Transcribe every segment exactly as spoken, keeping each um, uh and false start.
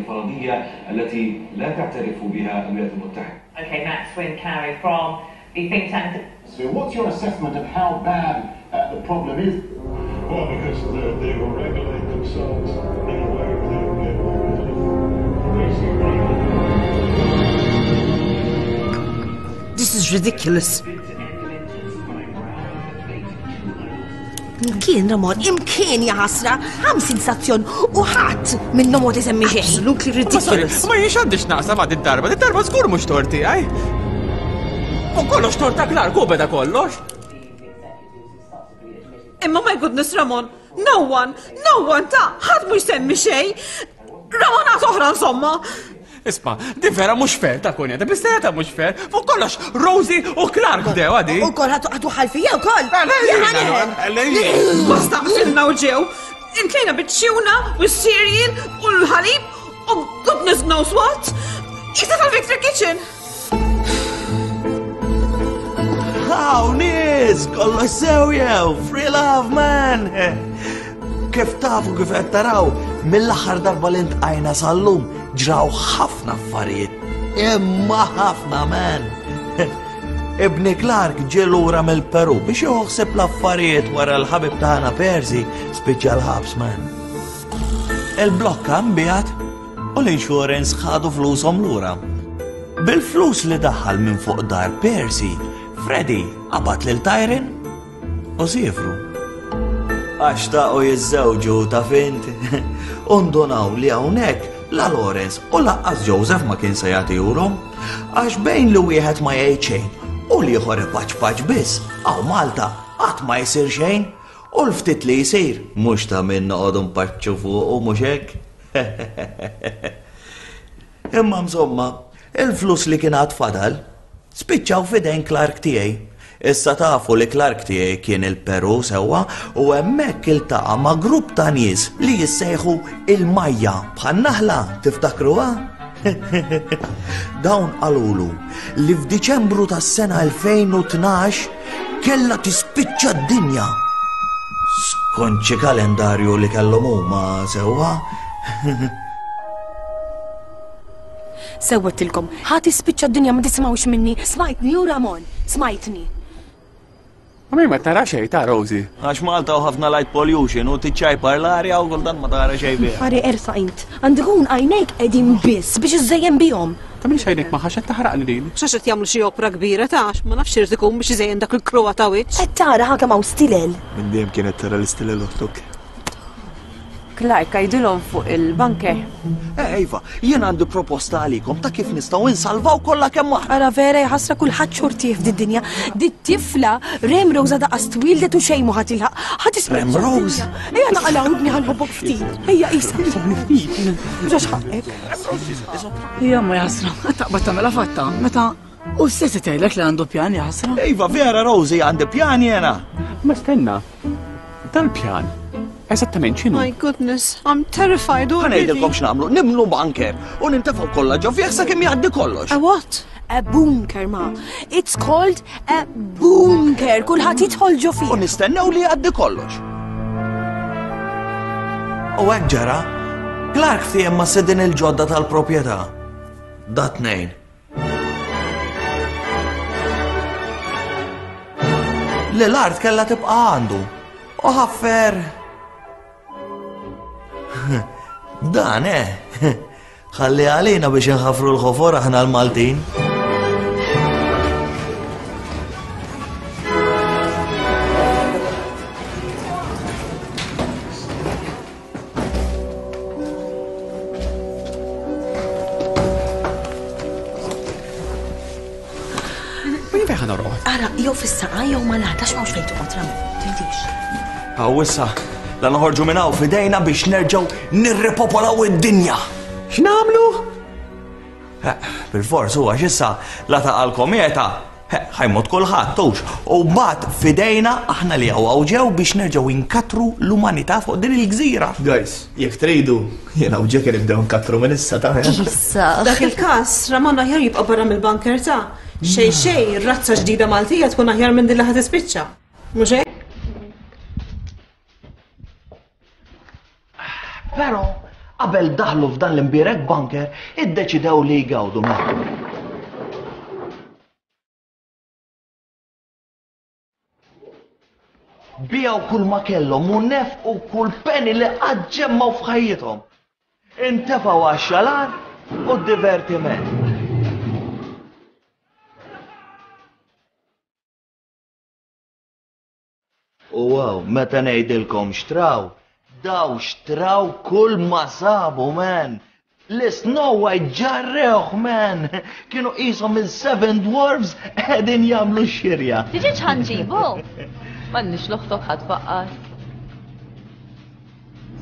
الفرضية التي لا تعترف بها الولايات المتحدة. Okay, Max Swin-Carey from the think tank. So what's your assessment of how bad uh, the problem is? Well, because the, they will regulate themselves in a way where they don't get more This is ridiculous. Imkien, Ramon, imkien ja ħasra, ħamsin stazzjon u ħadd minnhom ma tisemmi xejn. Absolutely ridiculous. Ma jiex għandix naqsa ma' darba, darba żgur mhux torti, għaj. U kollox torta Clark, u beda kollox. Imma my goodness, Ramon, no one, no one ta' ħadd mhu jsemmi xejn. Ramon għad oħra insomma. Isma, di vera mhux fair ta' kunja, ta' bistejja ta' mhux fair. Fuq kollox Rosie u Clark bdew għadi. U kol ħatu ħatu ħalfija u kol. Basta qfilna u ġew. Imtlejna biċ-tuna u s-cereal u l-ħalib u goodness knows what. Issa tal-Victor Kitchen. Haw, nies, kollox sew jew, free love, man. Kif tafu kif qed taraw, mill-aħħar darba li ntqajna sal-lum ġraw ħafna affarijiet. Imma ħafna, man. Ibni Clark ġie lura mill-Peru biex joħseb l-affarijiet wara l-ħabib tagħna Percy spiċċa l-ħabs, man. Il-blokka nbiegħet u l-insurance ħadu flushom lura. Bil-flus li daħal minn fuq dar Percy, Freddy qabad lil Tyron u siefru. Għax taqu jiżżewġu ta' fint. Undunaw li hawnhekk la Lawrence u lanqas Joseph ma kien se jagħtihulhom. Għax bejn li wieħed ma jgħid xejn u l-ieħor ipaċpaċ biss, hawn Malta qatt ma jsir xejn u l-ftit li jsir mhux ta' min noqogħdu npaċċu fuq u mhux hekk. Imma insomma, il-flus li kien għad fadal spiċċaw f'idejn Clark tiegħi. Issa tafu li Clark tiegħi kien il-Peru sewwa u hemmhekk iltaqa' ma' grupp ta' nies li jissejħu il-Majja bħal naħla, tiftakruha? Dawn qalulu li f'Diċembru tas-sena elfejn u tnax kellha tispiċċa d-dinja. Skont xi kalendarju li kellhom huma sewwa. Sewwettilkom, ħa tispiċċa d-dinja ma tisimgħux minni. Smajtni u Ramon, smajtni. Ma ma tara xejn ta' Rosie. Għax Malta u ħafna light pollution u tiċċajpar l-arja u kultant ma tara xejn biha. Għari ersa int, għandikun għajnejk qegħdin biss biex iżejjen bihom. Ta' minx għajnejk ma ħax qed taħraqni din. X'għax qed jagħmlu xi opra kbira ta' għax ma nafx irid ikun biex iżejjen dak il-kruha ta' wiċċ. Qed tara ħa kemm hawn stilel. Minn dejjem kienet tara l-istilel oħtok. Clark, għidilhom fuq il-bunker. Eh, Iva, jien għandi proposta għalikom ta' kif nistgħu insalvaw kollha kemm aħna. Ara vera jħassra kulħadd xortih f'did-dinja. Dit tifla Rem Rose għadha qas twildet u xejn mu ħadd ilħaq. Ħadd isma' Rem Rose? Ejja naqalgħu ibni ħanħobbok ftit. Ejja qisha. Ġax ħaqek. Ejja ma jħassra, taqbad tagħmilha fatta. Meta u stess tgħidlek li għandu pjan jħassra. Iva, vera Rosie għandi pjan jiena. Ma stenna, dal-pjan. Eżattament x'inhu? My goodness, I'm terrified already. Ħa ngħidilkom x'nagħmlu, nimlu bunker u nintefgħu kollha ġo fih sakemm jgħaddi kollox. A what? A bunker, ma. It's called a bunker. Kulħadd jidħol ġo fih. U nistennew li jgħaddi kollox. U hekk ġara, Clark ftiehem ma' sidin il-ġodda tal-proprjetà. Da tnejn. Li l-art kellha tibqa' għandu. U ħaffer. Dan, eh? Ħalli għalina biex nħafru l-ħofor aħna l-Maltin. Min fejn ħa norqod? Ara, jew fis-saqa jew ma nagħtax m'hawnx fejn toqgħod, Ramon. Tgħidix. Hawn issa, la noħorġu minn hawn f'idejna biex nerġgħu nirripopolaw id-dinja. X'nagħmlu? Eh, bil-fors huwa x'issa la taqa' l-kometa, eh, ħajmut kulħadd tux. U mbagħad f'idejna aħna li hawn hawn ġew biex nerġgħu inkatru l-umanità fuq din il-gżira. Guys, jekk tridu, jiena u Jack nibdew nkatru minn issa ta' Issa. Dak il-każ, Ramon aħjar jibqa' barra mill-bunker ta'. Xejn xejn, razza ġdida Maltija tkun aħjar minn din li ħad tispiċċa. Mhux hekk? Però Qabel daħlu f'dan l-imbierek bunker, iddeċidew li jgawdu mela. Biegħu kull ma kellhom u nefqu kull penny li qatt ġemmgħu f'ħajjithom. Intefgħu għax-xalar u d-divertiment. U wow, meta ngħidilkom xtraw, daw xtraw kull ma sabu, man. L-Snow White ġarrewh, man. Kienu qishom il-Seven Dwarfs qegħdin jagħmlu x-xirja. Tiġi ċanġibu? M'għandniex l-oħtok ħadd faqqas.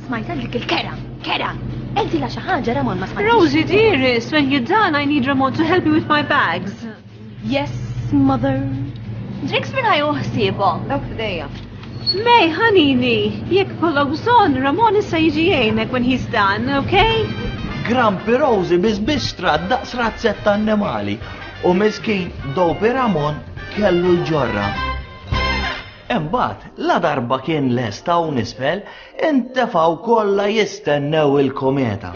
Smajta dik il-kera, kera. Enti la xi ħaġa Ramon ma smajtix. Rosie, dearest, when you're done, I need Ramon to help me with my bags. Yes, mother. Drinks minn ħajju ħsiebhom. Dawk f'idejja. May, honey, jekk kollok bżonn, Ramon issa jiġi jgħinek when he's done, okay? Grampi Rosie biss bistra daqs razzetta annimali u miskin Dopey Ramon kellu l-ġorra. Imbagħad, la darba kien lest hawn isfel, intefgħu kollha jistennew il-kometa.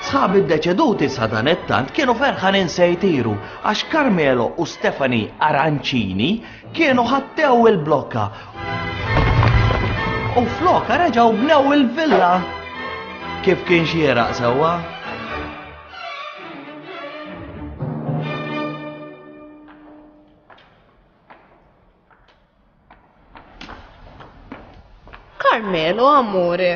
Sħab id-deċeduti sadanittant kienu ferħanin se jtiru għax Carmelo u Stephanie Arancini kienu ħattew il-blokka u flokka reġgħu bnew il-villa. Kif kien xieraq sewwa? Carmelo, amore.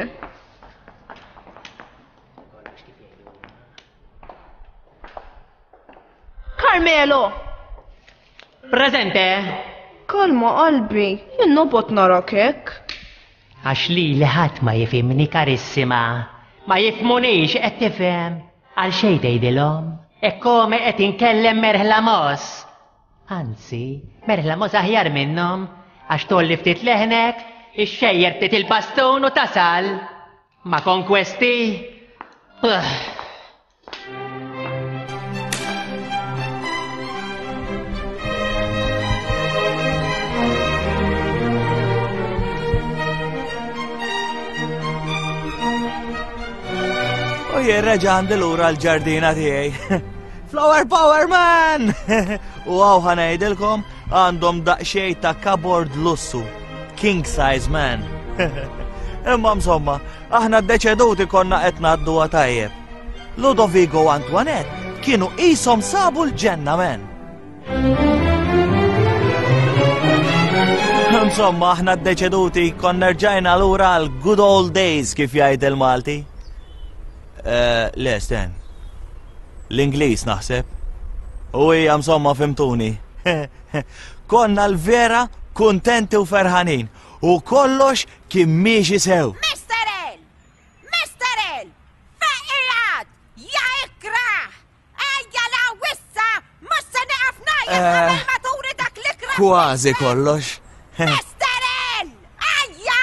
Carmelo! Presente! Kalma qalbi, jien nobgħod narak hekk. Għax li ħadd ma jifhimni karissima. Ma jifhmunix qed tifhem. Għal xejn tgħidilhom. E come qed inkellem merħla mos. Anzi, merħla mos aħjar minnhom għax tolli ftit leħnek, ixxejjer ftit il-bastun u tasal. Ma konkwesti. Ugh. U jien reġa' għandi lura l-ġardina tiegħi. Flower Power Man! U hawn ħa ngħidilkom għandhom daqsxejn ta' cupboard lussu. King size man. Imma insomma, aħna ddeċeduti konna qed ngħadduha tajjeb. Ludovico u Antoinette kienu qishom sabu l-ġenna, man. Insomma, aħna ddeċeduti konna rġajna lura għal good old days kif jgħid il-Malti. Eh, le, Stan. L-Ingliż naħseb. U hija insomma fimtuni. Konna l-vera kuntenti u ferħanin u kollox kien miexi sew. Mister L! Mister L! Fejqijat! Ja ikrah! Ejja la wissa! Mhux se nieqaf ngħajjat qabel ma turi dak l-ikrah! Kważi kollox. Mister L! Ejja!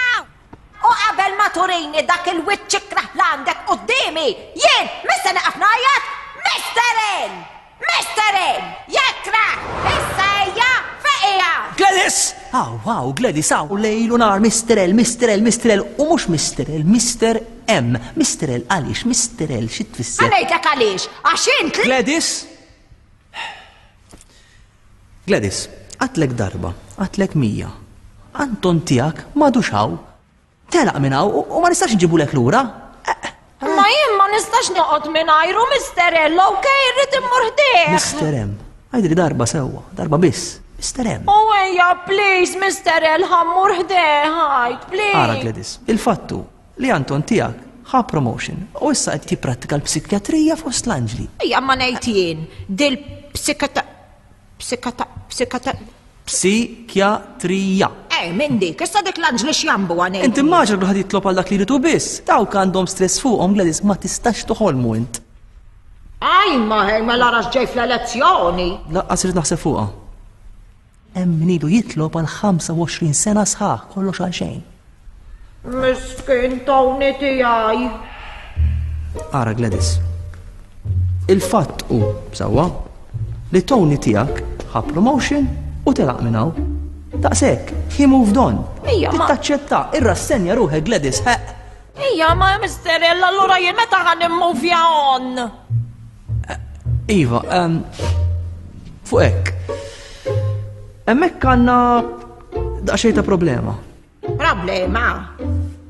U qabel ma turini dak il-wiċċ ikrah l għandek quddiemi, jien mhux se nieqaf ngħajjat! Mister L! Mister L! Jekrah! Issa ejja fejqijat! Gladys! Aw, aw, Gladys, aw, lejl u nar, Mister L, Mister L, Mister L, u mhux Mister L, Mister M. Mister L, għaliex, Mister L, xi tfisser? Ħa ngħidlek għaliex, għax int li- Gladys! Gladys, għatlek darba, għatlek mija. Anton tiegħek m'għadux hawn. Telaq minn hawn u ma nistax nġibulek lura. Ma jien ma nistax noqgħod mingħajru Mister L, okej, irrid immur ħdejh. Mister M, għidli darba sewwa, darba biss. Mister M. U ejja, please, Mister L, ħammur ħdejh, ħajt, please. Ara, Gladys, il-fattu li Anton tiegħek ħa promotion u issa qed jipprattika l-psikjatrija fost l-anġli. Ejja, ma ngħid jien, dil-psikata-, psikata-, psikata-, Psikjatrija. Eh, minn dik, issa dik l-anġli x'jambu għanej. Inti immaġina kulħadd jitlob għal dak li jridu biss. Dawk għandhom stress fuqhom, Gladys, ma tistax toħolmu int. Aj, ma hej, ma larax ġej fl-elezzjoni. Laqqas irid naħseb fuqha. Hemm min ilu jitlob għal ħamsa u għoxrin sena sħaħ, kollox għal xejn. Miskin Tony tiegħi. Ara, Gladys. Il-fatt hu, sewwa, li Tony tiegħek ħa promotion u telaq minn hawn. Daqshekk, he moved on. Ija, ma. Taċċetta, irrassenja ruħek Gladys, ħeq. Ija, ma Mister L, allura jien meta ħa nimmuvja on? Iva, ehm, fuq hekk. Hemmhekk għandna daqsxejn ta' problema. Problema?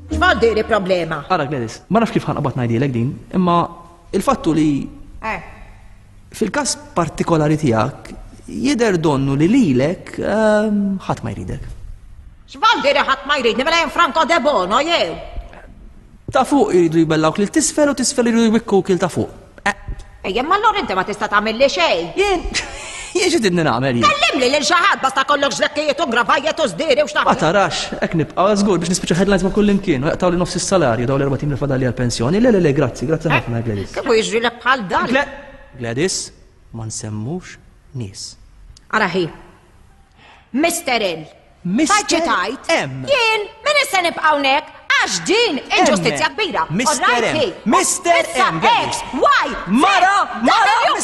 X'vuol diri problema? Ara Gladys, ma nafx kif ħa nqbad ngħidilek din, imma il-fattu li Eh, fil-każ partikolari tiegħek jidher donnu li lilek ehm, ħadd ma jridek. X'vuol diri ħadd ma jridni mela jien Franco De Bono jew? Ta' fuq jridu jbellawk lil t'isfel u t'isfel jridu jwikkuk il ta' fuq. Ejja, ma allura inti ma tista' tagħmilli xejn. Jien jien xi tidni nagħmel jien? Kellimli lil xi ħadd basta kollok ġlekkijiet u gravajjet u żdieri u Ma x'naf. tarax, hekk nibqa' żgur biex nispiċċa headlines ma' kull imkien u jaqtgħu li nofs is-salarju dawn l-erba' tim li fadali għall-pensjoni. Le le le, grazzi, grazzi ħafna Gladys. Kif jiġrilek bħal dan? Gladys, ma nsemmux nies. Ara ħi. Mister L. Mister tajt? M. Jien, min issa nibqa' hawnhekk għax din inġustizzja kbira. Mister All right, M. hi. Mister Issa M, Gladys. X, Y, Z, Mara, Mara, W.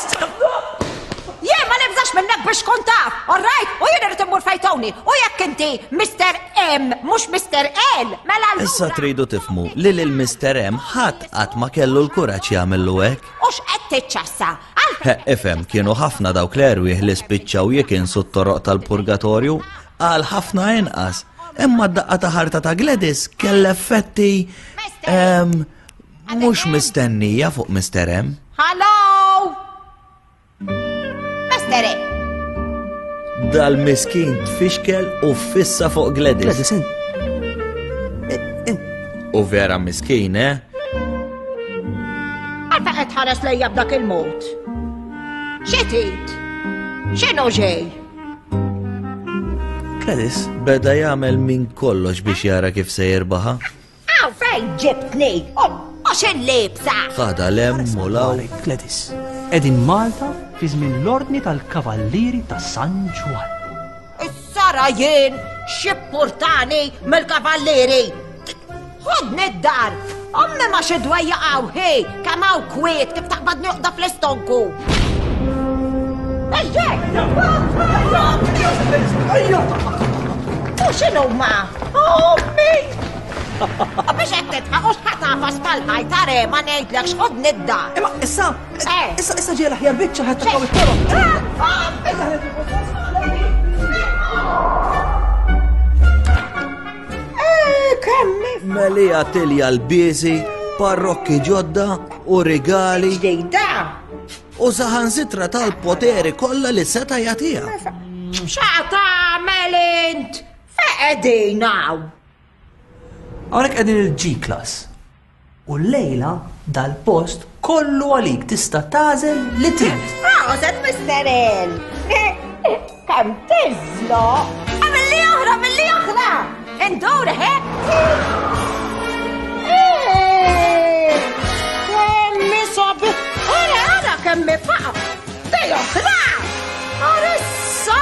Jien ma nibżax minnek biex kont taf, all right? U jien irid immur fejtoni. U jekk inti Mister M mhux Mister L, mela allura Issa tridu tifhmu li lil Mister M ħadd qatt ma kellu l-kuraġġ jagħmillu hekk. u x'qed tiċċassa? He, ifhem, kienu ħafna dawk l-erwieħ li spiċċaw jikinsu t-toroq tal-purgatorju għal ħafna inqas. Imma d-daqqa ta' ħarta ta' Gladys kell effetti ehm, mhux mistennija fuq Mister M. Hello! Mister M. Dal-miskin tfixkel u fissa fuq Gladys. Gladys, U vera miskin, eh? Għalfejn qed tħares lejja b'dak il-mod? Xi trid? X'inhu ġej? Gladys? Beda jagħmel minn kollox biex jara kif se jirbaħa. Għaw fejn ġibtni? U x'il-libsa? Ħada lem u law. Gladys, qegħdin Malta fi żmien l-ordni tal-Kavallieri ta' San Ġwann. Issara jien x'ippurtani mill-kavallieri. Ħodni d-dar. Ommi ma xi dwejja hawn, hi, kemm hawn kwiet kif taqbad noqda fl-istonku. U x'inhuma? Ommi! U biex qed tidħaq u x'ħa tagħfas mal-ħajt are ma ngħidlek x'ħodni d-dar. Imma issa, issa issa ġej l-aħjar biċċa ħadd taqgħu it-toroq. Melija tilja l-biesi, parrokki ġodda u rigali. Ġdida! U saħansitra tal-poteri kollha li seta' jagħtiha. X'a tagħmel int? Fejn qegħdin hawn? Hawnhekk qegħdin il-G-Class. U lejla dal-post kollu għalik tista' tagħżel li trid. Proset, Mister L! Kemm tiżloq! Għamilli oħra, għamilli oħra! Indur, he? Kemmi sabi! Ara, ara, kemmi faqa! Dej oħra! Ara issa!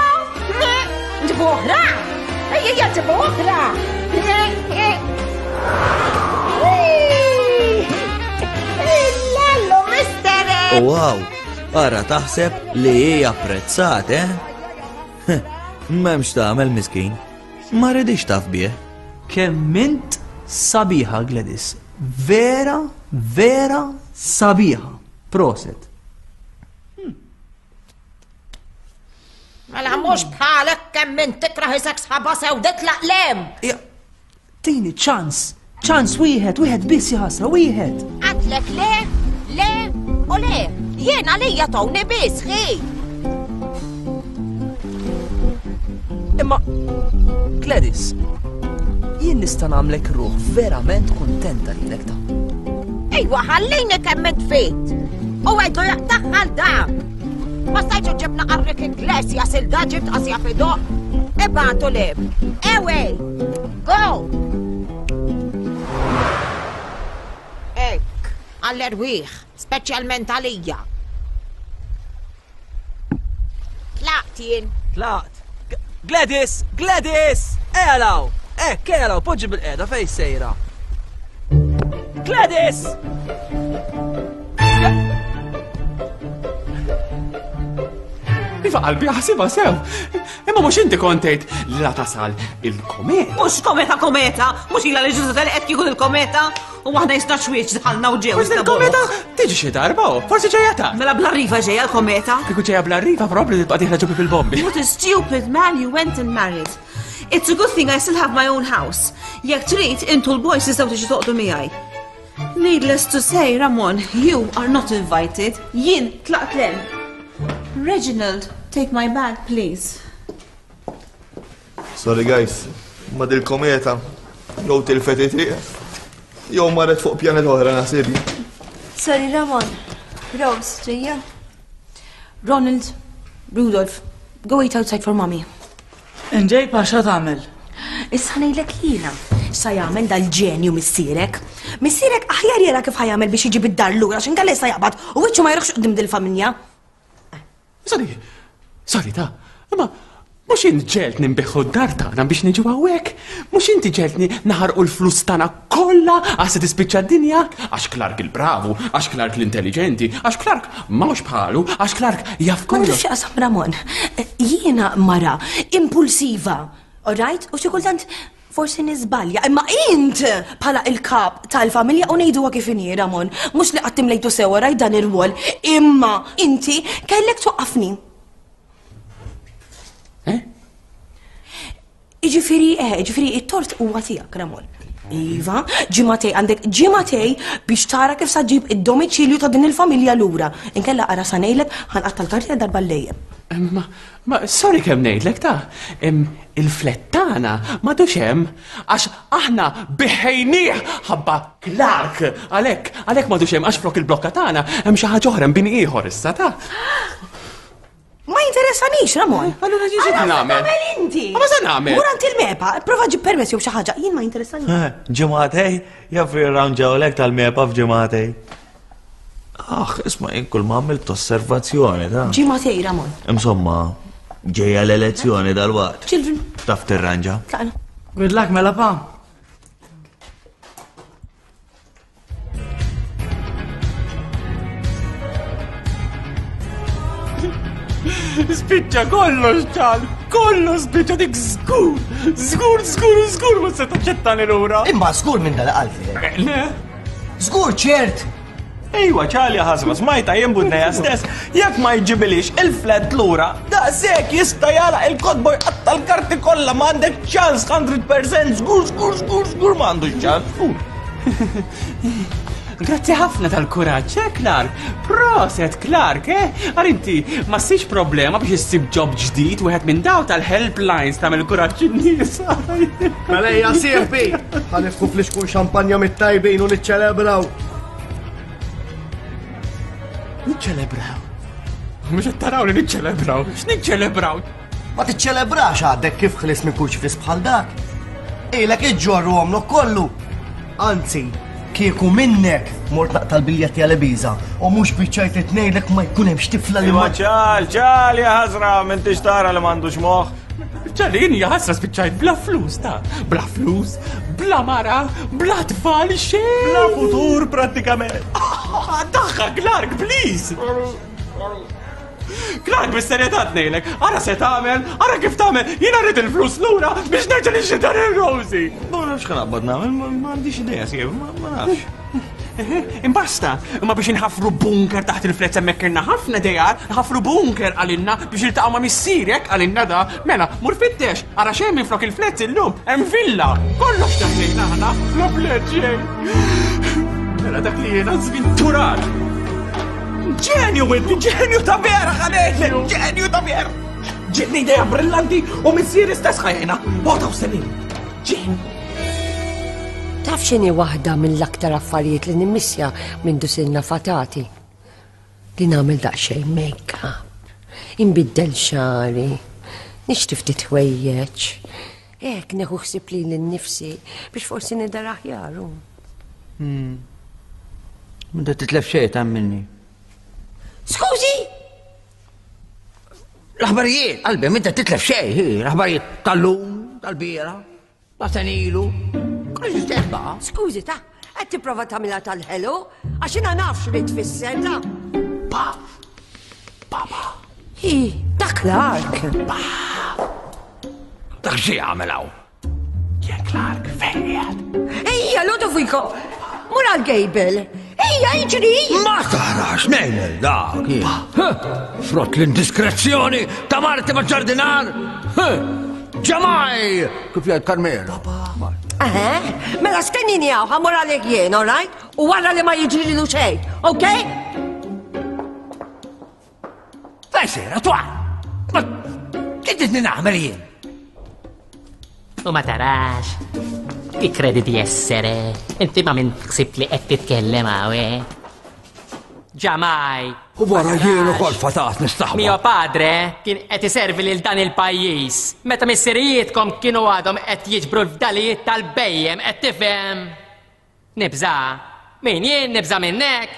Nġibu oħra! Ejja, nġibu oħra! Illallu, Mister L! Wow, ara taħseb li hi apprezzat, eh? M'hemmx tagħmel miskin. Ma rridix taf bih. Kemm int sabiħa, Gladys. Vera, vera sabiħa. Proset. Mela mhux bħalek kemm int tikraħ isek sħaba sew ditlaq lem. Tini ċans, ċans wieħed, wieħed biss jaħasra, wieħed. Għadlek le, le u le. Jien għalija tawni biss, ħi. Imma, Gladys, jien nista' nagħmlek ruħ verament kuntenta lilek ta'. Ejwa, ħallini kemm int fit. U għajdu jaqtaħħal da. Ma stajtx ġibna qarrik Iglesias il-da ġibt qasja fidoq. Ibatu lib. Ewej, go! Ek, għall-erwieħ, speċjalment għalija. Tlaqt jien. Tlaqt. Gladys, Gladys! Ejalaw! Ek, ejalaw, poġġi bil-qeda fej sejra. Gladys! Iva qalbi ħasibha sew. Imma mhux inti kontejt li la tasal il-kometa. Mhux kometa kometa, mhux ilha li ġużu tal-qed kieku il-kometa u aħna jisna xwieċ dħalna u ġew. Forsi il-kometa tiġi xi darba, forsi ġejja ta'. Mela bla riva ġejja l-kometa. Kieku ġejja bla riva probabbli tibqa' dieħla ġobi bil-bombi. What a stupid man you went and married. It's a good thing I still have my own house. Jekk trid intu l-boys tistgħu tiġu toqgħodu miegħi. Needless to say, Ramon, you are not invited. Jien tlaqt lem. Reginald, take my bag, please. Sorry guys, ma dil-kometa jew tilfet it-triq, jew marret fuq pjanet oħra naħsibni. Sorry Ramon, Rose, ġejja. Ronald, Rudolph, go wait outside for mommy. Nġej pa xa tagħmel? Issa ngħidlek jiena x'sa jagħmel dal-ġenju missierek. Missierek aħjar jara kif ħajamel biex jiġi bid-dar lura għax inkella issa jaqbad u wiċċu ma jruħx quddiem dil-familja. Sorry, sorry ta, imma mhux int ġeltni nbiħħu d-dar tagħna biex niġu hawnhekk, mhux inti ġeltni naħarqu l-flus tagħna kollha għax se tispiċċa d-dinja, għax Clark il-bravu, għax Clark l-intelligenti, għax Clark m'hawnx bħalu, għax Clark jaf Ma kollox. nafx x'qasam Ramon. Jiena mara impulsiva, all right? U xi kultant forsi niżbalja, imma int bħala il-kap tal-familja u ngħiduha kif inhi Ramon, mhux li qatt imlejtu sewa rajt dan ir-rwol, imma inti kellek twaqqafni. Eh? Iġifieri, eh, iġifieri it-tort huwa tiegħek Ramon. Iva, ġimagħtejn, għandek ġimagħtejn biex tara kif sa ġib id-domiċilju ta' din il-familja lura. Inkella ara sa ngħidlek ħanqatta' l-karti darba l-lejjem. Ma, ma, sorry kemm ngħidlek ta' im, il-flat tagħna m'għadux hemm għax aħna biħejnieh ħabba Clark. Għalhekk, għalhekk m'għadux hemm għax flok il-blokka tagħna hemm xi ħaġa oħra hemm bini ieħor issa ta'. Ma jinteressanix, Ramon. Allura ġi xi Ara, nagħmel? tagħmel inti. Ma se nagħmel? Mur għand il-MEPA, prova ġib permess jew xi ħaġa, jien ma jinteressanix. Ġimagħtejn, jaf jirranġawlek tal-MEPA f'ġimagħtejn. Aħ, isma' jien kull ma għamilt osservazzjoni ta' Ġimagħtejn, Ramon. Insomma, ġejja l-elezzjoni dal-waqt. Children, Taf tirranġa. tlaqna. Good luck mela pa. Spiċċa kollox ċal, kollox spiċċa dik żgur, żgur, żgur, żgur ma se taċċettani lura. Imma żgur minn dal-qalbi. Le. Żgur ċert. Ejwa, ċalja ħasba, smajta jien budneja stess, jekk ma jġibilix il-flat lura, daqshekk jista' jara il-kotba jqatta' l-karti kollha ma għandek ċans hundred percent, żgur, żgur, żgur, żgur ma għandux ċans. Grazzi ħafna tal-kuraġġ, eh, Clark? Proset, Clark, eh? Għar inti, ma ssibx problema biex issib job ġdid wieħed minn daw tal-helplines tagħmel kuraġġ in-nies. Mela hija sieħbi, ħanifku fl-ixkun xampanja mit-tajbin u niċċelebraw. Niċċelebraw? Mhux qed taraw li niċċelebraw. X'niċċelebraw? Ma tiċċelebrax għadek kif ħlis minn kurċifis bħal dak. Ilek iġġorru għomlok kollu. Anzi, kieku minnek mort naqta' l-biljetti għal Ibiza u mhux biċċajt li tnejlek ma jkun hemmx tifla li ma Ċal, ċal, ja ħasra, m'intix tara li m'għandux moħħ. Ċal, jien ja ħasra spiċċajt bla flus ta' bla flus, bla mara, bla tfal xejn. Bla futur prattikament. Daħħa, Clark, please. Clark, bis-serjetà tnejlek, ara se tagħmel, ara kif tagħmel, jiena rrid il-flus lura biex nerġa' nixtri dan ir-Rosie. Ma nafx x'ħanaqbad nagħmel, ma għandix idea, sieħ, ma nafx. Imbasta, imma biex inħafru bunker taħt il-flets hemmhekk irna ħafna dejjar, nħafru bunker għalinna biex iltaqgħu ma' missierek għalinna da, mela, mur fittex, ara xejn minn flok il-flets illum, hemm villa, kollox taħlejna aħna, la flet xejn. Mela dak li jiena żvinturat. Ġenju inti, ġenju ta' vera ħalejtlek, ġenju ta' vera. Ġietni idea brillanti u missieri stess ħajjena. Bota u senin. Ġenju. Taf x'inhi waħda mill-aktar affarijiet li nimmissja minn dusilna fatati? Li nagħmel daqsxejn make-up, inbiddel xagħri, nixtri ftit ħwejjeġ. Hekk neħu ħsieb lili nnifsi biex forsi nidher aħjar. Hmm. M'inta titlef xejn ta' minni. Skużi? L-aħbarijiet, qalbi, m'inta titlef xejn, hi, l-aħbarijiet tal-lum, tal-biera, ta' senilu. Kollox istess baqa'. Skużi, ta' qed tipprova tagħmilha tal-ħelu, għax jiena nafx li tfisser, ta' Pa! Papa! Hi, ta' Ta' Clark. Dak xi jagħmel hawn? Jien Clark fejn qiegħed? Ejja, Ludovico, mur għal Gable. Ejja, iġri! Ma tarax nejn dak. Frott l-indiskrezzjoni ta' marti ma' ġardinar. Ġamaj! Kif jgħid Carmelo. Eh, mela stennini hawn, ħa mmur għalih jien, all right? U wara li ma jiġrilu xejn, ok? Fejn sejra, twa! Ma kif tridni nagħmel jien? U ma tarax. Chi credi di essere? Inti ma' min ħsibt li qed titkellem hawn, eh? Ġamaj. U wara jien ukoll fatat nistaħba. Mio padre kien qed iservi lil dan il-pajjiż. Meta missirijietkom kienu għadhom qed jiġbru l-fdalijiet tal-bejjem qed tifhem. Nibża. Min jien nibża minnek?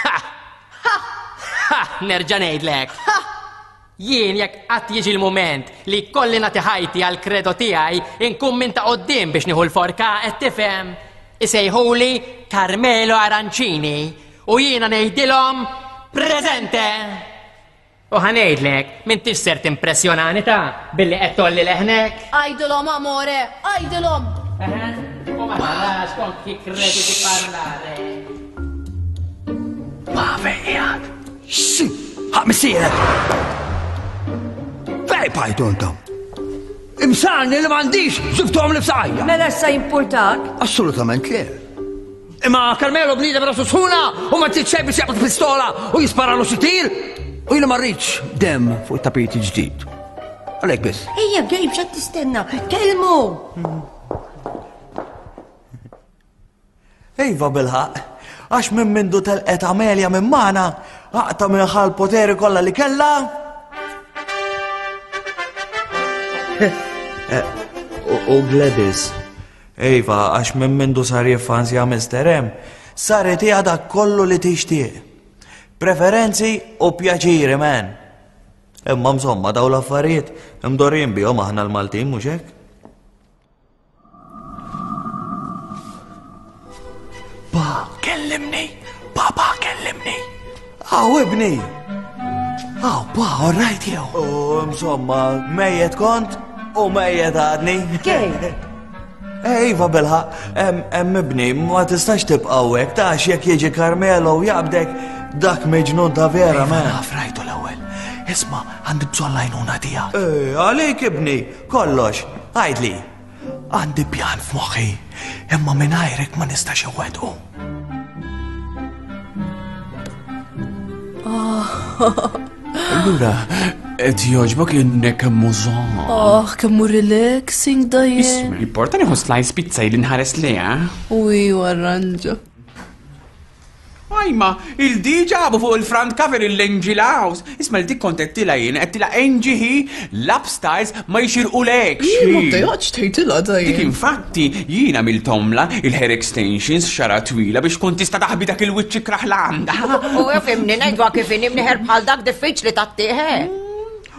Ha! Ha! Nerġa' ngħidlek. Jien jekk qatt jiġi l-mument li kolli nagħti ħajti għal kredo tiegħi, inkun minn ta' quddiem biex nieħu l-forka qed tifhem. Isejħuli Carmelo Arancini u jiena ngħidilhom preżente. U ħa ngħidlek, m'intix ser timpressjonani ta' billi qed tolli leħnek. Għajdilhom, amore, għajdilhom! U ma tarax con chi credi di parlare. Ma fejn qiegħed? Xi, ħaq missierek! Fej bajtu intom? Imsarni li m'għandix żiftuhom li f'saqajja. Mela issa jimpurtak? Assolutament le. Imma Carmelo bniedem rasu sħuna u ma trid xejn biex jaqbad pistola u jisparalu xi tir u jiena ma rridx dem fuq it-tapit il-ġdid. Għalhekk biss. Ejja, Gabe, x'qed tistenna? Kellmu! Iva bilħaq, għax minn mindu telqet Amelia minn magħna, aqta' minn ħal poteri kollha li kellha. U Gladys. Iva, għax minn mindu sar jiffansja Mister M, saret hija dak kollu li tixtieq. Preferenzi u pjaċiri, man. Imma insomma daw l-affarijiet imdorrin bihom aħna l-Maltin, mhux hekk? Pa, kellimni! Papa, kellimni! Aw, ibni! Aw, pa, all right jew. U insomma, mejjet kont u mejjet għadni. Kej? Iva bilħaq, hemm ibni, ma tistax tibqa' hawnhekk, tax jekk jiġi Carmelo u jaqbdek dak miġnun ta' vera, ma. Naf rajtu l-ewwel. Isma', għandi bżonn l-għajnuna tiegħek. Eh, għalik ibni, kollox, għidli. Għandi pjan f'moħħi, imma mingħajrek ma nistax iwettqu. Allura, qed jogħġbok innek mużon. Oh, kemm hu relaxing dajjem. Isma', importa nieħu slice pizza li nħares lejha. Uj, arranġa. Ajma, il-di ġabu fuq il-front cover il-Angel House. Isma' l-dik kont qedtilha jien, qedtilha Angie hi, l-upstairs ma jxirqulekx. Jien ma bdejatx tgħidilha dajjem. Dik infatti jien għamiltomla il-hair extensions xara twila biex kont tista' taħbi dak il-wiċċ ikrah l-għandha. U fimni ngħidwa kif inhi mnieħer bħal dak diffiċli tattieħ.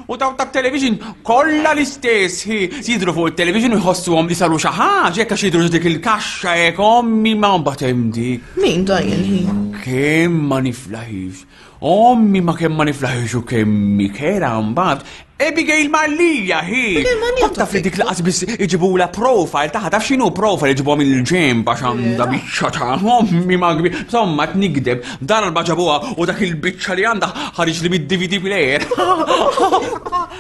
U daw tat-television kollha l-istess, hi, jidhru fuq it-television u jħossuhom li saru xi ħaġa, jekk għax jidhru dik il-kaxxa hekk ommi ma mbagħad hemm dik. Min dajjen hi? Kemm ma niflaħix. Ommi ma kemm ma niflaħix u kemm mikera mbagħad. Abigail Mallia hi. Kont taf li dik laqas biss iġibula profile taħ, taf x'inhu profile iġibuha mill-ġenb għax għandha biċċa ta' ommi ma kbir. Insomma qed nikdeb, darba ġabuha u dak il-biċċa li għandha ħareġ li mid-D V D player.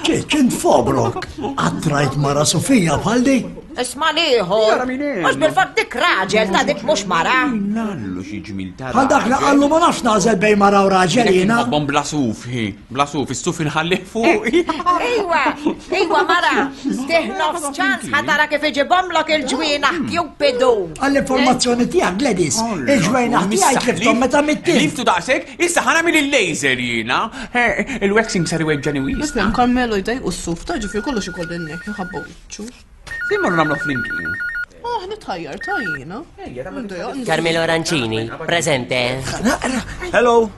Ċeċ, int fobrok. Qatt rajt mara Sofija bħal di? Isma' liħor. Jara min hemm. Mhux bil-fatt dik raġel ta' dik mhux mara. Nallu xi ġmil ta' Bħal dak li raġel. qallu ma nafx nagħżel bejn mara u raġel Dik jiena. inħobbhom bla suf, hi. Bla suf, is-suf inħallih fuq. Ejwa, ejwa mara, stih nofs ċans ħatara kif iġibhomlok il-ġwienaħ Cupidu. Għall-informazzjoni tiegħek, Gladys, il-ġwienaħ tiegħi tlifthom meta mittin. Liftu daqshekk, issa ħa nagħmel il-laser jiena. Eh, il-waxing sar iweġġani wis. Isem Carmelo jdejqu s-suf, ta' ġifieri kollox ikolli nek, jħabba wiċċu. Fejn morru nagħmlu flimkien? Ah, nitħajjar ta' jiena. Carmelo Arancini, presente. Hello.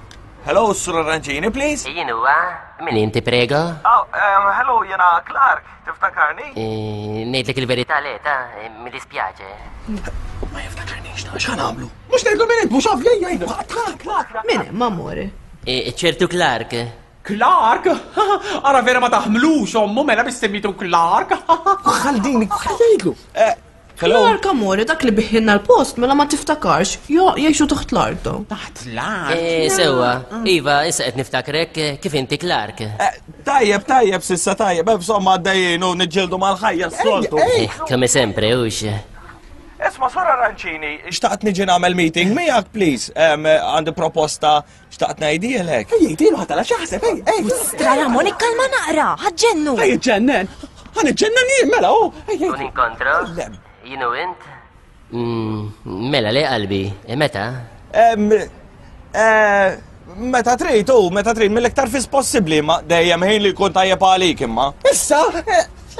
Hello, Sur Arancini, please. Jien huwa, min inti prego? Oh, um, hello, jiena Clark, tiftakarni? Eh, ngħidlek il-verità le, ta' mi dispjaċe. Ma jiftakarnix, ta' x'għan għamlu? Mhux ngħidlu min int, mhux għaf lejja jgħidu. Min hemm, amore? Eh, ċertu Clark. Clark? Ara vera ma taħmlux ommu mela biex semmitu Clark. Ħaldini, ħalejtlu. Clark amore, dak li biħinna l-post mela ma tiftakarx, jo jgħixu taħt l-art. Taħt l-art? Eh, sewwa, iva, issa qed niftakrek kif inti Clark. Tajjeb, tajjeb, sissa tajjeb, insomma għaddejjin u niġġieldu mal-ħajja s-soltu. Kemm sempre, hux. Isma' Sur Arancini, xtaqt niġi nagħmel meeting miegħek, please. Għandi proposta xtaqt ngħidilek. Ej, jgħidilu ħadd għala x'jaħseb, ej, ej. Stra Ramon, ikkalma naqra, ħaġġennu. Ej, ġennen. Ħaniġġennen jien mela, hu. Un inkontro? Jien u int? Mela le qalbi, meta? Meta trid, u meta trid, mill-iktar fis possibbli, ma dejjem ħin li jkun tajjeb għalik imma. Issa,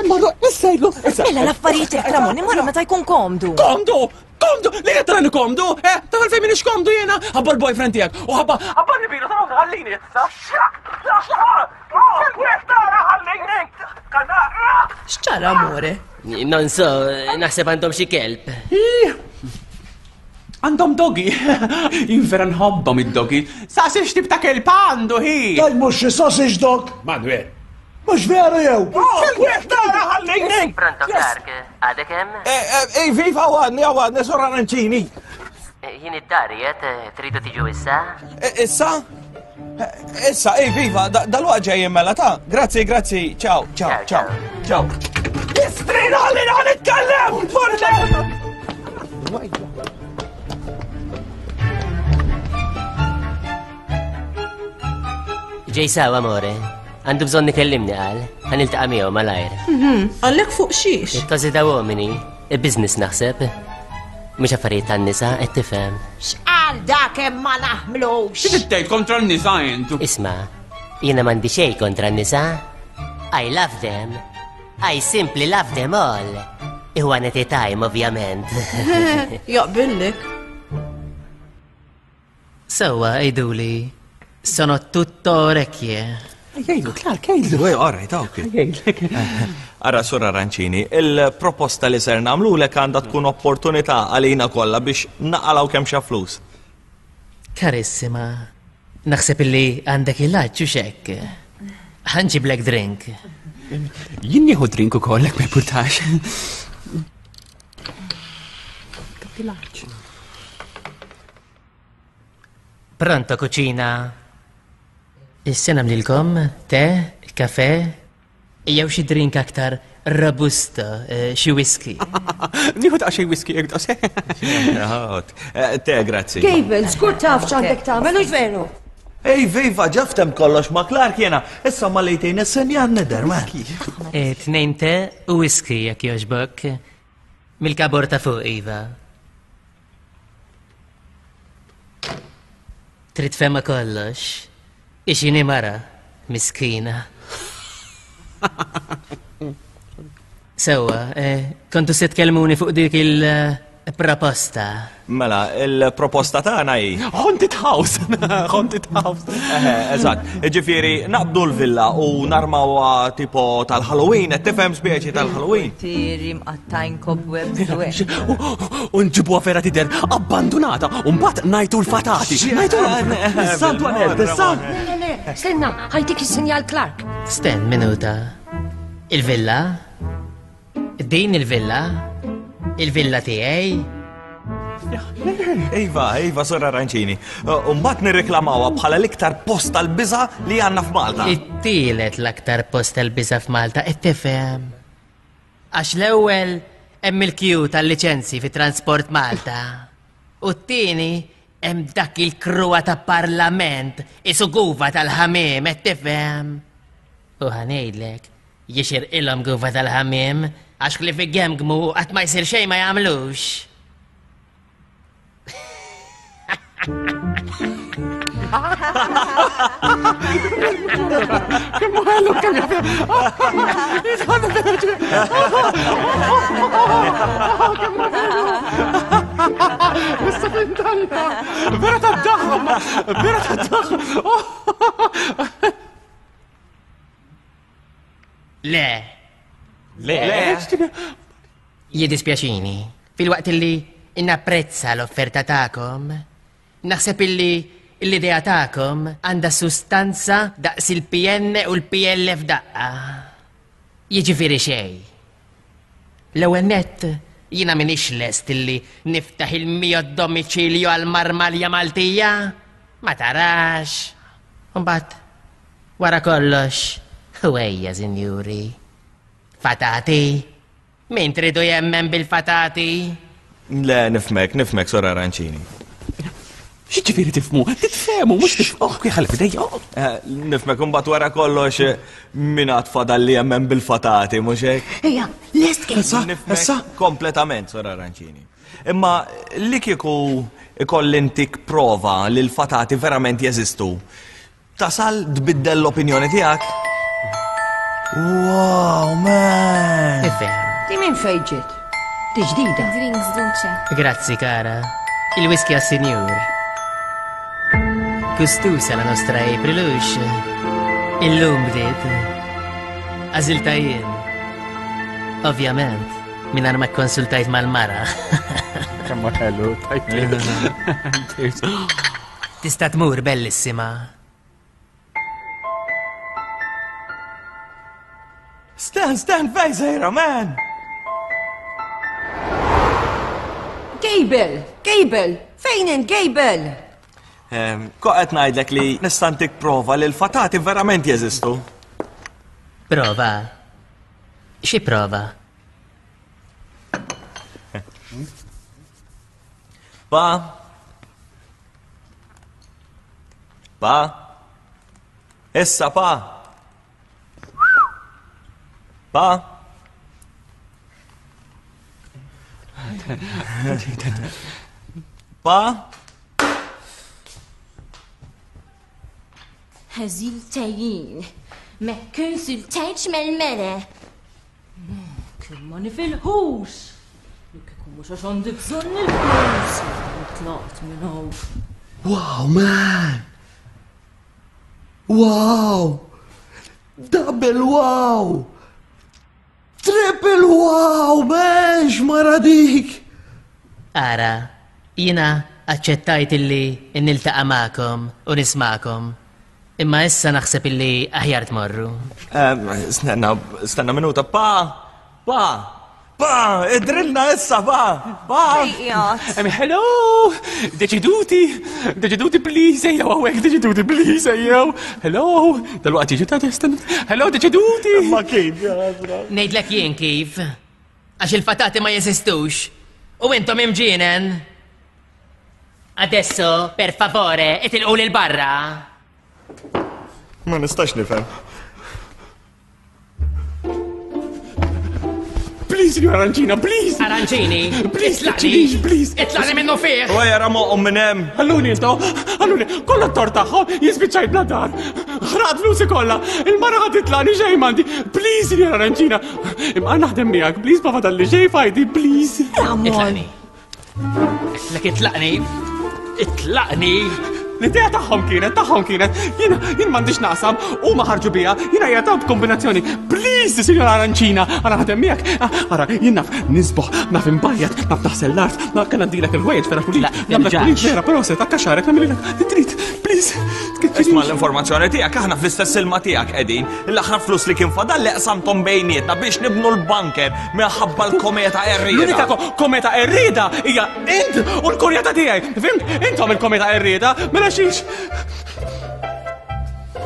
imma issa jgħidlu. Mela l-affarijiet hekk Ramon, imma meta jkun komdu. Komdu! Komdu! Li qed tarani komdu? Eh, taf għalfejn m'iniex komdu jiena? Ħabba l-boyfriend tiegħek u ħabba ħabba nibilu taraw ħallini. X'ċara amore? Non so, naħseb għandhom xi kelb. Għandhom dogi. Jien vera nħobbhom id-dogi. Saqsi x'tip ta' kelb għandu hi. Daj mhux xi sausage dog. Manuel. Mhux veru jew. Tara ħallini. Pronto Clark, għadek hemm? Ej, viva għadni, għadni, Sur Arancini. Jien id-dar qiegħed, tridu tiġu issa? Issa? Issa, ej, viva, dal-waqt ġejjin mela ta'. Grazzi, grazzi, ciao, ciao, ciao, ciao. Istrina ħallini ħa nitkellem! Ġej sawa, amore. Għandu bżonn ikellimni qal, ħa niltaqa' miegħu malajr. Għallek fuq xiex? Il-każi ta' uomini, il-business naħseb. Mhux affarijiet tan-nisa qed tifhem. X'qal dak hemm ma naħmlux? Xi tgħid kontra n-nisa intu? Isma', jiena m'għandi xejn kontra n-nisa. I love them. I simply love them all. One at a time, ovvjament. Jaqbillek. Sewwa, għiduli, sono tutto orecchie. Jgħidu, Clark, jgħidu. Ej, all right, ok. Ara, Sur Arancini, il-proposta li ser nagħmlulek għandha tkun opportunità għalina kollha biex naqalgħu kemm xa flus. Karissima, naħseb illi għandek il-laċċu xekk. Ħanġiblek drink. Jien nieħu drink ukoll hekk ma jpurtax. Pronto, kuċina. Issa nagħmlilkom te, kafe, jew xi drink aktar robusto, xi whisky. Nieħu daqsxejn whisky jekk daqsxejn. Te, grazzi. Gable, skur taf x'għandek tagħmel, hux veru? Ej, viva, ġaftem kollox ma' Clark jena. Issa ma lejtejn is-senjan nidher, ma. Tnejn te u whisky jekk jogħġbok. Mill-kabor ta' fuq, iva. Trid fema kollox. Ixini mara, miskina. Sewwa, kontu se tkellmuni fuq dik il-proposta. Mela, il-proposta tagħna hi. Haunted house! Haunted house! Eżatt, ġifieri naqbdu l-villa u narmawha tipo tal-Halloween, qed tifhem speċi tal-Halloween. Tiri mqattajn cobwebs u hekk. U nġibuha vera tidher abbandunata u mbagħad ngħidu l-fatati. Ngħidu Santu sant. Le, le, stenna, ħajtik is-sinjal Clark. Sten minuta. Il-villa? Din il-villa? Il-villa tiegħi? Iva, iva, Sur Arancini. U mbagħad nirreklamawha bħala l-iktar post tal-biża' li għandna f'Malta. It-tielet l-aktar post tal-biża' f'Malta, qed tifhem. Għax l-ewwel hemm il-kju tal-liċenzji fi Transport Malta. U t-tieni hemm dak il-kruwa ta' parlament isu guva tal-ħamiem, qed tifhem. U ħanejdlek, jixirqilhom guva tal-ħamiem għax li fi gemgmu qatt ma jsir xejn ma jagħmlux. Kemm ħelu kemm Issa fintalla. Vera tad-daħ, vera tad-daħ. Le. Le. Jiddispjaċini, fil-waqt li napprezza l-offerta tagħkom, naħseb illi l-idea tagħkom għandha sustanza daqs il-P N u l-P L f'daqqa. Jiġifieri xejn. L-ewwel nett jiena m'iniex lest illi niftaħ il-mio domiċilju għal marmalja Maltija. Ma tarax. Imbagħad wara kollox, ħwejja, sinjuri. Fatati. Min tridu jemmen bil-fatati? Le, nifmek, nifmek, Sor Arancini. X'ġifieri tifhmu? Titfehmu, mhux tifhmu. Oh, kif ħalli f'idejja. Nifmek imbagħad wara kollox min għad fadal li jemmen bil-fatati, mhux hekk? Ejja, lest kien. Issa, kompletament, Sor Arancini. Imma li kieku ikolli ntik prova li l-fatati verament jeżistu, tasal tbiddel l-opinjoni tiegħek? Wow, man! Ifhem. Di minn fejn ġiet? Di ġdida. Drinks duċe. Grazzi, cara. Il-whisky għas-sinjur. Gustusa la nostra April ux. Illum bdiet. Għażilta jien. Ovvjament, mingħajr ma kkonsultajt mal-mara. Kemm ħelu, tajt. Tista' tmur bellissima. Stan, Stan, fej sejra, man! Gable, Gable, fejn int Gable? Ko qed ngħidlek li nista' ntik prova li l-fatati verament jeżistu. Prova? Xi prova? Pa? Pa? Issa pa? Pa? Pa? Għażilta jien, ma kkonsultajtx mal-mara. Kemm ma nifilħux. Li kieku mhux għax għandi bżonn il-flus. Tlaqt minn hawn. Wow, man! Wow! Double wow! Triple wow, man! X'mara dik! Ara, jiena aċċettajt illi niltaqa' magħkom u nismagħkom. Imma issa naħseb illi aħjar tmorru. Stenna, stenna minuta, pa! Pa! Pa! Idrilna issa, pa! Pa! Hello! Deċiduti! Deċiduti, please, ejjew hawnhekk, deċiduti, please, ejjew! Hello! Dalwaqt jiġu ta' stenna. Hello, deċiduti! Ma kif, ja, Ngħidlek jien kif. Għax il-fatati ma jeżistux. U intom imġienen. Adesso, per favore, itilqu lil barra. Ma nistax nifhem. Please, signor Arancina, please! Arancini! Please, please, please! Itlaqni minnu fih! U jara moqhom minn hemm! Ħalluni intom, ħalluni, kollha t-tort tagħhom jispiċċaj bla dar. Ħraqt flusi kollha, il-mara ħad titlaqni xejn m'għandi. Please, signor Arancina, imma naħdem miegħek, please ma fadalli xejn fajdi, please. Itlaqni. Itlaq itlaqni. Itlaqni. L-idea tagħhom kienet, tagħhom kienet, jiena jien m'għandix naqsam u ma ħarġu bija, jiena hija tawt kombinazzjoni. Please, signora Arancina, ara ħadem miegħek. Ara, jien naf nisboħ, naf imbajjat, naf naħsel l-art, naf kien għandilek il-ħwejjeġ vera pulit. Nagħmlek pulit vera, però se takka xarek nagħmilek trid, please. Isma' l-informazzjoni tiegħek aħna fl-istess ilma tiegħek qegħdin. L-aħħar flus li kien fadal li qsamthom bejnietna biex nibnu l-bunker minħabba l-kometa Errieda. L-unika kometa Errieda hija int u l-kurjata tiegħi. Fimt? Intom il-kometa Errieda, mela xiex.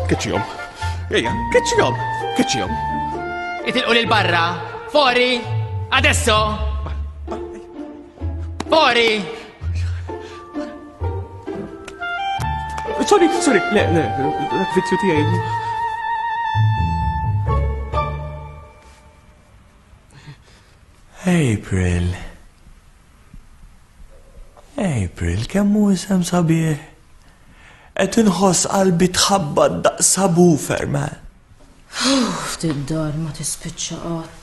Keċċihom. Ejja, keċċihom, keċċihom. Itilqu lil barra. Fuori! Adesso! Fuori! Sorry, sorry, le, le, dak vizzju tiegħi. April. April, kemm hu isem sabiħ. Qed inħoss qalbi tħabbat daqs subwoofer, man. Ftit dar ma tispiċċa qatt.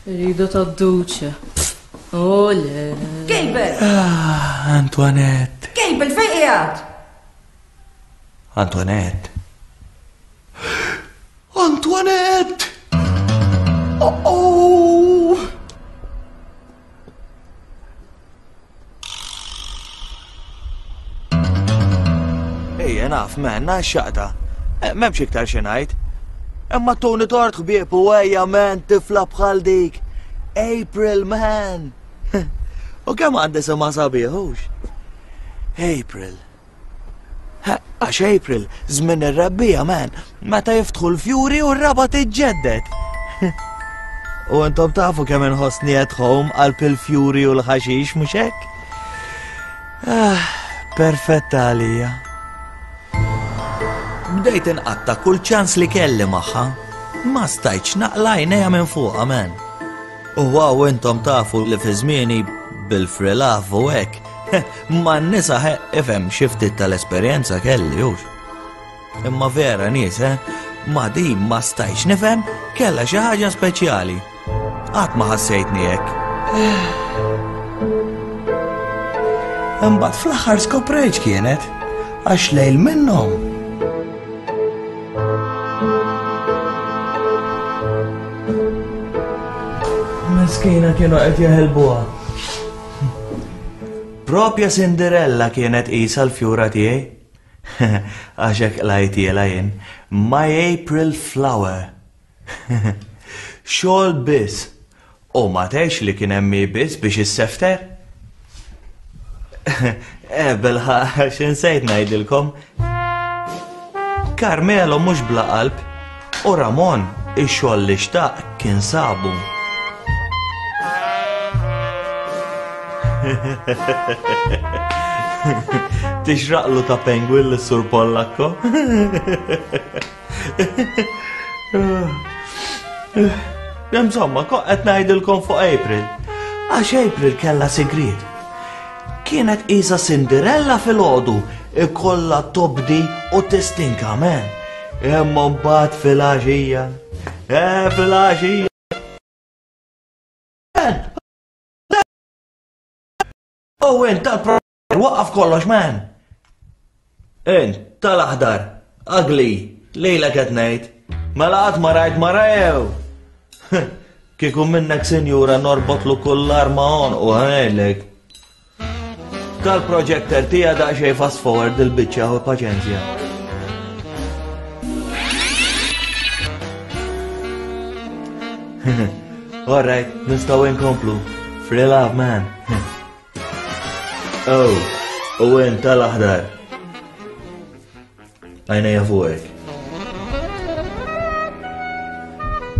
Rida tad-duċe. Ole. Gable! Ah, Antoinette. Gable, fejn qiegħed? Antoinette. Antoinette! Oh, oh! Ejja naf, man, xaqta. M'hemmx iktar xi ngħid. Imma tuni tort ħbieb u ejja man tifla bħal dik. April, man. U kemm għandi sema sabiħ, hux? April. Għax April, żmien ir-rebbija, man, meta jiftħu l-fjuri u r-raba tiġġedded. U intom tafu kemm inħossni at home qalb il-fjuri u l-ħaxix, mhux hekk? Ah, perfetta għalija. Bdejt inqatta kull ċans li kelli magħha. Ma stajtx naqla' għajnejja minn fuqha, man. U wow, intom tafu li fi żmieni bil-free love u hekk. Ma n-nisa ifhem xi ftit tal-esperjenza kelli hux. Imma vera nies, eh? Ma din ma stajtx nifhem kellha xi ħaġa speċjali. Qatt ma ħassejtni hekk. Imbagħad fl-aħħar skoprejt kienet għax lejl minnhom. Miskina kienu qed jeħelbuha. Propja Cinderella kienet qisha l-fjura tiegħi. Għax hekk qlajtielha jien. My April Flower. Xogħol biss. U ma tgħidx li kien hemm hi biss biex issefter. Eh, bilħaqq, x'insejt ngħidilkom. Carmelo mhux bla qalb u Ramon ix-xogħol li xtaq kien sabu. Tixraqlu ta' penguin l-sur Pollakko. Insomma, qed ngħidilkom fuq April. Għax April kellha sigriet. Kienet qisha Cinderella fil-għodu, ikollha tobdi u tistinka, man. Imma mbagħad fil-għaxija. Eh, fil-għaxija. U int tal-pro waqqaf kollox, man. Int tal-aħdar, ugly, lejla qed ngħid. Mela qatt ma rajt mara jew. Kieku minnek sinjura norbotlu kull arma għonqu ħanejlek. Tal-projector tija daqsxejn fast forward il-biċċa u paċenzja. All right, nistgħu inkomplu. Free love, man. Oh, u int tal-aħdar. Għajnejja fuqek.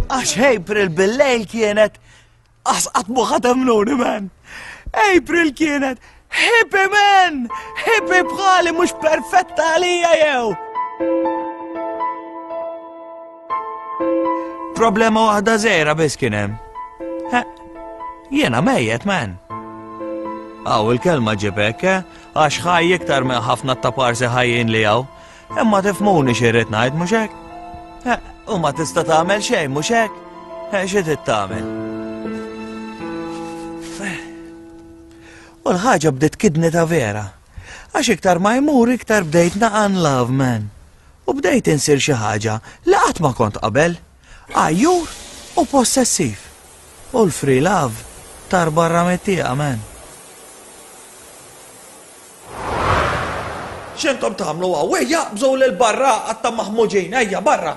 Għax April bil-lejl kienet Għas qatt mu ħatemnuni, man. April kienet hippie, man! Hippie bħali mhux perfetta għalija jew. Problema waħda żgħira biss kien hemm. Jiena mejjet, man. Aw, il-kelma ġibek, eh? Għax ħaj iktar minn ħafna taparsi ħajjin li hawn. Imma tifhmuni xi rrid ngħid, mhux hekk? U ma tista' tagħmel xejn, mhux hekk? Xi trid tagħmel? U l-ħaġa bdiet kidni ta' vera. Għax iktar ma jmur iktar bdejt naqan love, man. U bdejt insir xi ħaġa li qatt ma kont qabel. Għajjur u possessiv. U l-free love tar barra mit-tieqa, man. X'intom tagħmlu hawn? Ejja, bżgħu lil barra għatta maħmuġin, ejja barra.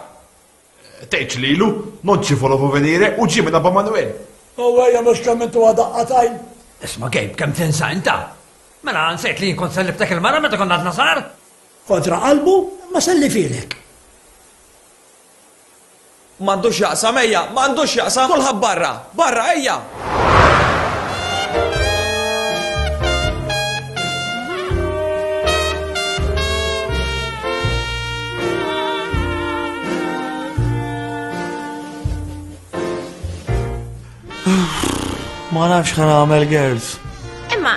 Tgħidx lilu, non ci volevo venire u ġie minn Abba Manuel. U ejja mhux kemm intu għadaqqatajn. Isma' Gabe, kemm tinsa inta? Mela nsejt li kont selliftek il-mara meta konna għadna sar? Kontra qalbu ma sellifilek. M'għandux jaqsam, ejja, m'għandux jaqsam, kulħadd barra, barra, ejja! Ma nafx ħa nagħmel, girls. Imma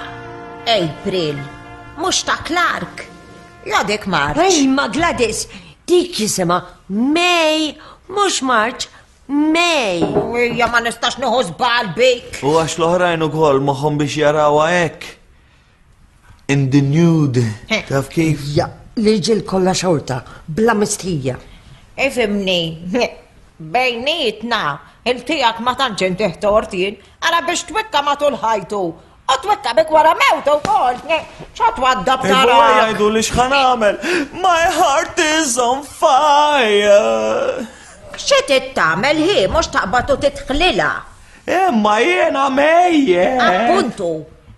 April, mhux ta' Clark. Ja dik March. Ej, ma Gladys, dik jisimha May, mhux March, May. Ejja ma nistax nieħu żball bik. U għax l-oħrajn ukoll moħħhom biex jarawha hekk. In the nude. Taf kif? Ja, l-irġiel kollha xorta, bla mistħija. Ifhimni, bejnietna, il-tiegħek ma tantx intih tort jien, ara biex twikka matul ħajtu. U twittabek wara mewtu wkoll. Xa twaddab tara? Iva jgħidu li x'ħa nagħmel. My heart is on fire. Xi trid tagħmel hi mhux taqbad u titħlilha. Imma jiena mejjet. Appuntu,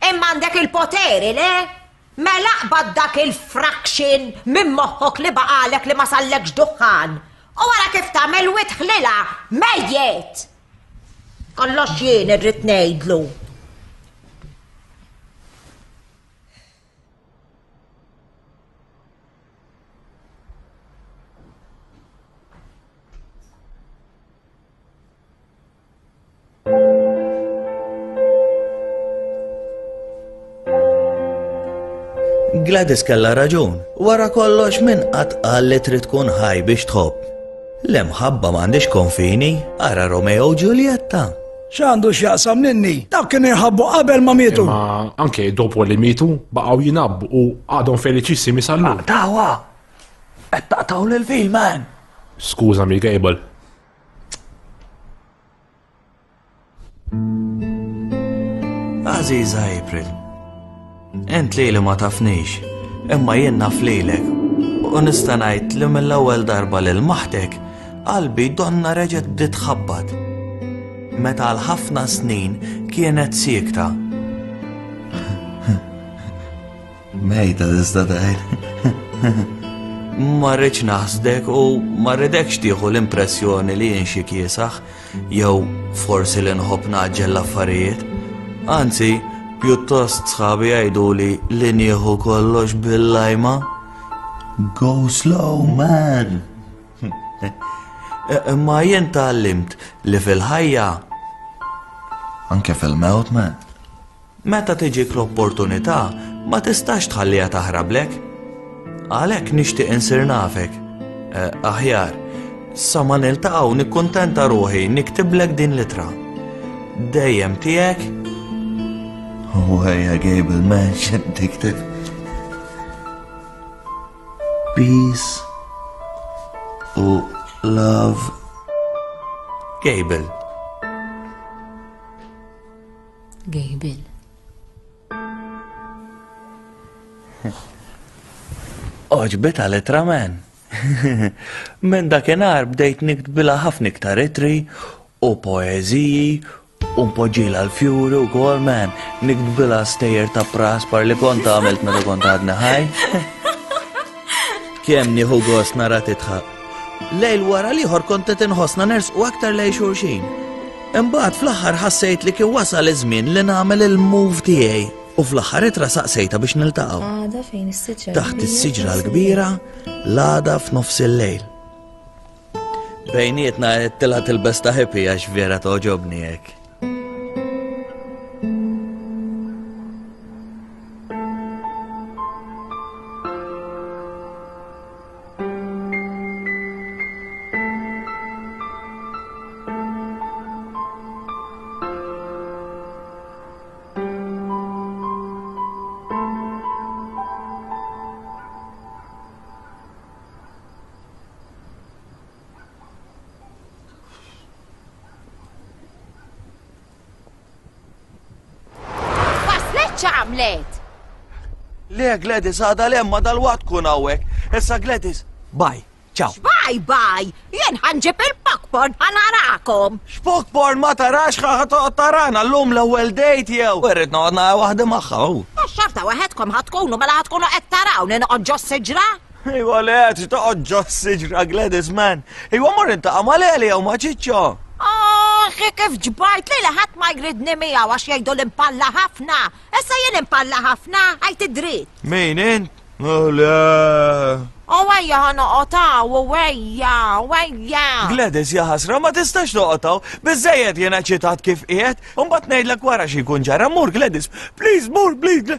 imma għandek il-poteri, le? Mela aqbad dak il-fraction minn moħħok li baqalek li ma sallekx duħħan. U wara kif tagħmel u tħlilha mejjet. Kollox jien irrid ngħidlu. Gladys kellha raġun. Wara kollox min qatt qal li trid tkun ħaj biex tħobb. L-imħabba m'għandix konfini, ara Romeo u Giulietta. X'għandu x'jaqsam ninni? Dawk kienu jħabbu qabel ma mietu. Ma anke dopo li mietu baqgħu jinabbu u għadhom feliċissimi sal-lum. Tawa! Qed taqtaw lil fil man! Skużami, Gable. Aziza April, ent lili ma tafnix, imma jien naf lilek. U nista' ngħid li mill-ewwel darba lil maħtek, qalbi donna reġgħet bdiet tħabbat. Meta għal ħafna snin kienet siekta. Mejta tista' tgħid. Ma rridx naħsdek u ma rridekx tieħu l-impressjoni li jien xi kiesaħ jew forsi li nħobb naġġel l-affarijiet. Anzi, pjuttost sħabi jgħiduli li nieħu kollox bil-lajma. Go slow, man! Imma jien tgħallimt li fil-ħajja, anke fil-mewt, man, meta tiġik l-opportunità ma tistax tħalliha taħrablek. Għalhekk nixtieq insir nafek. Eh, aħjar, sa ma niltaqgħu nikkuntenta ruħi niktiblek din l-ittra. Dejjem tiegħek. U ejja Gable, man, x'qed tikteb? Peace u love. Gable. Gable. Oġbita l-ittra, man. Minn dakinhar bdejt niktbilha ħafna iktar ittri u poeżiji u npoġġilha l-fjuri u kol, man. Niktbilha stejjer ta' praspar li kont għamilt meta kont għadni ħaj. Kemm nieħu gost nara titħaq. Lejl wara l-ieħor kont qed inħossna nersqu aktar lejn xulxin. Imbagħad fl-aħħar ħassejt li kien wasal iż-żmien li nagħmel il-move tiegħi u fl-aħħar ittra saqsejta biex niltaqgħu. Għada fejn is-siġra. Taħt is-siġra l-kbira, l-għada f'nofs il-lejl. Bejnietna qed tilha tilbes ta' hippie għax vera togħġobni hekk. Waslet x'għamlet? Le, Gladys, għada le, ma dal-waqt kun hawnhekk. Issa Gladys, bye, ciao. Bye bye, jien ħanġib il-popcorn ħanarakom. X'popcorn ma tarax ħa toqgħod tarana llum l-ewwel date jew. Irrid noqgħod nara waħda magħha. hu. Xorta waħedkom ħatkunu mela ħatkunu qed tarawni noqgħod ġo siġra? Iwa le, trid toqgħod ġo siġra Gladys, man. Iwa mor intaqa' ma' Leli jew ma' Ċiċċo. Oħi kif ġbajt li ħadd ma jridni miegħu għax jgħidu l-impalla ħafna. Issa jien impalla ħafna, għajt id-dritt. Min int? Oh, le. U ejja ħa noqgħod hawn, u ejja, u ejja. Gladys, ja ħasra, ma tistax toqgħod hawn. Biżżejjed jiena ċitat kif qiegħed, u mbagħad ngħidlek wara xi jkun ġara. Mur Gladys, please mur, please.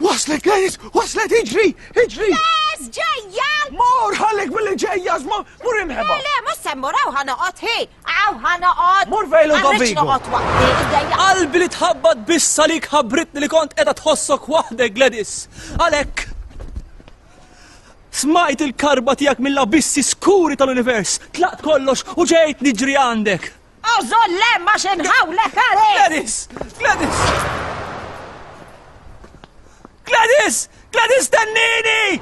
Waslet Gladys, waslet, iġri, iġri. Yes, ġejja! Mur, ħallik billi ġejja, żma, mur inħeba. Le, le, mhux se mmur hawn ħa noqgħod hi, hawn ħa noqgħod. Mur fejn Ma rridx Ludovico. noqgħod waħdi, iddejja. Qalbi li tħabbat biss għalik ħabbritni li kont qiegħda tħossok waħdek, Gladys. Għalhekk smajt il-karba tiegħek mill-abissi skuri tal-univers, tlaqt kollox u ġejt niġri għandek. Ożol le ma xinħawlek għalek! Gladys! Gladys! Gladys! Gladys tennini!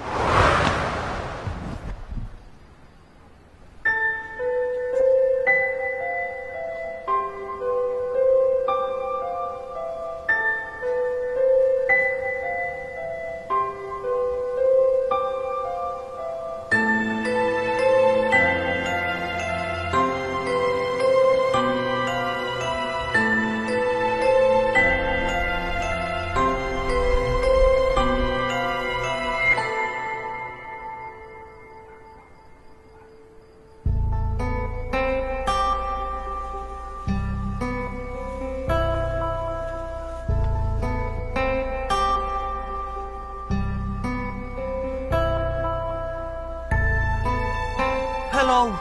Hello.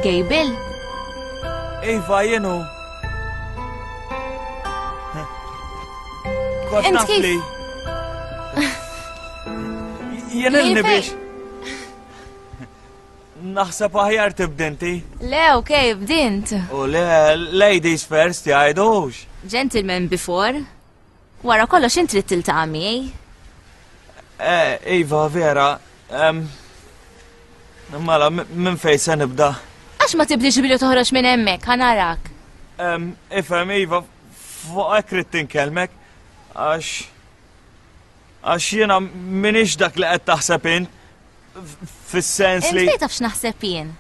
Gable? Iva, jenu. Kont Int naf kif? li. Jien ilni biex. Naħseb aħjar tibdinti. Le, okej, bdint. U le, ladies first jgħidux. Gentleman before. Wara kollox int trid tiltaqa' miegħi. Eh, Iva, vera. em, Mela, m- minn fejn se nibda? Għax ma tibdix billi toħroġ minn hemmhekk, ħa narak. Em, Ifhem, Iva, fuq hekk ridt inkellmek, għax. Għax jiena minix dak li qed taħseb int, f- fis-sens Int li. fejn taf x'naħseb jien?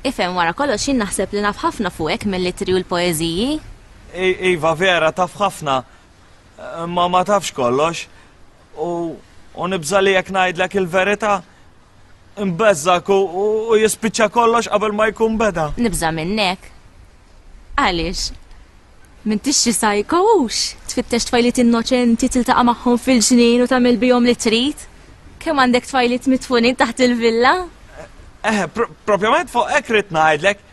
Ifhem wara kollox jien naħseb li naf ħafna fuqek mill-litri u l-poeżiji. I- Iva, vera, taf ħafna, ma ma tafx kollox. U, u nibża li jekk ngħidlek il-verità, nbeżżak u, u, u jispiċċa kollox qabel ma jkun beda. Nibża minnek. Għaliex? M'intix xi psycho hux? Tfittex tfajliet innoċenti tiltaqa' magħhom fil-ġnien u tagħmel bihom li trid? Kemm għandek tfajliet mitfunin taħt il-villa? Eh, pro propjament fuq hekk ridt ngħidlek.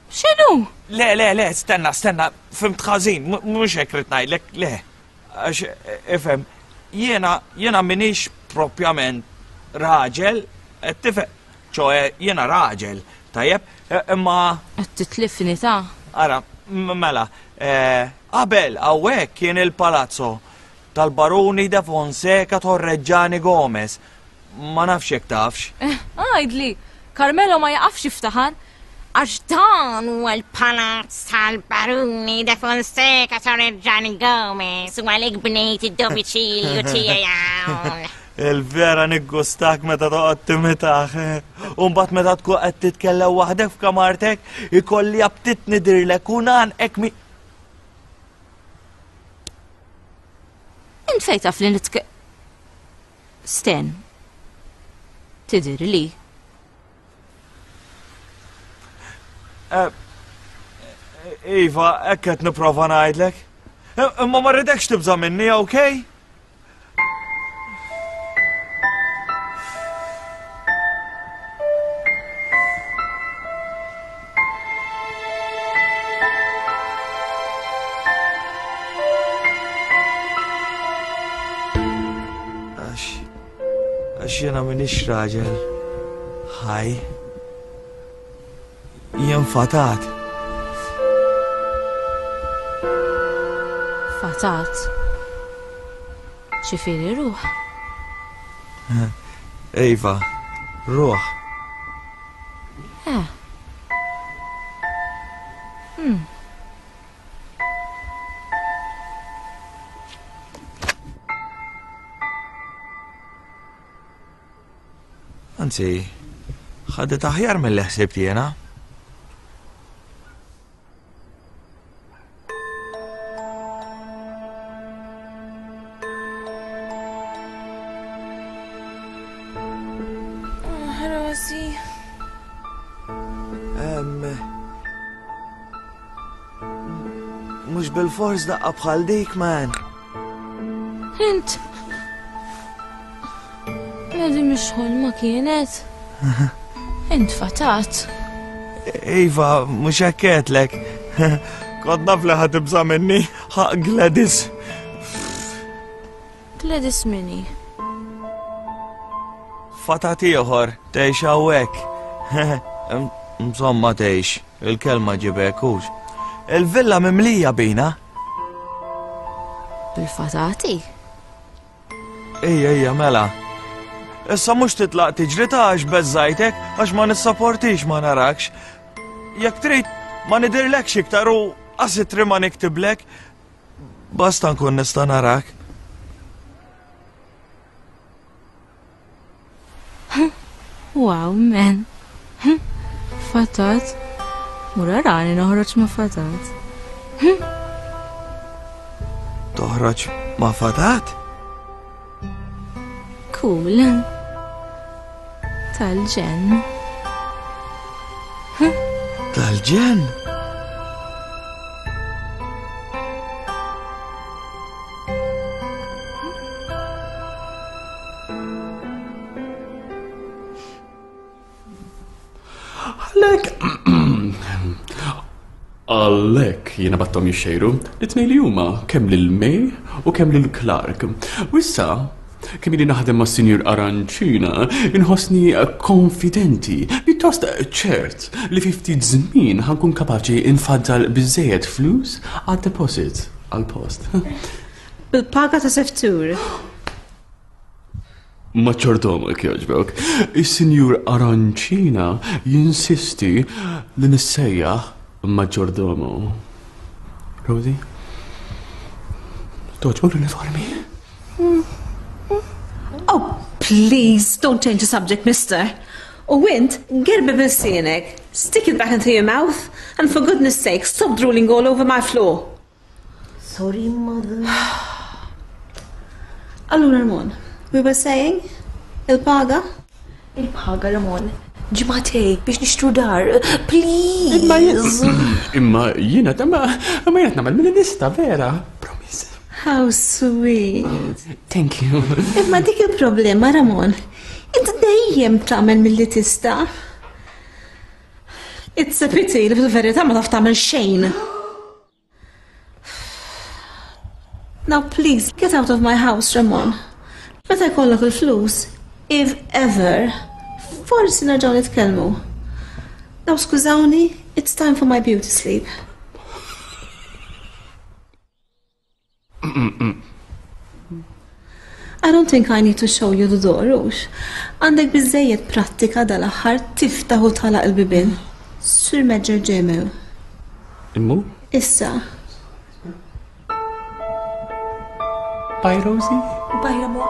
X'inhu? Le, le, le, stenna, stenna, fimt ħażin, mu- mhux hekk ridt ngħidlek, le. Għax, eh, ifhem, jiena, jiena minix propjament raġel, qed tifhem, ċoe jiena raġel, tajjeb, eh, imma Qed titlifni ta' Ara, m- mela, eh, qabel hawnhekk kien il-palazzo tal-Baruni de Fonseca Torreggiani Gomez. Ma nafx jekk tafx. Għajdli, Carmelo ma jaqafx jiftaħar. Għax dan huwa l-palazz tal-Baruni de Fonseca Torreggiani Gomez u għalhekk bnejt id-domiċilju tiegħi hawn. Il-vera niggustak meta toqgħod timitaħ. U mbagħad meta tkun qed titkellem waħdek f'kamartek, ikolli aptit nidirlek u nagħnqek mi. Int fejn taf li nitke. Sten. Tidir li. Eh, Iva, hekk qed nipprova ngħidlek. Eh, Imma ma rridekx tibża' minni, okej? Għax għax jiena m'iniex raġel. Ħaj. Jien fatat. Fatat. Ċifieri ruħ. Iva, ruħ. Eh. Hmm. Anzi, ħadet aħjar mill-li ħsibt jiena. Rasi. Em, Mhux bil-fors daqqa bħal dik, man. Int. Medi mhix ħolma kienet. Int fatat. Iva, mhux hekk għedtlek. Kont naf li ħa tibża' minni, ħaq Gladys. Gladys minni. Fatat ieħor, tgħix hawnhekk. Insomma tgħix, il-kelma ġibek hux. Il-villa mimlija bina. Bil-fatati? Ejja, ejja, mela. Issa mhux titlaq tiġri ta' għax beżżajtek għax ma nissaportix ma narakx. Jekk trid ma nidirlekx iktar u qasitri ma niktiblek, basta nkun nista' narak. Wow, man. Fatat. Mura rani noħroġ ma' fatat. Toħroġ ma' fatat? Cool. Tal-ġen. Tal-ġen? Għalek. Għalek jiena battom jixxejru li tnej li huma kemm lil May u kemm lil Clark. U issa kemm ili naħdem ma' Sinjur Arancina, inħossni konfidenti, pjuttost ċert li fi ftit żmien ħankun kapaċi infaddal biżejjed flus għad-deposit għall-post. Bil-paga ta' seftur. Maċċordomak jogħġbok. Is-Sinjur Arancina jinsisti li nissejjaħ maġġordomo. Rosie? Toġbok l-uniformi? Oh, please, don't change the subject, mister. U int, gerbi bil-sienek. Stick it back into your mouth, and for goodness sake, stop drooling all over my floor. Sorry, mother. Allura, Ramon, we were saying, il-paga? Il-paga, Ramon. Ġimatej, biex nixtru dar. Please. Imma jiena, imma imma jiena nagħmel mill-lista vera. How sweet. Thank you. Imma dik il-problema, Ramon. Int dejjem tagħmel milli tista'. It's a pity li fil-verità ma taf tagħmel xejn. Now please, get out of my house, Ramon. Meta jkollok il-flus, if ever, forsi nerġgħu nitkellmu. Now skużawni, it's time for my beauty sleep. I don't think I need to show you the door, ux. Għandek biżżejjed prattika dal-aħħar tiftaħ u tagħlaq il-bibien. Sur Major Ġemew. Immu? Issa. Bye, Rosie. Bye, Ramon.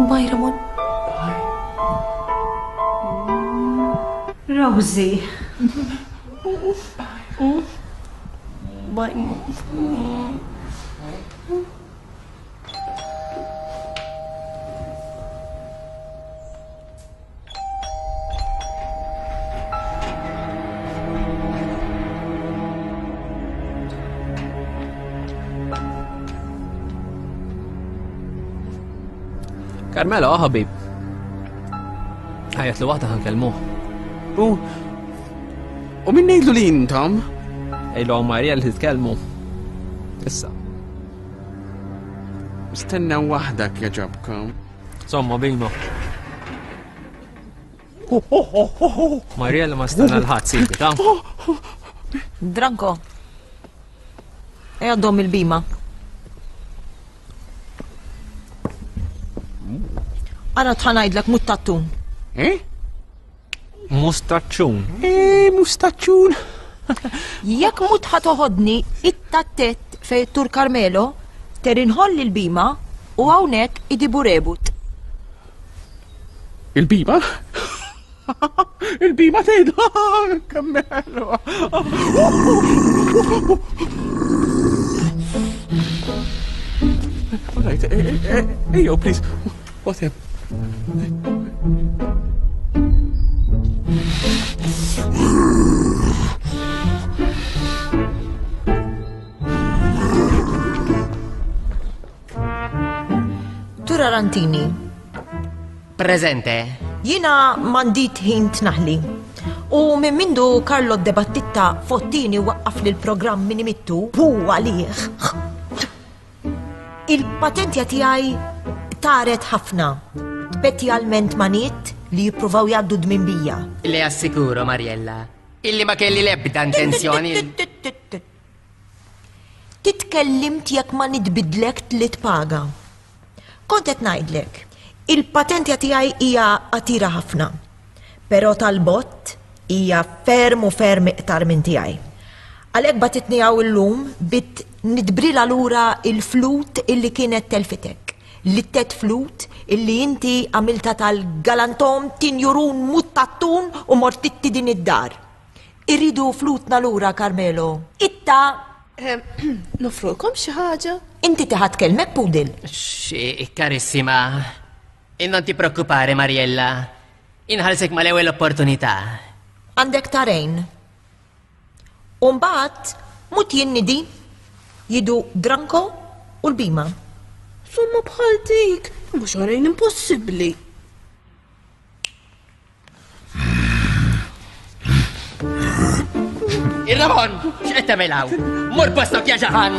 Bye, Ramon. Rosie. Bye. Carmelo, oh, ħabib. Ħajat li waħda ħankellmuh. U u min ngħidlu li intom? Ejlu Marija li titkellmu. Issa. Stenna waħda kjaġabkom. Somma bima. Marija li ma stenna l-ħadd sibi, ta' Dranko. Ejja dom il-bima. Ara tħanajdlek muttattun. Eh? Mustaċċun. Eh, mustaċċun. Jekk mut ħatoħodni it-tattet fej Tur Carmelo, ter inħoll il-bima u hawnhekk idibu rebut. Il-bima? Il-bima tgħid Carmelo. All right, ejjo, please. What him? Tura Rantini. Presente. Jina mandit ħin tnaħli. U minn mindu Carlo De Battitta fottini waqqaf li l-programm minn imittu hu għalih. Il-patentja tiegħi taret ħafna. Speċjalment maniet li jippruvaw jgħaddu dmin bija. Le assikuro, Mariella, illi ma kelli l-ebda intenzjoni. Titkellimt jekk ma nitbidlek tliet paga. Kont qed ngħidlek, il-patentja tiegħi hija qatira ħafna. Però tal-bott hija ferm u ferm iqtar minn tiegħi. Għalhekk batitni hawn illum bit nidbrila lura il-flut illi kienet telfitek. L-tet flut illi inti għamilta tal-galantom tinjurun muttattun u mortitti din id-dar. Irridu flutna lura, Carmelo. Itta! Nofrulkom xi ħaġa? Inti tiħat kelmek, Pudil. Xi, carissima. E non ti preoccupare, Mariella. Inħallsek mal-ewwel opportunità. Għandek tarejn. U mbagħad mut jinnidi jidu Dranko u l-bima. Somma bħal dik, mhux għarejn impossibbli. Il-Ramon, x'qed tagħmel hawn? Mur postok ja ġaħan!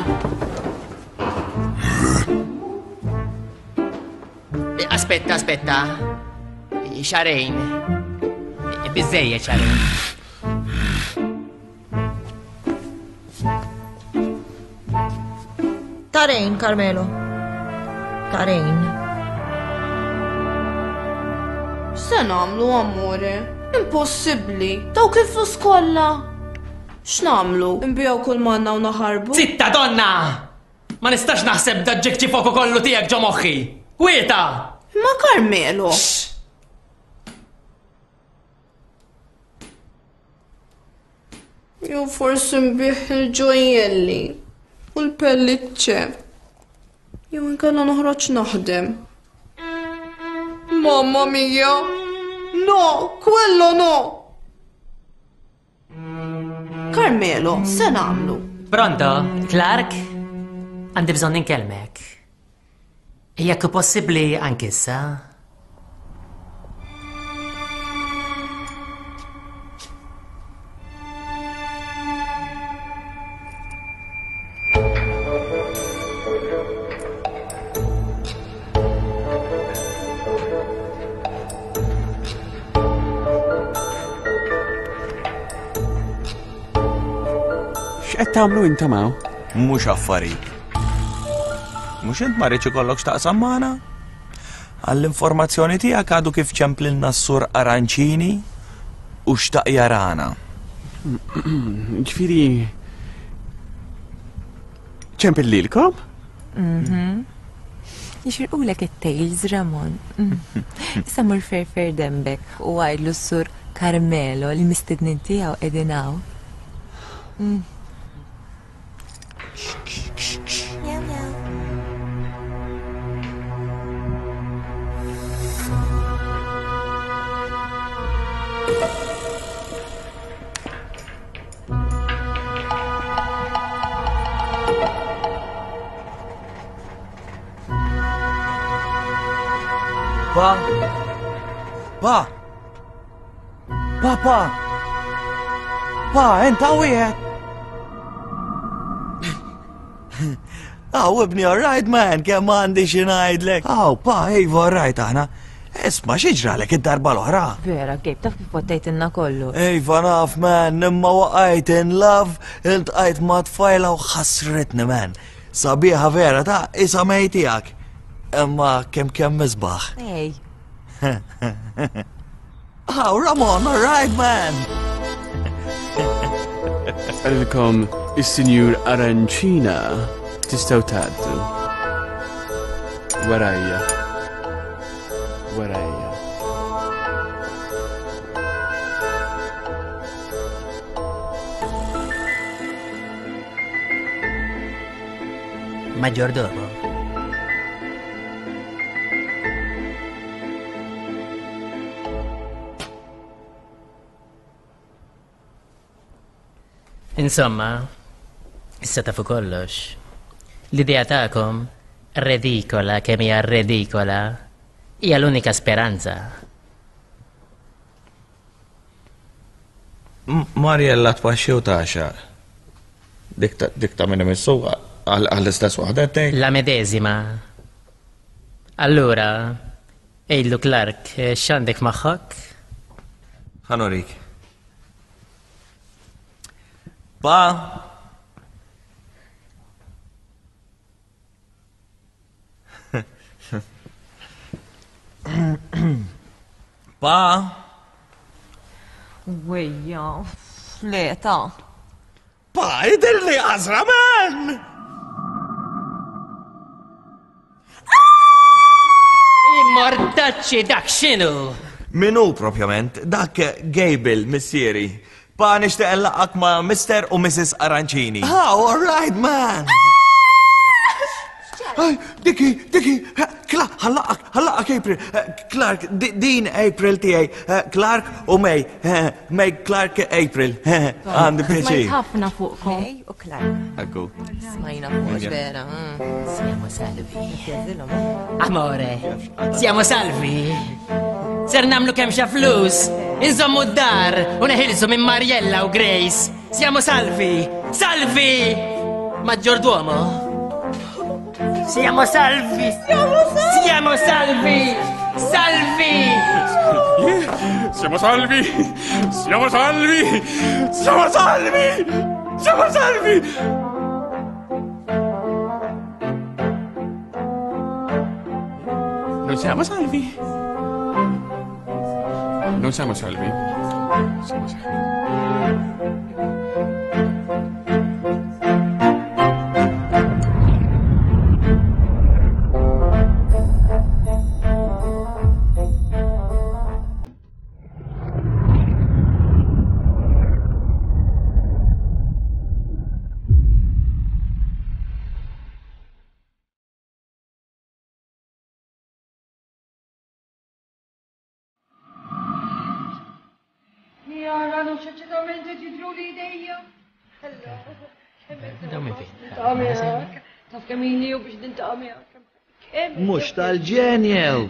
Aspetta, aspetta. Xarejn. Biżejjed xarejn. Tarejn, Carmelo. Tarejn. X'se nagħmlu, amore? Impossibbli. Dawk il-flus kollha. X'nagħmlu? Nbiegħu kull manna u naħarbu? Zitta donna! Ma nistax naħseb da ġekċi foku kollu tiegħek ġo moħħi. Kwieta! Ma Carmelo. Jew forsi nbih il-ġojjelli u l-pelliċċe. Jew inkella noħroġ naħdem. Mamma mia! No, quello no! Carmelo, se nagħmlu? Pronto, Clark? Għandi bżonn inkellmek. Jekk possibbli anke issa. X'qed tagħmlu intom hawn? Mhux affarik. Mhux int ma rridx ikollok x'taqsam magħna? Għall-informazzjoni tiegħek għadu kif ċemplilna s-sur Arancini u xtaq jarana. Ġifieri ċempil lilkom? Mhm. Jixirqulek it-tails, Ramon. Issa mur ferfer dembek u għajdlu s-sur Carmelo li mistednin tiegħu qegħdin hawn. Mm. Pa? Pa? Pa, pa? Pa, enta wieħed? Aw, ibni, all right, man, kemm għandi xi ngħidlek. Aw, pa, iva, all right, aħna. Isma' xi ġralek id-darba l-oħra? Vera, Gabe, taf kif pottejtilna kollu. Iva, naf, man, imma waqajt in love, iltqajt ma' tfajla u ħasritni, man. Sabiħa vera ta' isa mej tiegħek. Imma kemm kemm misbaħ. Ej. Aw, Ramon, all right, man. Għalilkom is-Sinjur Arancina tistgħu tgħaddu. Warajja. Warajja. Maggiordomo. Insomma, issa tafu kollox. L-idea tagħkom redikola kemm hija redikola hija l-unika speranza. Mariella tpaxxi u taxaq. Dik ta' dik ta' minn imissu għall-istess waħda tgħid. La medesima. Allura, ejlu Clark, x'għandek magħhok? Ħanorik. Pa. Pa? Wejja, le ta. Pa, idir li għazra, man! Immortaċċi dak x'inhu? Min hu propjament? Dak Gable, missieri. Pa nixtieq nlaqqgħek ma' Mister u Missus Arancini. Ah, all right, man! Ay, Diki, Diki, Clark, ħallaqak, ħallaqak April. Clark, din April tiegħi. Clark u May. May, Clark, April. Għandi pjaċir. Smajt ħafna fuqkom. May u Clark. Ekku. Smajna fuq vera. Siamo salvi. Amore, siamo salvi. Ser namlu kemm xa flus, inżommu d-dar u neħilsu minn Mariella u Grace. Siamo salvi, salvi! Maggiorduomo? Siamo salvi! Siamo salvi! Salvi! Siamo salvi! Siamo salvi! Siamo salvi! Siamo salvi! Non siamo salvi! Non siamo salvi. Siamo salvi. Mux tal-ġenjew.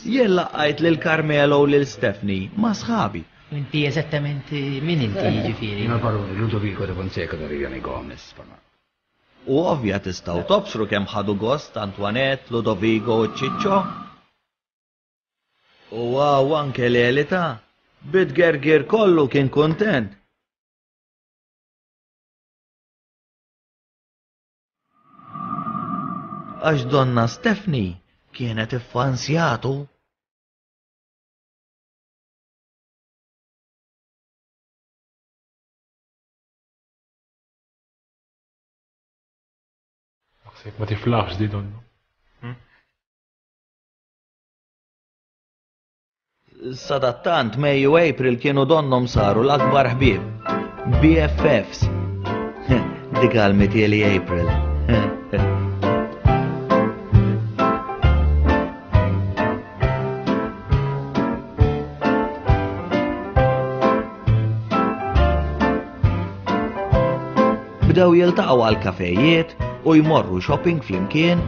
Jien laqqajt lil Carmelo u lil Stephanie ma' sħabi. Inti eżattament min inti jiġifieri? Jiena l-baruni Ludovico de Fonseca de Riviani Gomez. U ovvja tistgħu tobsru kemm ħadu gost Antoinette, Ludovico u Ciccio. U għaw anke l-elita, bit-gergir kollu kien kontent. Għax donna Stephanie kienet iffansjatu. Naħseb ma tiflaħx di donnu. Sadattant May u April kienu donnom saru l-akbar ħbieb. B F Fs. Dik għal-mitieli April. Bdew jiltaqgħu għal kafejiet u jmorru shopping flimkien.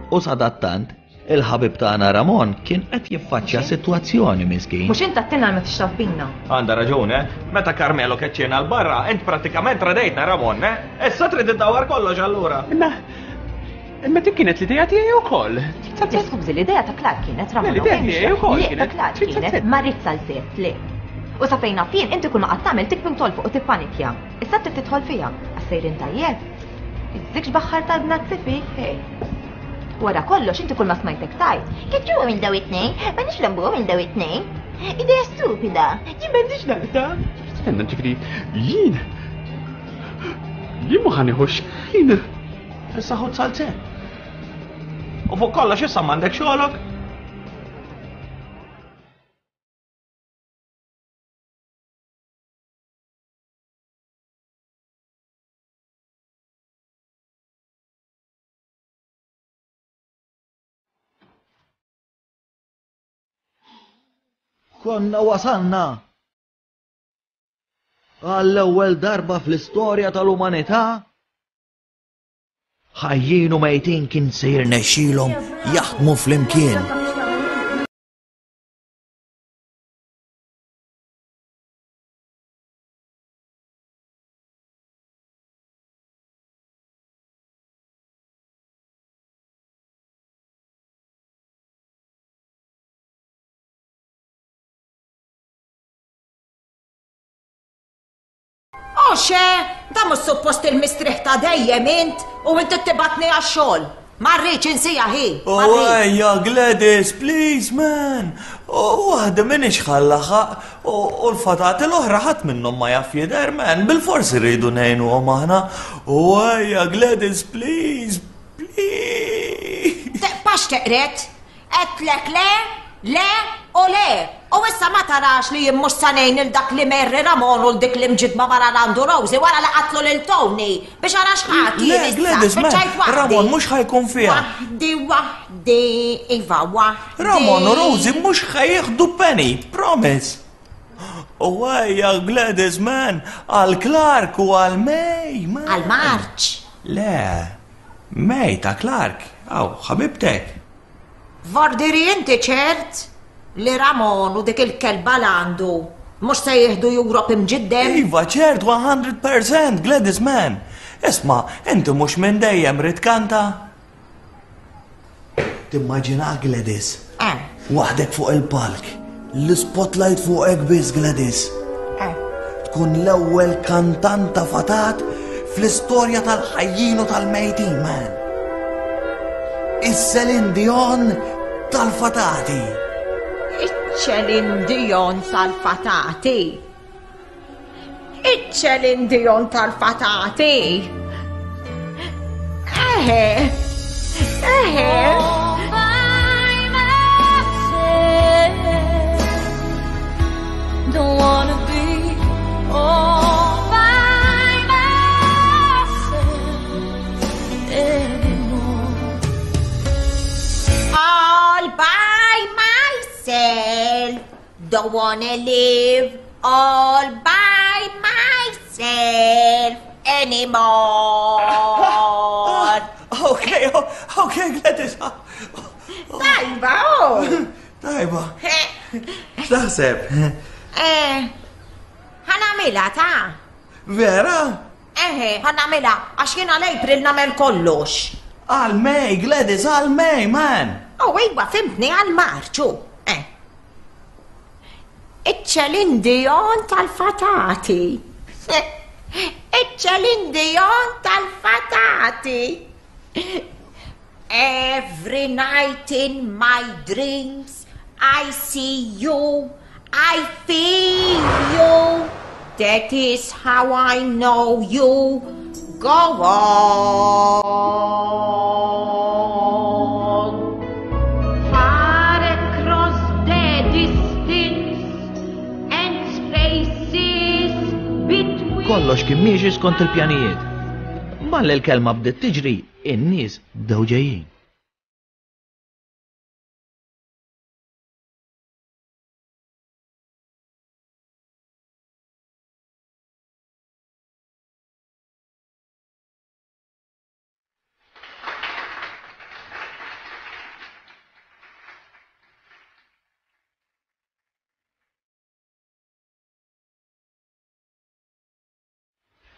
U sadattant, il-ħabib tagħna Ramon kien qed jiffaċċja sitwazzjoni miskin. Mhux int għattilna ma tixtaf bina. Għandha raġun, eh? Meta Carmelo keċċiena l barra, int pratikament radejtna Ramon, eh? Issa trid iddawwar kollox allura. Imma imma dik kienet l-idea tiegħi wkoll. Skużi, l-idea ta' Clark kienet Ramon. L-idea tiegħi wkoll kienet. Ta' Clark kienet ma rrid salzett, le. U sa fejn naf jien inti kull ma qatt tagħmel tikbim tolfuq u tippanikja. Issa trid tidħol fiha. Għas-sejrin tajjeb. Iżżikx baħħar tal-bnazzi fik, hej. Wara kollox inti kull ma smajtek tajt. Keċċuhom il daw it-tnejn, ma nix lambuhom il daw it-tnejn. Idea stupida. Jien m'għandix naqta. Stenna ġifieri jien. Jien ma ħanieħu xejn. Issa ħud salzett. U fuq kollox issa m'għandek xogħolok. Konna wasalna għall-ewwel darba fl-istorja tal-umanità ħajjin u mejtin kien se jirnexxilhom jaħdmu flimkien. Mhux da mhux suppost il-mistrieħ ta' dejjem int u inti tibgħatni għax-xogħol. Ma rridx insija ħi. Oh, ejja, Gladys, please, man. Waħda minix ħallaħaq u l-fatati l-oħra ħadd minnhom ma jaf jidher, man. Bil-forsi rridu ngħinuhom aħna. Oh, ejja, Gladys, please, please. Teqpax teqret. Għedtlek le, le u le. U issa ma tarax li jien mhux sa ngħin il dak li merri Ramon u dik li mġidma mara għandu Rosie wara li qatlu lil Tony biex ara x'ħadd Le, Gladys, man, Ramon mhux ħa jkun fiha. Waħdi, waħdi, iva waħdi. Ramon u Rosie mhux ħa jieħdu penny, promise. U ejja, Gladys, man, għal Clark u għal May, man. Għal March. Le, May ta' Clark, aw, ħabibtek. Vordiri inti ċert li Ramon u dik il-kelba l-għandu mhux se jieħdu Europe imġiddem? Iva, ċert, one hundred percent, Gladys, man. Isma, inti mhux minn dejjem rid kanta? Timmaġina, Gladys? Eh. Waħdek fuq il-palk, l-spotlight fuqek biss, Gladys. Eh. Tkun l-ewwel kantanta fatat fl-istorja tal-ħajjin u tal-mejtin, man. Is-Celine Dion tal-fatati. Iċ-Celine Dion tal-fatati. Iċ-Celine Dion tal-fatati. Eħe. Eħe. Don't wanna be all by myself anymore. All by myself. Don't wanna live all by myself anymore. Okay, okay, Gladys. Tajba, oh. Tajba. X'taħseb? Eh, ħa nagħmilha ta'. Vera? Eħe, ħa nagħmilha, għax jiena l-April nagħmel kollox. Għal May, Gladys, għal May, man. Oh, iwa, fhimtni, għal Marċu. Eh. Iċ-Celine Dion tal-fatati. Iċ-Celine Dion tal-fatati. Every night in my dreams I see you, I feel you. That is how I know you. Go on. Far across the distance and spaces between. Kollox kien miexi skont il-pjanijiet. Malli l-kelma bdiet tiġri, in-nies bdew ġejjin.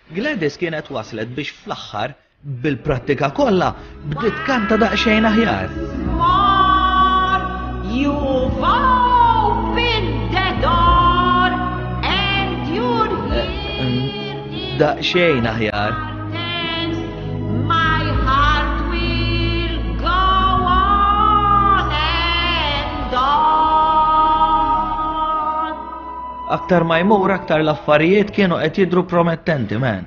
Gladys kienet waslet biex fl-aħħar bil-prattika kollha bdiet kanta daqsxejn aħjar. You've opened the door and you're here. Daqsxejn aħjar. My heart will go on and on. Aktar ma jmur aktar l-affarijiet kienu qed jidhru promettenti, man.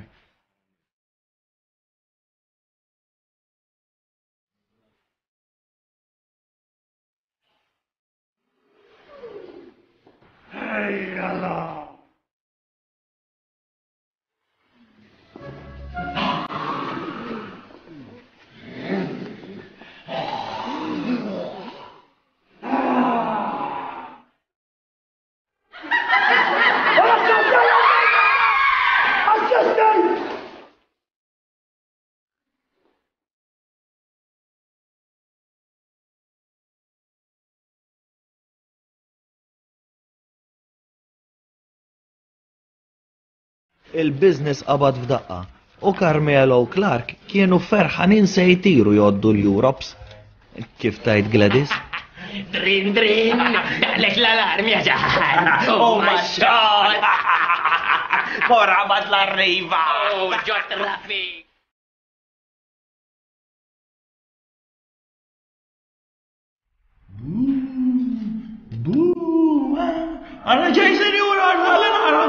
Il-business qabad f'daqqa u Carmelo u Clark kienu ferħanin se jtiru jgħoddu l-Europes. Kif tajt, Gladys? Drin, drin, daqlek l-alarm ja ġaħan. U ma xogħol. Mora l'arriva! Oh, ġo traffic! Buu, Għara ġej senjura, għara nara!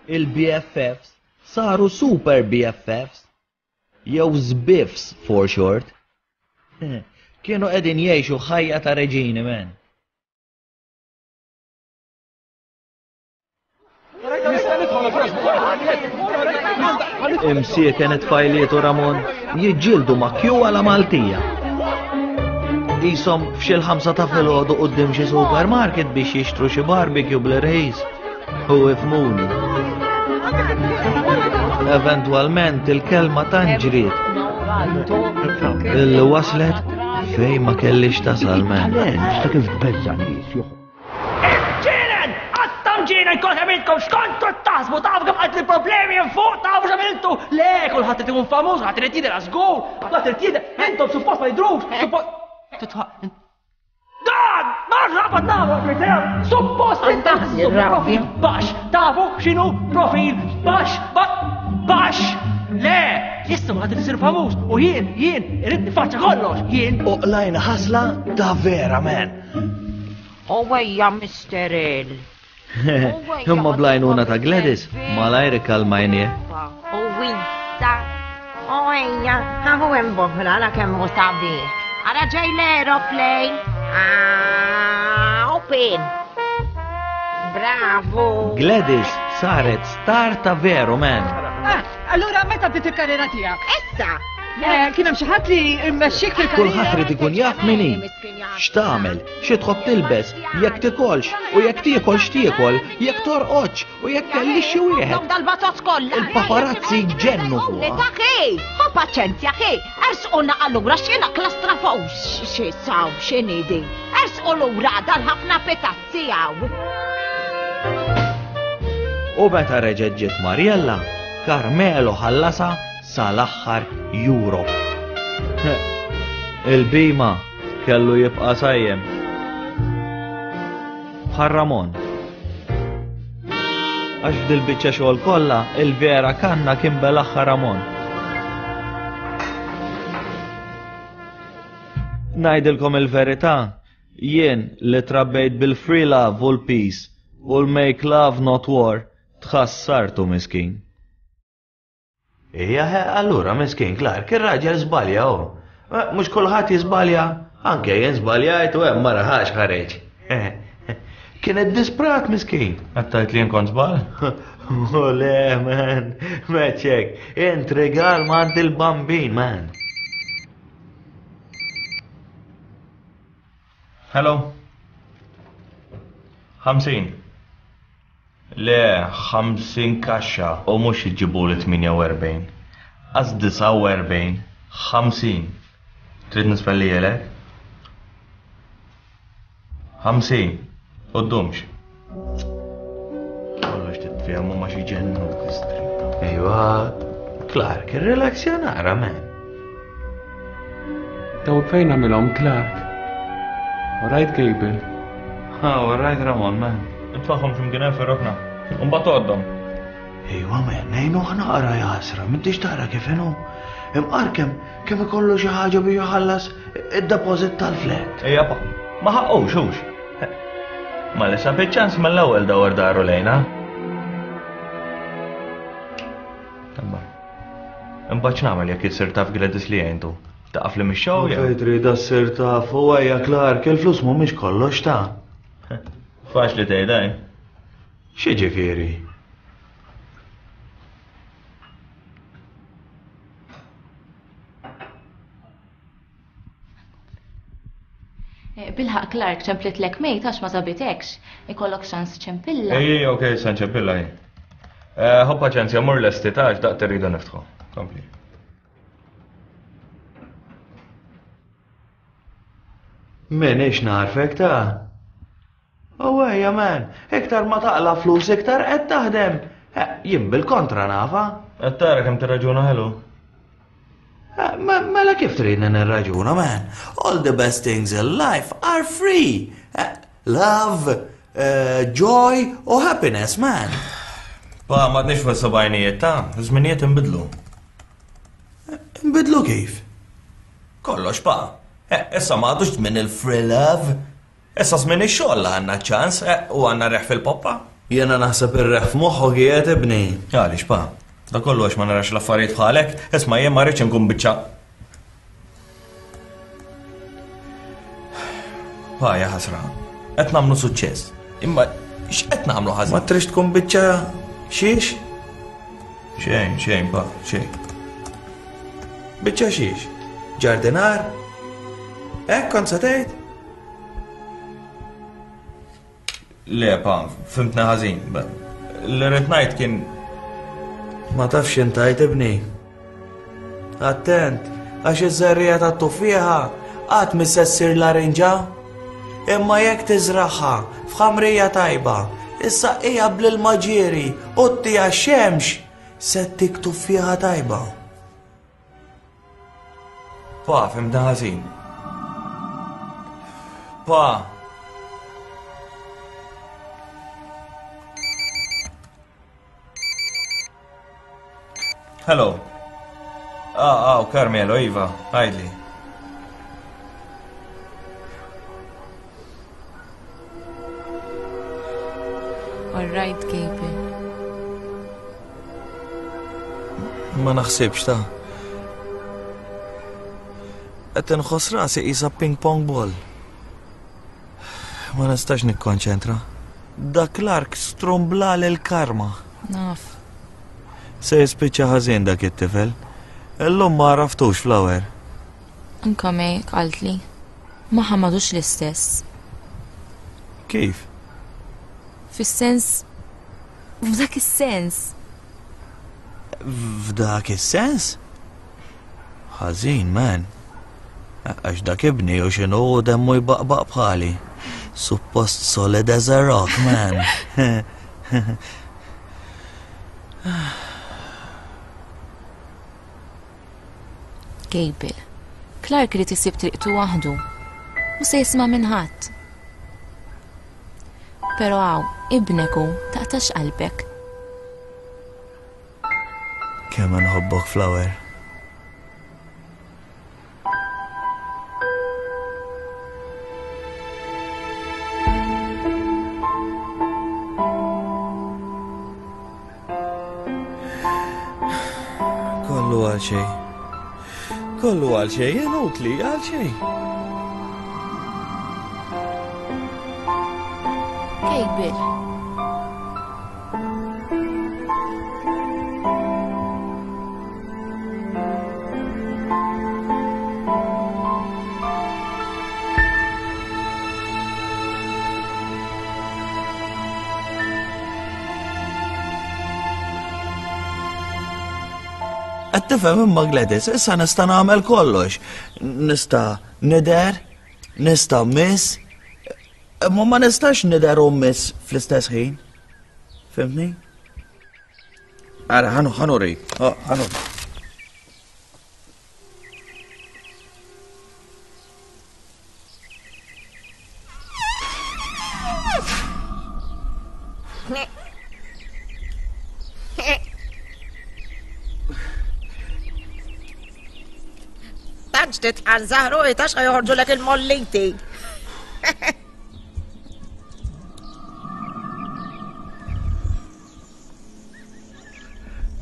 Il-B F Fs saru super B F Fs jew Z B I Fs for short. Kienu qegħdin jgħixu ħajja ta' reġini, men. Imsieken it-tfajliet u Ramon jiġġieldu ma' kju għala Maltija. Isom f'xi l-ħamsa ta' filgħodu quddiem xi supermarket biex jixtru xi barbecue bl-irħis. U ifhmuni. Eventwalment il-kelma tanġriet. Illi waslet fejn ma kellix tasal, men. Ta' kif tbeżża' nies Ġienen! Għattam ġienen kont għamiltkom x'kontu taħsbu, tafu kemm għad li problemi hemm fuq, tafu x'għamiltu. Le, kulħadd irid ikun famuż, ħadd irid jidher żgur, ħadd irid jidher, intom suppost ma jidhrux, suppost titfa' Dan! Ma nafx nagħmlu suppost intaħsbu profil baxx, tafu x'inhu profil baxx, baxx. Le, issa ma ħadd isir famuż u jien, jien irid nifaċċa kollox, jien. U qlajna ħasla ta' vera, men. U ejja, Mister L. Imma bl-għajnuna ta' Gladys, malajr ikkalmajnieh. U wissa. U ejja, ħahu hemm boħra la kemm hu sabiħ. Ara ġej l-aeroplane. Ah, open. Bravo. Gladys saret star ta' veru, men. Ah, allura meta bdiet il-karriera tiegħek? Issa. Eh, kien hemm xi ħadd li mmexxik fil-karriera? Kulħadd irid ikun jaf min hi. X'tagħmel, xi tħobb tilbes, jekk tikolx u jekk tiekol x'tiekol, jekk torqodx u jekk kellix xi wieħed. Dal-batot kollha. Il-paparazzi ġennu fuqha. Taħi, ħa paċenzja, ħi, ersquna allura x'jiena klastrafos, xi saw, x'inhi Ersqu lura dal-ħafna pitazzi hawn. U meta reġgħet ġiet Mariella, Carmelo ħallasa sal-aħħar euro. Il-bima kellu jibqa' sajjem. Bħal Ramon. Għax f'dil biċċa xogħol kollha il-vera kanna kien bel-aħħar Ramon. Ngħidilkom il-verità, jien li trabbejt bil-free love u l-peace u l-make love not war, tħassartu miskin. Ija, allura miskin, Clark, ir-raġel żbalja hu. Mhux kulħadd jiżbalja, anke jien żbaljajt u hemm ma raħax ħareġ. Kienet disprat miskin. Għattajt li kont żball? O le, man, meċek, int regal m'għand il-bambin, man. Hello? Ħamsin. Le, ħamsin kaxxa u mhux iġibu li tmienja u erbgħin. Għaz disgħa u erbgħin, ħamsin. Trid nispellijelek? Ħamsin. U ddumx. Kollox titfehmu ma xi ġennu kistri. Ejwa, Clark, irrelaxja nara, man. Daw fejn għamilhom Clark? All right, Gable. Ha, all right, Ramon, man. Intfaħħom x'imkien hemm fir-rokna. Imbagħad għoddhom. Ejwa, man, nejnu naqra jasra, m'intix tara kif inhu. Imqar kemm kemm ikollu xi ħaġa biex iħallas id-deposit tal-flat. Ejja, pa, ma ħaqqux, hux. Ma li sab ċans mill-ewwel dawar daru lejna. Imma. Imbagħad x'nagħmel jekk isir taf Gladys li għentu? Taqaf li mix-show jew? Fejn trid ssir taf u ejja Clark, il-flus mhumiex kollox ta'. Faċli tgħidha, eh? X'jiġifieri? Eh, Bilħaq Clark ċemplitlek mejt għax ma sabitekx. Ikollok ċans ċempilla. Ej, ok, sa nċempilla hi. Ħu paċenzja, mur lesti ta' għax daqt irridu niftħu. Kompli. Minix narfek ta'. Oh ejja man, iktar ma taqla flus iktar qed taħdem. Jien bil-kontra nafa. Qed tara kemm tirraġuna ħelu. Mela kif tridni nirraġuna man? All the best things in life are free. Love, joy u happiness man. Pa, ma tnix fuq sebgħinijiet ta' żminijiet inbidlu. Inbidlu kif? Kollox pa. Issa ma għadux żmien il-free love. Issa żmien ix-xogħol għandna ċans u għandna reħ fil-poppa. Jiena naħseb ir-reħ f'moħħok qiegħed ibni. Għaliex pa? Da kollu għax ma narax l-affarijiet bħalek, isma' jien ma rridx inkun biċċa. Pa, ja ħasra. Qed nagħmlu suċċess. Imma x'qed nagħmlu ħażin? Ma trix tkun biċċa xiex? Xejn, xejn, pa, xejn. Biċċa xiex? Ġardinar? Hekk kont se tgħid? Le, pa, fimtna ħażin. Li rrid ngħid kien ma tafx intajt ibni. Attent, għax iż-żerriegħa tat-tuffieħa qatt mi se ssir larinġa. Imma jekk tiżraħha f'ħamrija tajba, issaqqiha bl-ilma ġieri u ttiha x-xemx, se ttik tuffieħa tajba. Pa, fimtna ħażin. Pa. Hello. Ah, ah, Carmelo, Iva, għidli. All right, Gabriel. Ma naħsibx ta' qed inħoss rasi qisha ping pong ball. Ma nistax nikkonċentra. Da Clark strumbla l-karma. Naf. Se jispiċċa ħażin dak it-tifel. Illum ma għaraftux Flower. Anka me qaltli. Ma ħamadux l-istess. Kif? Fis-sens f'dak is-sens. F'dak is-sens? Ħażin, man. Għax dak ibni u x'inhu demmu jbaqbaq bħali. Suppost solid as a rock, man. Gabriel, Clark irid isib triqtu waħdu. U se jisma' minn ħadd. Però hawn, ibnek hu, taqtax qalbek. Kemm nħobbok, Flower. Kollu għal xejn. Kollu għal xejn, inutli għal xejn. Gabriel. Qed tifhem imma Gladys, issa nista' nagħmel kollox. Nista' nidher, nista' miss, imma ma nistax nidher u miss fl-istess ħin. Fimtni? Ara, ħanu, ħanuri, ħanuri. Tantx titqal żahru itax ħajoħorġulek il-molliti.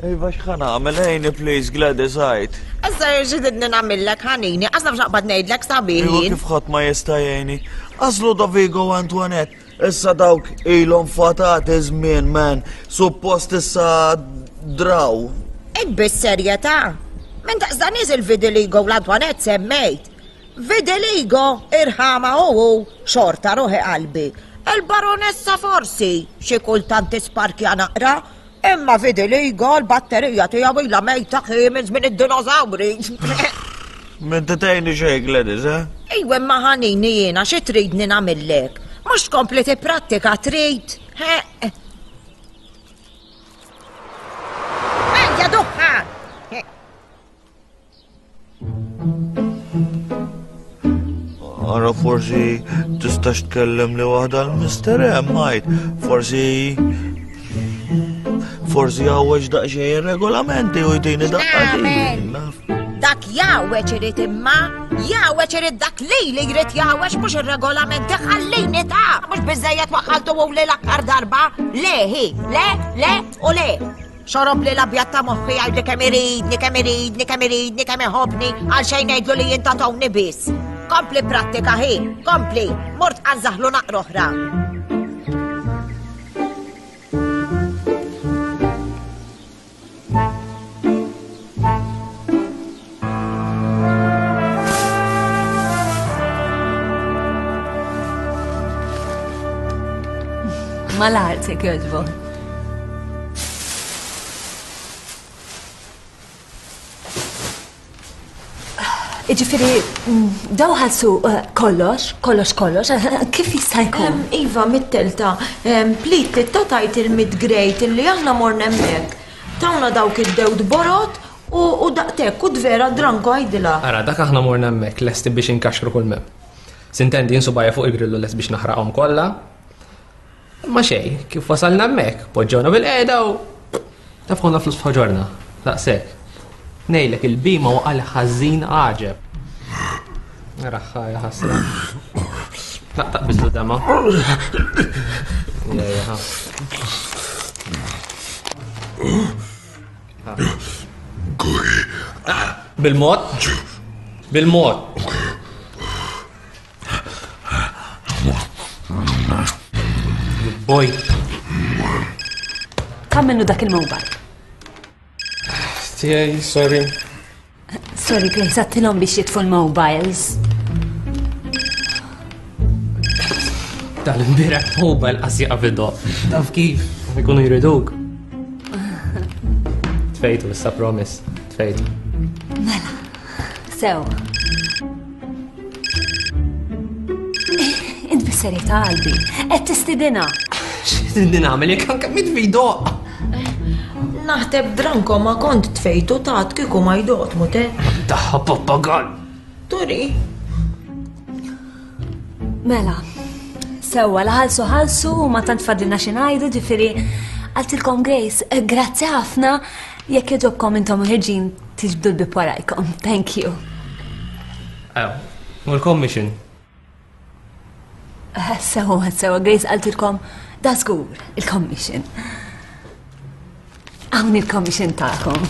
Iva x'ħa nagħmel ejni please Gladys għajt. Issa x'idni nagħmillek ħanini, qas nafx naqbad ngħidlek sabiħ. Iva kif ħadd ma jista' jgħinni. Għażlu Dovigo u Antoinette. Issa dawk ilhom fatati żmien man, suppost issa draw. Int bis-serjetà. Minn daqs dan nies il-Vidiligo u l-Antoinette semmejt. Vidiligo irħama u hu xorta ruħi qalbi. Il-baronessa forsi xi kultant tisparkja naqra, Imma fidiligo l-batterija tiegħu ilha mejta ħi minn żmien id-dinożawri. Minn tgħinni xejn Gladys, eh? Ejwa imma ħanini jiena xi tridni nagħmillek? Mhux tkompli tipprattika trid? Ejja duħħa! Ara forsi tistax tkellem li waħda l-Mister M, għajt. Forsi forsi għawweġ daqsxejn ir-regolamenti u jtini daqqa. Dak jgħawweġ irid imma, jgħawweġ irid dak li li jrid jgħawweġ mhux ir-regolamenti ħallini ta' mhux biżejjed waħħaltu u li l-aktar darba. Le hi, le, le u le. Xorob li l-abjad ta' moħħi jgħidli kemm iridni, kemm iridni, kemm iridni, kemm iħobbni, għal xejn ngħidlu li jien ta' Tony biss. Kompli prattika hi, kompli, mort għanżaħlu naqra oħra. Mal-art, jekk jogħġbok. Iġifieri, daw ħalsu kollox, kollox, kollox, kif jista' jkun? Iva, mit-telta, plit titta tajt il-mid-grade illi aħna morna hemmhekk. Tawna dawk id-dewd borot u daqtek, u vera dranko għajdilha. Ara, dak aħna morna hemmhekk lesti biex inkaxru kull mem. Sintendi insubajja fuq il-grillu lest biex naħraqhom kollha. Ma xej, kif wasalna hemmhekk, poġġewna bil-qiegħda u tafħuna flus f'ħoġorna, daqshekk. Ngħidlek il-bima waqal ħażin għaġeb. Raħħa ja ħasra. Taqtaq biżlu dama. Bil-mod. Bil-mod. Boy. Kam minnu dak il-mobile? Tiegħi, sorry. Sorry, Grace, għattilhom biex jitfu l-mobiles. Tal-imbira mobile qas jaqa' fid-doq. Taf kif, ikunu jriduk. Tfejtu issa promise, tfejtu. Mela, sew. Int bis-serjetà qalbi, qed tistidina. X'tidni nagħmel jekk anke mitfi jdoq. Naħteb dranko ma kont tfejtu tat kieku ma jdoq mute. Daħħa pappagal. Turi. Mela, sewwa la ħalsu ħalsu u ma tant fadlina xi ngħidu, ġifieri qaltilkom Grace, grazzi ħafna jekk jogħġobkom intom ħirġin tiġbdu l-bib warajkom. Thank you. Ew, u l-commission. Sewa, sewa, Grace qaltilkom da żgur il-commission. Hawn il-commission tagħkom.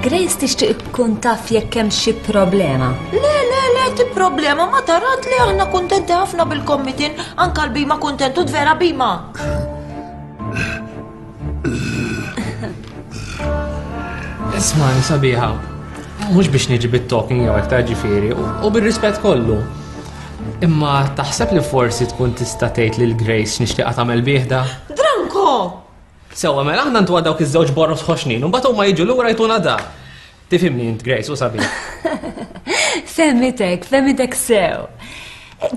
Grace tixtieq tkun taf jekk hemm xi problema. Le, le, le, ti problema ma tarat li aħna kuntenti ħafna bil-commitin, anka l-bima kuntentu vera bima. Isma' sabiħa, mhux biex niġi bit-talking jew aktar ġifieri, u bir-rispett kollu. Imma taħseb li forsi tkun tista' tgħid lil Grace nixtieqha tagħmel bieħda? Dranko! Sewwa mela aħna ntuha dawk iż-żewġ borros ħoxnin u mbagħad huma jiġu lura jtuna da. Tifhimni int Grace u sabiħ. Femmitek, femmitek sew.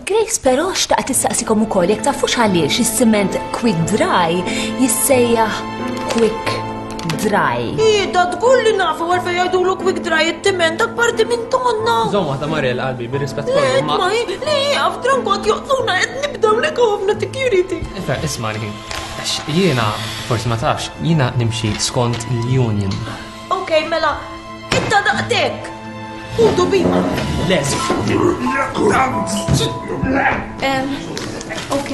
Grace però xtaqt tistaqsikom ukoll jekk tafux għaliex is-siment quick dry jissejjaħ quick dry. Ida tqul li nafu għalfejn jgħidulu quick dry it-timent dak parti minn tonna. Żomm waħda Mariel qalbi bir-rispett kollu. Ma le jaf dranko qed joqtluna qed nibdew lek ħafna security. Ifa isma' li għax jiena forsi ma tafx, jiena nimxi skont l-union. Ok, mela, inta daqtek. Ħudu bima. Les. Ok,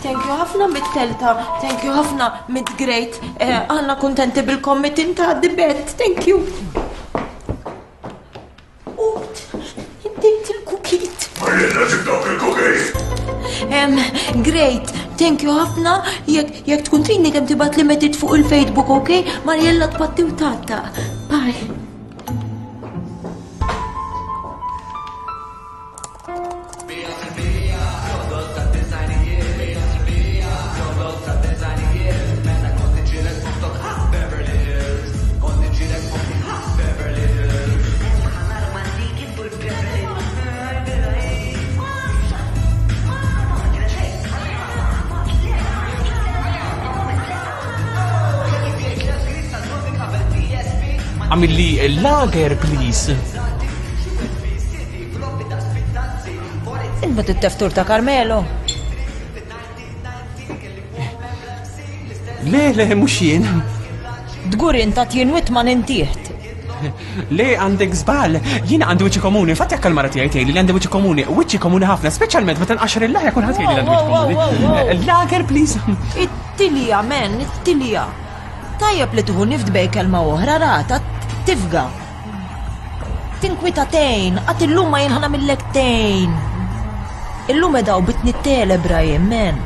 thank you ħafna mit-telta, thank you ħafna mid-great, aħna kontenti bil-commitin ta' dibet, thank you. Ut, indejt il-kukit. Marjella ġib dawk il-kukit. Great, thank you ħafna, jekk tkun tridni kemm tibgħat li metit fuq il-Facebook, ok? Marjella tpatti u tata. Bye. Għamilli lager, please. Inbut it-teftur ta' Carmelo. Le, le, mhux jien. Dgur inta tjinwit ma nintieħt. Le, għandek żball. Jiena għandi wiċċi komuni. Infatti jekk il-mara tiegħi tgħidli li għandi wiċċi komuni, wiċċi komuni ħafna, speċjalment meta nqaxxar il-laħja kulħadd jgħidli li għandi wiċċi komuni. Lager, please. It-tilja, men, it-tilja. Tajjeb li tuħu nift bej kelma oħra rata, tifga. Tinkwita tejn, għat illum ma jinħana millek tejn. Illum edaw bit nittelebra jien, men.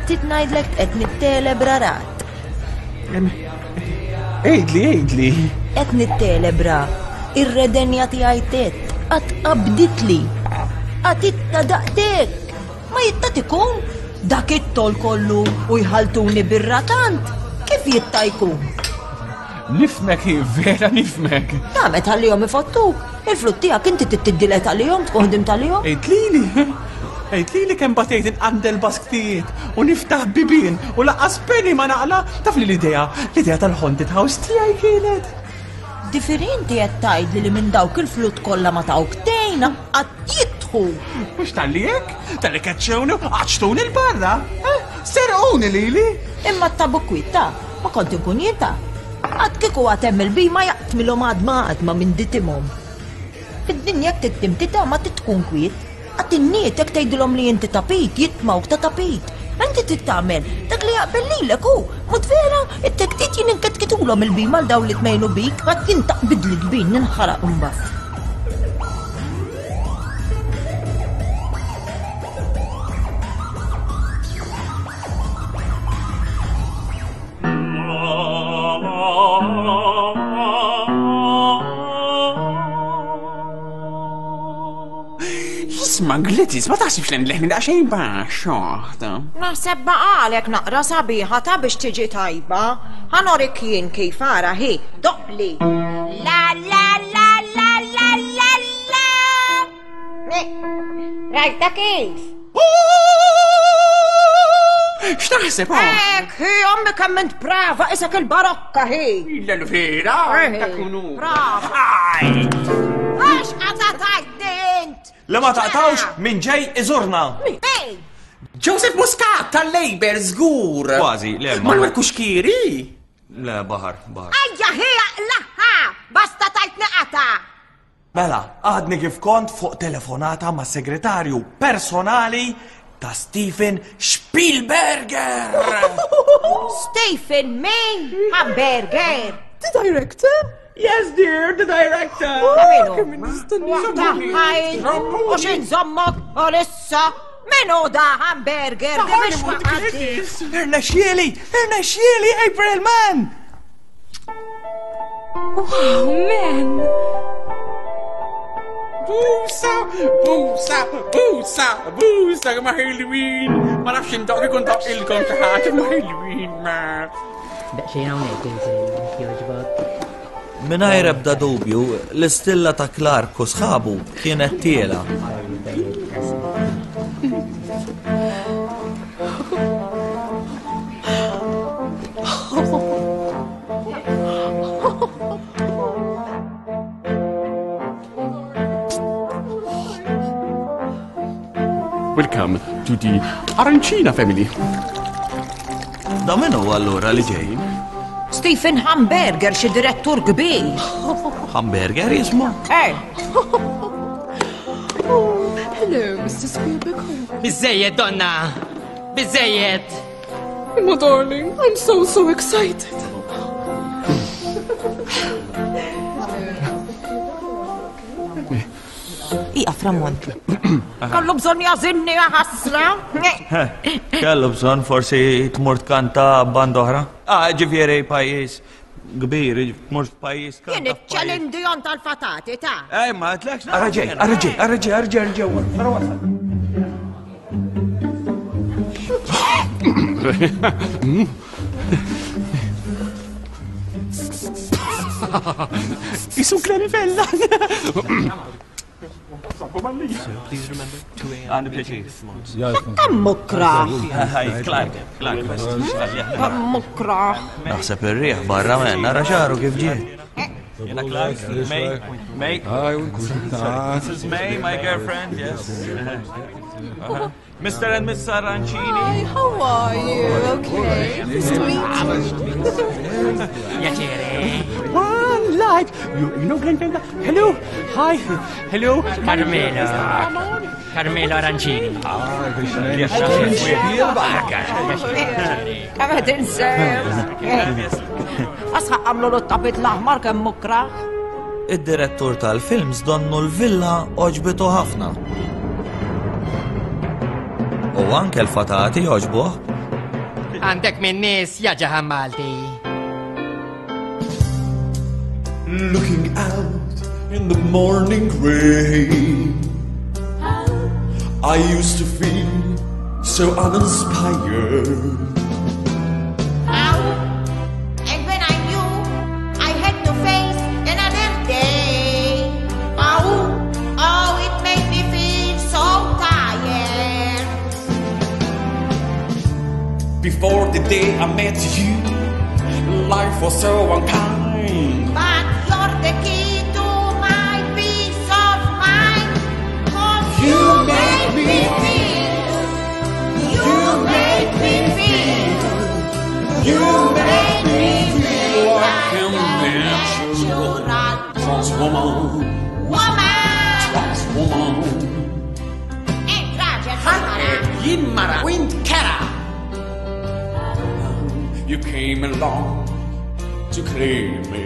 Tit ngħidlek qed nittelebra rat. Ejdli, ejdli. Qed nittelebra ir-redenja tiegħi tet, qatt qabditli. Qatt itta daqtek. Ma jitta tikun dak it-tol kollu u jħaltuni bir-ratant. Kif jitta jkun? Nifmek, vera nifmek. Ta' meta ħallihom ifottuk. Il-flut tiegħek inti tittiddilet għalihom, tkun ħdimt għalihom. Ejdlili. Ejdlili kemm batejt inqandel basktijiet u niftaħ bibien u laqqas penny ma naqla. Taf li l-idea, l-idea tal-haunted house tiegħi kienet. Differenti qed tgħidli li minn dawk il-flut kollha ma tawk tejna qatt jidħu. Mhux talli hekk, talli keċċewni u qaċtuni l-barra. Eh, serquni lili. Imma t-tabu kwiet ta, ma kont inkun jien ta. Għad kieku għad hemm il-bima jaqtmilhom għadma għadma minn ditimhom. Fid-dinja jekk tittimtita ma titkun kwiet. Għad innietek tgħidilhom li inti tapit, jitmawk ta' tapit. Inti trid tagħmel dak li jaqbel lilek hu. Mod vera, it-tektit jien inketkitulhom il-bima għal dawn li tmejlu bik, għad jien taqbidli kbin ninħaraq imbagħad. Isma' Glittis, ma taħsibx li nleħni daqsxejn baxx, oħta. Naħseb baqalek naqra sabiħa ta' biex tiġi tajba. Ħanorik jien kif ara hi, doqli. La la la la la la la. Rajta kif? X'taħseb, oh? Ek, hi, ommi kemm int brava, isek il-barokka hi. Illa l-vera, takunu. Brava. Aj! Għax qata tajtni int? Li ma taqtawx minn ġej iżurna. Min? Joseph Muscat tal-Labor żgur. Kważi, le, ma- Manuel Kuxkiri. Le, baħar, baħar. Ejja, hi, aqlaħħa, basta tajtni qata. Mela, għadni kif kont fuq telefonata ma' segretarju personali ta' Stephen Spielberger. Stephen min? Hamburger. The director? Yes, dear, the director. Taħħajn, u xin zommok, u lissa, minu da hamburger, di biex waqgħati. Irnexxieli, irnexxieli, April Man! Wow, man! Busa, busa, busa, busa, ma ħelwin. Ma nafx indoq ikun doq ilkom xi ħaġa, ma ħelwin, ma. Daqsxejn hawnhekk inżel, jogħġbok. Mingħajr ebda dubju, l-istilla ta' Clark u sħabu kienet tiela. Welcome to the Arancina family. Da min hu allura li ġej? Stephen Hamburger, xi direttur kbir. Hamburger jismu? Eh. Hello, Mister Spielberg. Biżejjed, donna! Biżejjed! My darling, I'm so, so excited. Iqaf, Ramon. Kellu bżonn jażinni ħasra. Kellu bżonn forsi tmur tkanta band oħra. Ah, ġifieri pajjiż kbir, tmur f'pajjiż Jien kanta. iċ-Celine Dion tal-fatati ta' Ej, ma għedtlekx. Ara ġej, ara ġej, ara ġej, ara ġej, ara ġej. Ara wasal. Isu Glenn Vella. Għandi pjaċir. Kemm mukra. Clark, Clark. Kemm mukra. Naħseb ir-riħ barra men, nara xaru kif ġie. Jena Clark, May, May. Sorry, This is May, my girlfriend, yes. Uh-huh. Mr. and Miss Arancini. Hi, how are you? Okay. Nice to meet you. Piacere. One life. You, you know Glenn Fenda? Hello. Hi. Hello. Carmelo. Carmelo Arancini. Kemm qed insew. Asħaq għamlu l-tapit l-aħmar kemm mukraħ. Id-direttur tal-films donnu l-villa oġbitu ħafna. U anke l-fatati oġbuh. Għandek minn nies ja ġaħan Malti. Looking out in the morning rain, I used to feel so uninspired. And when I knew I had to face another day, oh, oh, it made me feel so tired. Before the day I met you, life was so unkind. But you're the key to my peace of mind. 'Cause you make me feel, you make me feel, You make me feel like a natural trans woman. Woman! Trans woman. Jien mara. Wint kera. You came along to claim me.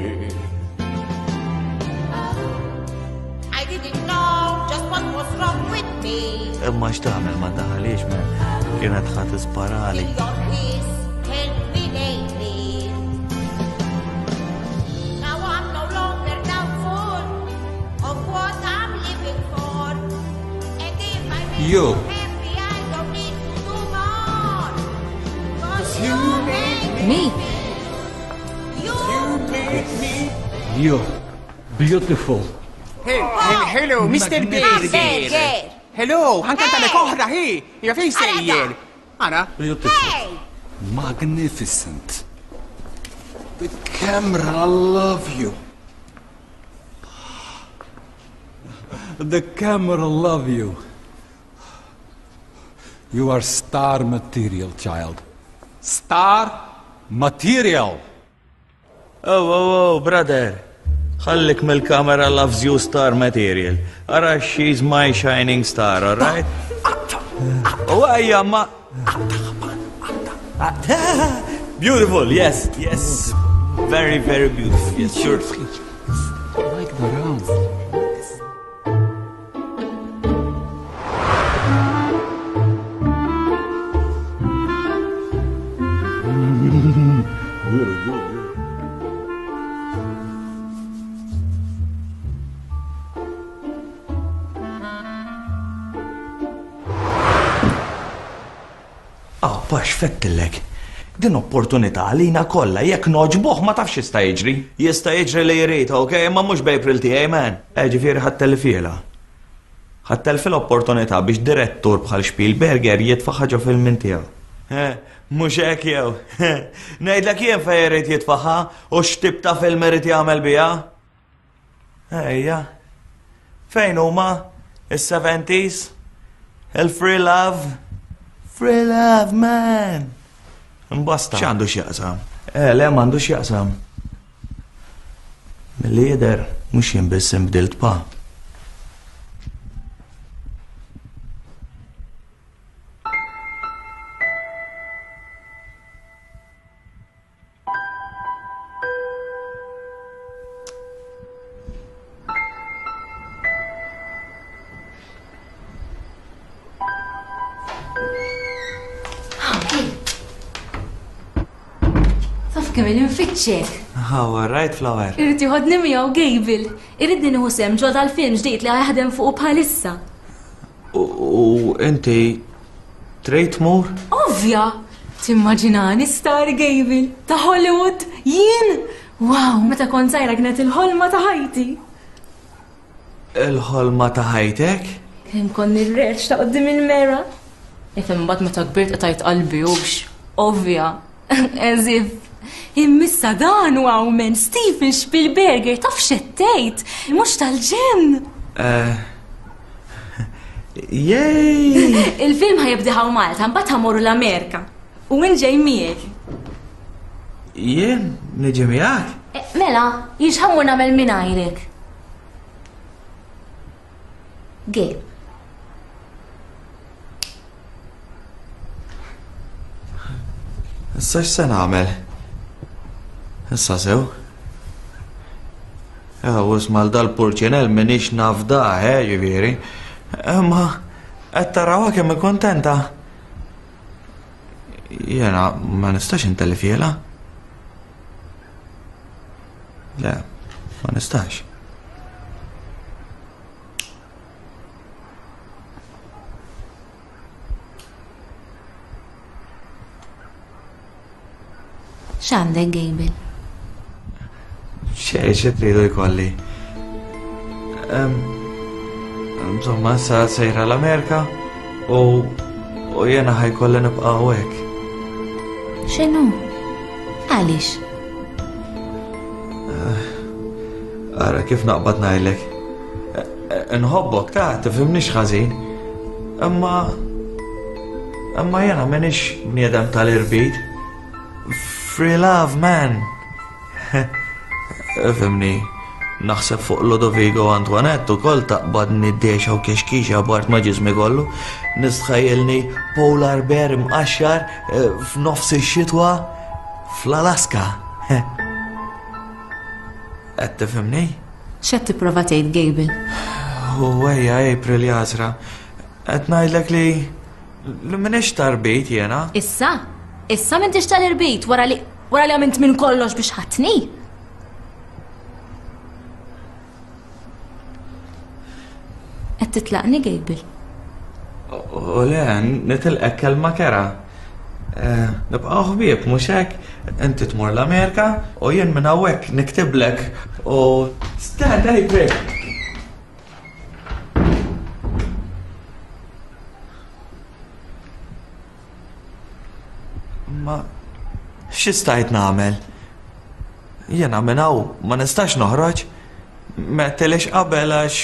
I didn't know just what was wrong with me. Imma x'tagħmel ma daħalix man. Kienet ħa tisparali. Your kiss helped me lately. Now I'm no longer doubtful of what I'm living for. And if I make You. happy, I don't need to do more. 'Cause you make Me? You make me You. Beautiful. Hey, hello, Mr. Berger. Berger. Hello, ħankantalek oħra, hi. Ja fejn sejjer? Ara. Beautiful. Magnificent. The camera love you. The camera love you. You are star material, child. Star material. Oh, oh, oh, brother. Ħallik mill-kamera loves you star material. Ara, she's my shining star, all right? Oh, ejja, ma... Beautiful, yes, yes. Very, very beautiful, yes, sure. Like the round. Very good, yeah. Ah, pax fettillek. Din opportunità għalina kollha jekk noġbuh ma tafx jista' jiġri. Jista' jiġri li jrid, ok, imma mhux b'April tiegħi man. Eh, ġifieri ħa ttellfihielha. Ħa ttellfi l-opportunità biex direttur bħal Spielberger jitfa' ħaġa film minn tiegħu. Eh, mhux hekk jew. Ngħidlek jien fejn irid jitfaħħa u x'tip ta' film irid jagħmel biha. Ejja. Fejn huma? Is-seventies? Il-free love? Free love, man! Imbasta. X'għandu x'jaqsam? Eh, le m'għandu x'jaqsam. Milli jidher mhux jien biss inbdilt pa. Taf kemm il-infittxek. Oh, all right, Flower. Irrid joħodni miegħu Gable. Irridni nieħu sehem ġo dal-film ġdid li jaħdem fuqu bħalissa. U inti trid tmur? Ovvja! Timmaġinani star Gable ta' Hollywood jien! Wow, meta kont żgħira kienet il-ħolma ta' ħajti. Il-ħolma ta' ħajtek? Kemm kont nirreċ ta' qudiem il-mera. Ifhem mbagħad meta kbirt qtajt qalbi hux. Ovvja. As if. Immissa dan u men Steven Spielberger taf xettejt, mhux tal-ġenn. Jej! Il-film ħajibda hawn Malta, mbagħad ħamorru l-Amerika. U minn ġej miegħek. Jien niġi miegħek? Mela, jien x'ħammur nagħmel mingħajrek. Gabe. Issa x'se nagħmel? Issa sew. U isma' dal-purċinell m'iniex naf da, eh, ġifieri. Imma qed tarawha kemm kontenta. Jiena ma nistax intellifiela. Le, ma nistax. X'għandek, Gabriel? Xej, xi tridu jkolli. Insomma, sa sejra l-Amerika u u jena ħajkolli nibqa' hawnhekk. X'inhu? Għaliex? Ara kif naqbad ngħidlek. Nħobbok ta' tifhimnix ħażin. Imma imma jena m'iniex bniedem tal-irbit. Free love, man. Ifhimni, naħseb fuq Ludovico Antoinette ukoll taqbadni d-dexa u kexkixa bart ma' ġismi kollu. Nistħajjilni polar bear imqaxxar f'nofs ix-xitwa fl-Alaska. Qed tifhimni? X'qed tipprova tgħid, Gabriel? U ejja April jasra. Qed ngħidlek li li m'iniex tarbit jiena. Issa? Issa m'intix tal-irbit wara li wara li għamilt minn kollox biex ħatni? Qed titlaqni, Gabriel? U le, nitilqek kelma kera. Nibqgħu ħbieb, mhux hekk? Inti tmur l-Amerika u jien minn hawnhekk niktiblek u stand April. Ma xi stajt nagħmel? Jiena minn hawn ma nistax noħroġ. M'għedtilix qabel għax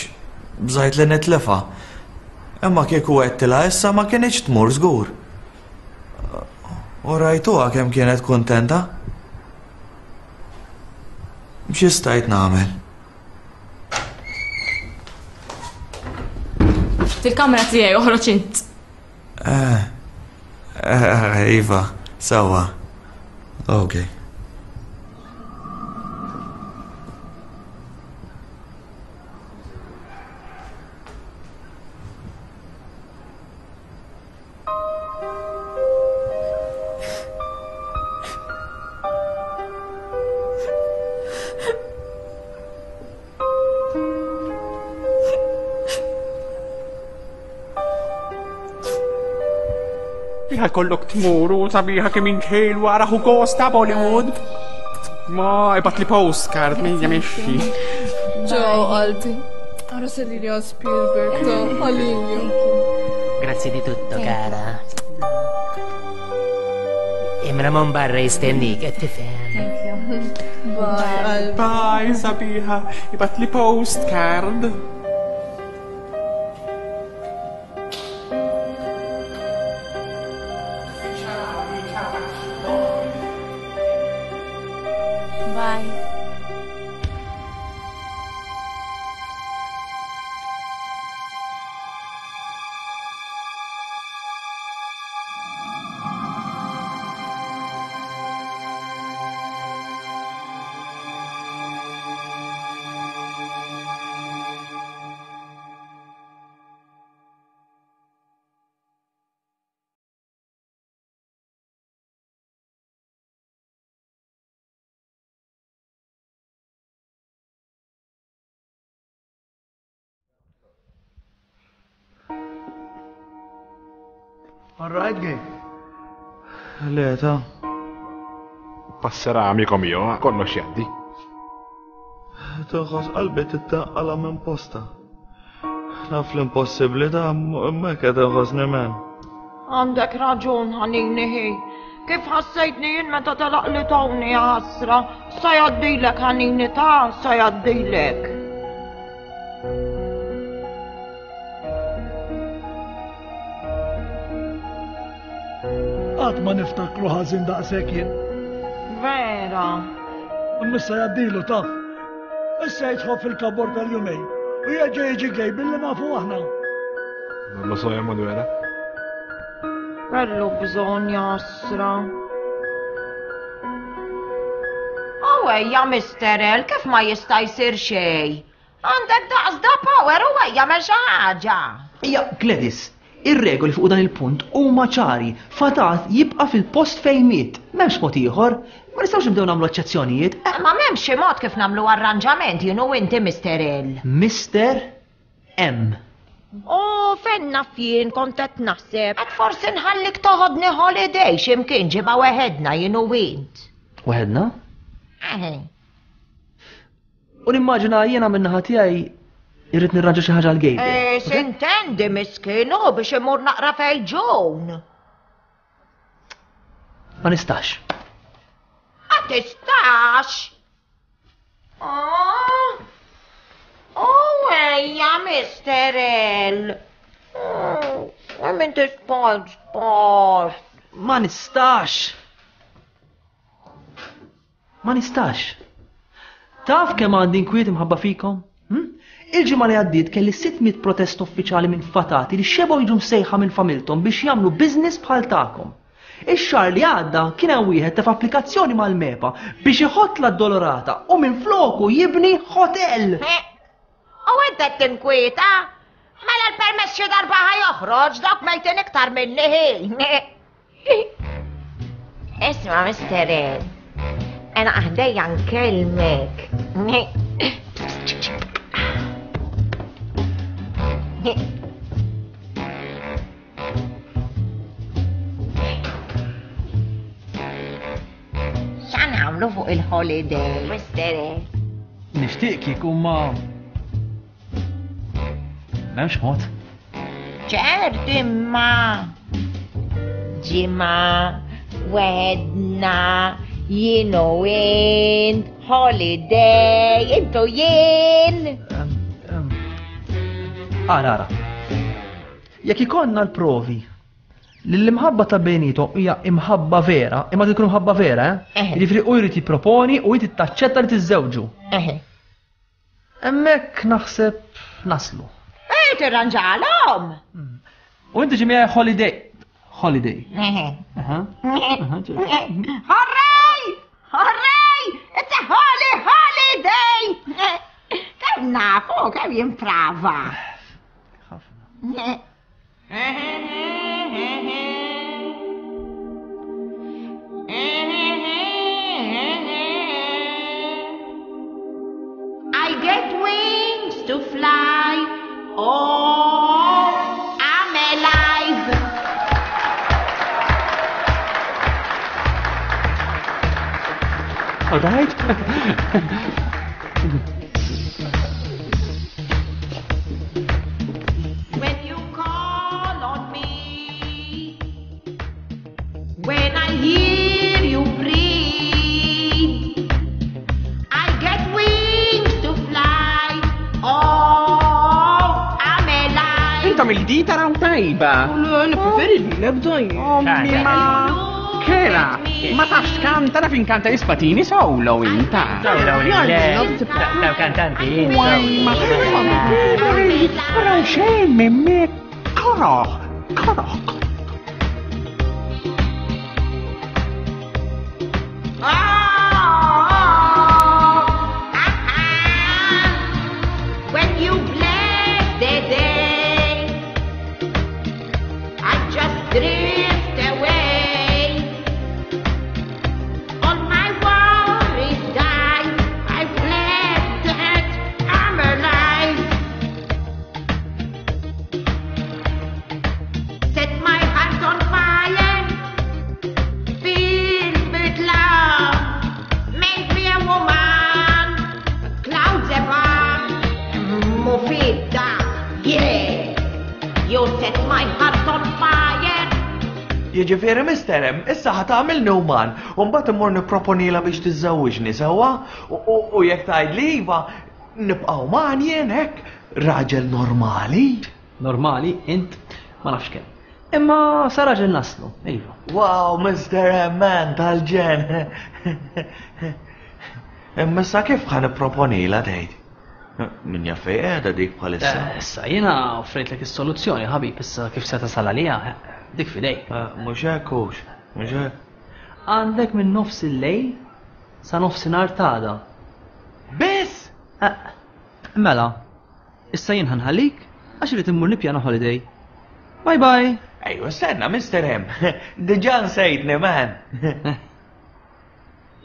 bżajt li nitlifa. Imma kieku għedtilha issa ma kinitx tmur żgur. U rajtuha kemm kienet kuntenta. Xi stajt nagħmel? Fil-kamra tiegħi oħroġ int. Eh, eh, iva, sewwa. Okay. Kollok tmur u sabiħa kemm inħelu wara hu gosta Bollywood. Ma ibat li postcard min jemxi. Ġew qalbi. Ara Celia Spielberg ta' għalija. Grazie di tutto, cara. Imra mon barra jistennik, qed tifhem. Bye. Bye, sabiħa. Ibat li postcard. Bye. All right, Gabe. Le, ta' Passerà, amico mio, kollox jgħaddi. Tinħoss qalbi tittaqqala minn posta. Naf l-impossibbli ta' imma hekk qed inħossni men. Għandek raġun ħanini ħi. Kif ħassejtni jien meta telaq li Tony ħasra, sa jgħaddilek ħanini ta' sa jgħaddilek. Qatt ma niftakru ħażin daqshekk jien. Vera. Imma issa jgħaddilu taf. Issa jidħol fil-kabor tal-jumej u jerġa' jiġi gej billi nafu aħna. Non lo so, Emanuela. Kellu bżonn jasra. U ejja, Mister L, kif ma jista' jsir xejn? Għandek daqs da power u ejja mel xi ħaġa. Ija, Gladys, ir-regoli fuq dan il-punt huma ċari. Fatat jibqa' fil-post fejn miet. M'hemmx mod ieħor. Ma nistgħux nibdew nagħmlu eċċezzjonijiet. Eh, ma m'hemmx xi mod kif nagħmlu arranġament jien u inti, Mister L. Mister M. U fejn naf jien kont qed naħseb. Qed forsi nħallik toħodni holiday x'imkien ġimgħa weħedna jien u int. Weħedna? Eħe. U nimmaġina jiena min-naħa tiegħi irrid nirranġa xi ħaġa għal Gabe. Eh, sintendi miskin u biex imur naqra fejn Ġun. Ma nistax. Ma tistax? Oh. Oh, ejja, Mister L. Oh, minn tisport, sport. Ma nistax. Ma nistax. Taf kemm għandi inkwiet imħabba fikom? Hm? Il-ġimgħa li għaddiet kelli sitt mitt protest uffiċjali minn fatati li xebgħu jiġu msejħa minn familthom biex jagħmlu business bħal tagħkom. Ix-xahar li għadda kien hemm wieħed tef applikazzjoni mal-MEPA biex iħott l-Addolorata u minn floku jibni hotel. U int qed tinkwieta? Mela l-permess xi darba ħa joħroġ dawk mejtin iktar minni ħin. Isma', Mister L, ena aħdejja nkellmek. X'għan nagħmlu fuq il-holiday, Mister L? Nixtieq kieku ma m'hemmx mod. Ċert imma ġimgħa wedna jien u int holiday intu jien. Ara, ara. Jekk ikollna l-provi li l-imħabba ta' bejnietom hija imħabba vera, imma tkun imħabba vera, eh? Eħe. Jiġifieri u jrid jipproponi u inti taċċetta li tiżżewġu. Eħe. Hemmhekk naħseb naslu. Ej, tirranġalhom! U inti ġi miegħi holiday. Holiday. Eħe. Aha. Aha, ġi. Hooray! Hooray! It's a holy holiday! Kemm nafu, kemm jimprava. Ħafna. I get wings to fly. Oh, I'm alive. All right. When you call on me, when I hear you breathe, I get wings to fly. Oh, I'm alive. Intom il-di taraw tajba. Le, nippreferi lilek dajjem. Ommi ma. Kera, ma tafx kanta naf inkanta l-ispatini solo inta. Solo, le, daw kantanti, Ma Raw xejn minn koroħ, koroħ. When you bless the day, I just drift away. All my worries die. I fled that I'm alive. Set my heart on fire. Fill with love. Make me a woman. Clouds above. Mufida, yeah. You set my heart on fire. Jiġifieri Mister M, issa ħa tagħmilni uman, u mbagħad immur nipproponilha biex tiżżewwiġni sewwa, u jekk tgħidli iva, nibqa' uman jien hekk, raġel normali. Normali, int ma nafx kemm. Imma sa raġel naslu, iva. Wow, Mister M, man, tal-ġen. Imma issa kif ħa nipproponilha tgħid? Min jaf fejn qiegħda dik bħalissa? Issa jiena offrejtlek is-soluzzjoni, ħabib, issa kif se tasal għaliha, dik fidejk. Mhux hekk hux, mhux hekk. Għandek minn nofs il-lejl sa nofsinhar t'għada. Biss? Mela, issa jien ħanħallik għax irid immur nippjana holiday. Bye bye. Ejwa, stenna, Mister M. Diġà nsejtni, man.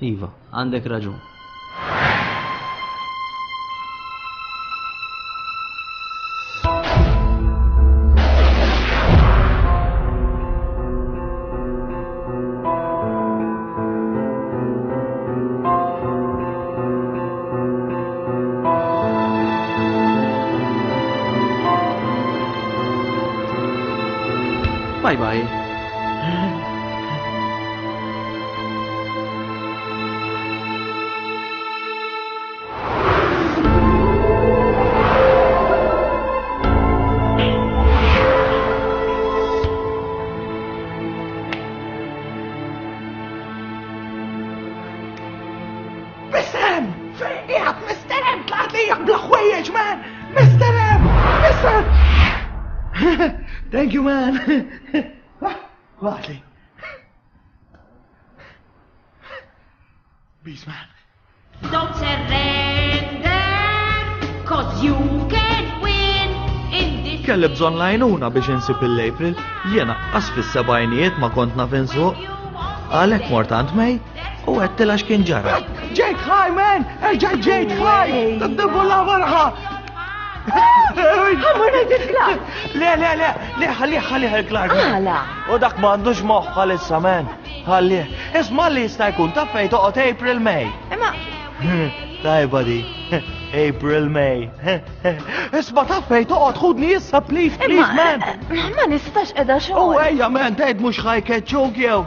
Iva, għandek raġun. Bye bye. Mister M! Fejn qiegħed Mister M? Tlaqt lejja bla ħwejjeġ, man! Mister M! Mister Thank you, man! Waħli. Peace, man. Don't surrender, cause you can win in this. Kelli bżonn lajnuna biex insib il-April, jiena qas fis-sebgħinijiet ma kont naf insuq. Għalhekk mort għand May u għedtilha x'kien ġara. Ġejt ħaj, man! Erġa' ġejt ħaj! Taddibu la marħa! Ħammur ngħid il-Clark! Le, le, le, le, ħallih, ħallih il-Clark. Għala? U dak m'għandux moħħ bħalissa, man. Ħallih. Isma' li jista' jkun taf fejn toqgħod April May. Imma. Tajba di. April May. Isma' taf fejn toqgħod ħudni issa, please, please, man. Ma nistax qiegħda xogħol. U ejja, man, tgħid mhux ħajkeċċuk jew.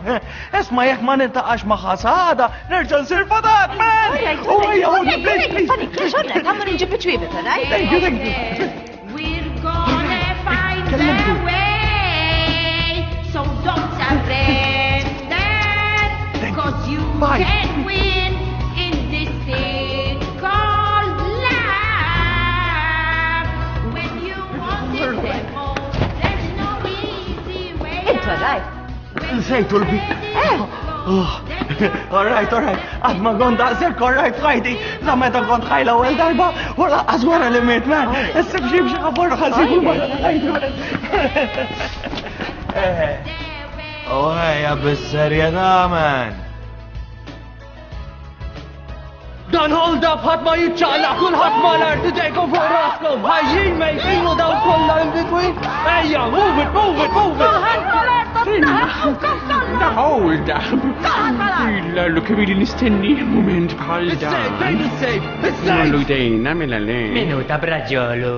Isma' jekk ma niltaqax ma' ħasada, nerġa' nsir fadat, man. U ejja, ħudni, please, please. Ħammur inġib iċ-ċwievet, all right? Thank you, thank you. We're gonna find the way, so don't surrender, cause you can win in this thing called love. When you want it the most, there's no easy way Int all right? Nsejtu l-bi. All right, all right. Għad ma kont daqshekk, all right, f'ħajti. La meta kont ħaj l-ewwel darba, u lanqas wara li miet, man. Issib xi b'xi ħafor ħasib u ma ħajti, man. Oh, ejja, bis-serjetà, man. Dan hold up, ħadd ma jiċċaqlaq, kulħadd mal-art, idejkom fuq raskom, ħajjin mejtin u dawn kollha in between. Ejja, move it, move it, move it. Kulħadd mal-art, Hold up. Illa l kemm ili nistenni mument bħal dan. Fejn is-safe? Is-safe! Nollu jdejna mela le. Minuta braġolu.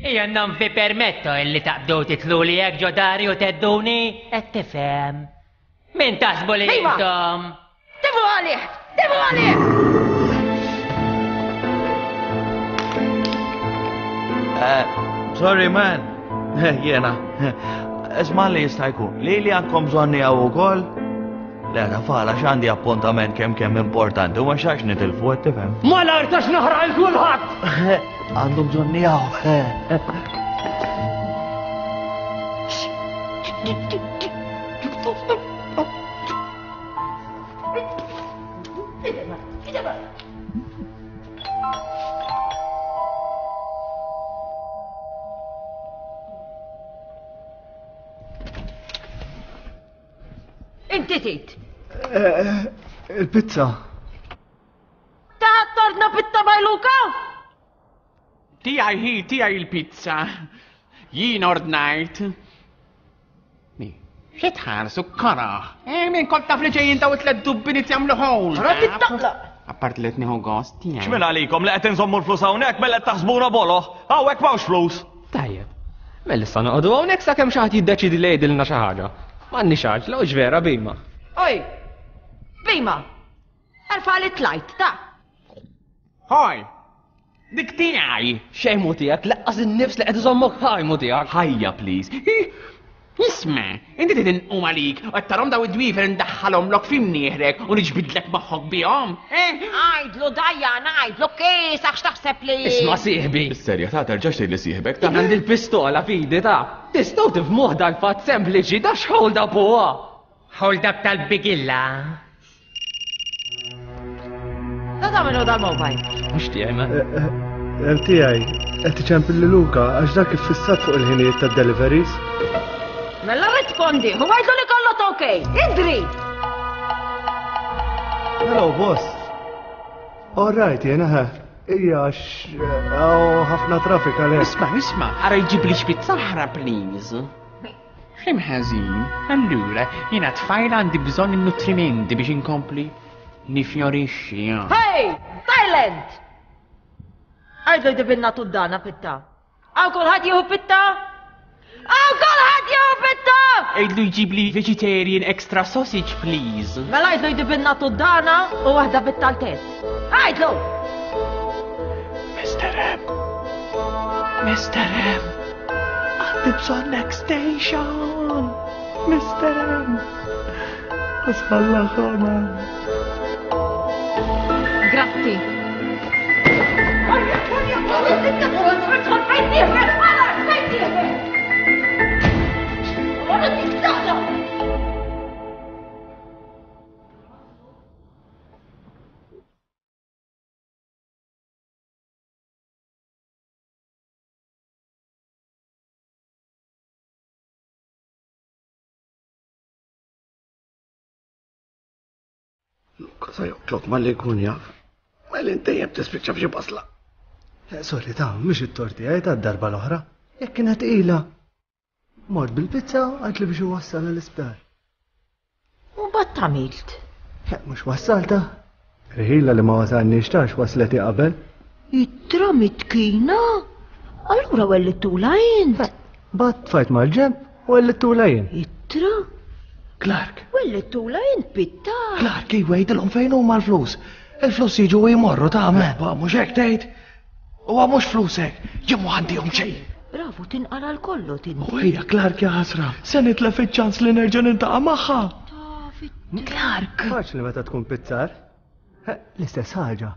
Io non vi permetto illi taqbdu titlu li jekk ġo dari u tedduni, qed tifhem. Min taħsbu li Iva! intom? Tifu għalih! Tifu għalih! Eh, sorry, man. Jena. Isma' li jista' jkun. Li li għandkom bżonni hawn ukoll? Le, tafala x'għandi appuntament kemm kemm importanti u ma xax nitilfu qed tifhem. Mal-art għax naħraq il kulħadd! Għandu bżonni hawn. Inti tit. Il-pizza. Ta' torna pitta bajluka? Tiegħi hi, tiegħi il-pizza. Jien ordnajt. Mi, xi tħarsu karaħ? Eh, min kont taf li ġejjin daw it-tliet dubbiniet jagħmlu ħol. Ara tittaqlaq. Apart li qed nieħu gost tiegħi. X'min għalikom li qed inżommu l-flus hawnhekk mela qed taħsbuna boloh? Hawnhekk m'hawnx flus. Tajjeb. Mela issa noqogħdu hawnhekk sakemm xi ħadd jiddeċidi li jgħidilna xi ħaġa. M'għandniex għaġla, hux vera Bima? Oj! Bima! Erfa' li tlajt, ta! Ħaj! Dik tiegħi! Xejn mhu tiegħek, laqqas in-nifs li qed iżommok ħaj mhu tiegħek. Ħajja please. Isma', inti trid inqum għalik u qed tarhom daw id-dwiefer indaħħalhomlok fi mnieħrek u niġbidlek moħħok bihom, eh? Għidlu Diana, għidlu kiesaħ x'taħseb li. Isma' sieħbi. Is-serjetà terġax tgħidli sieħbek ta'. Jien għandi l-pistola f'idi ta'. Tistgħu tifhmuh dal-fatt sempliċi da x'hold up huwa? Hold up tal-bigilla. Da ta' minnu dal-mobile? Mhux tiegħi man. Hemm tiegħi qed iċempel lil Luka għax dak iffissat fuq il-ħinijiet tad-deliveries. Mela rispondi, u għidlu li kollox ok. Idri! Hello, boss. All right, jena ħa. Ija, għax hawn ħafna traffic għalhekk. Isma', isma', ara jġibli xbit saħra, please. X'hemm ħażin? Allura, jiena tfajla għandi bżonn in-nutrimenti biex inkompli nifjorixxi. Hey! Silent! Għidlu jġibilna tuddana pitta. Hawn kulħadd jieħu pitta? Hawn kulħadd jieħu pitta! Għidlu jġibli vegetarian extra sausage, please. Mela għidlu jġibilna tuddana u waħda pitta l-test. Għidlu! Mister M. Mister M. Għandi bżonn next station. Mister M. Asħalla ħoma. Grazzi. Luka sa joqtlok malli jkun jaf. Mela inti dejjem tispiċċa f'xi basla. Eh, sorry ta' mhux it-torti għaj ta' darba l-oħra. Jekk kienet tqila. Mort bil-pizza għad li biex iwassal l-isptar. U bat għamilt? Eh, mhux wassalta. Riħila li ma wasalniex tax wasleti qabel. Ittra mitkina? Allura wellittula int? Eh, bat tfajt mal-ġemp u wellittula jien. Ittra? Clark. Wellittula int pitta. Clark, iwa jgħidilhom fejn huma l-flus. Il-flus jiġu u jmorru ta' men. Ba mhux hekk tgħid. Huwa mhux flusek. Jien mhu għandihom xejn. Bravu, tinqara l-kollu tinti. U hija Clark ja ħasra. Se nitlef iċ-ċans li nerġa' nintaqa' magħha. Clark. Faċli meta tkun pizzar. L-istess ħaġa.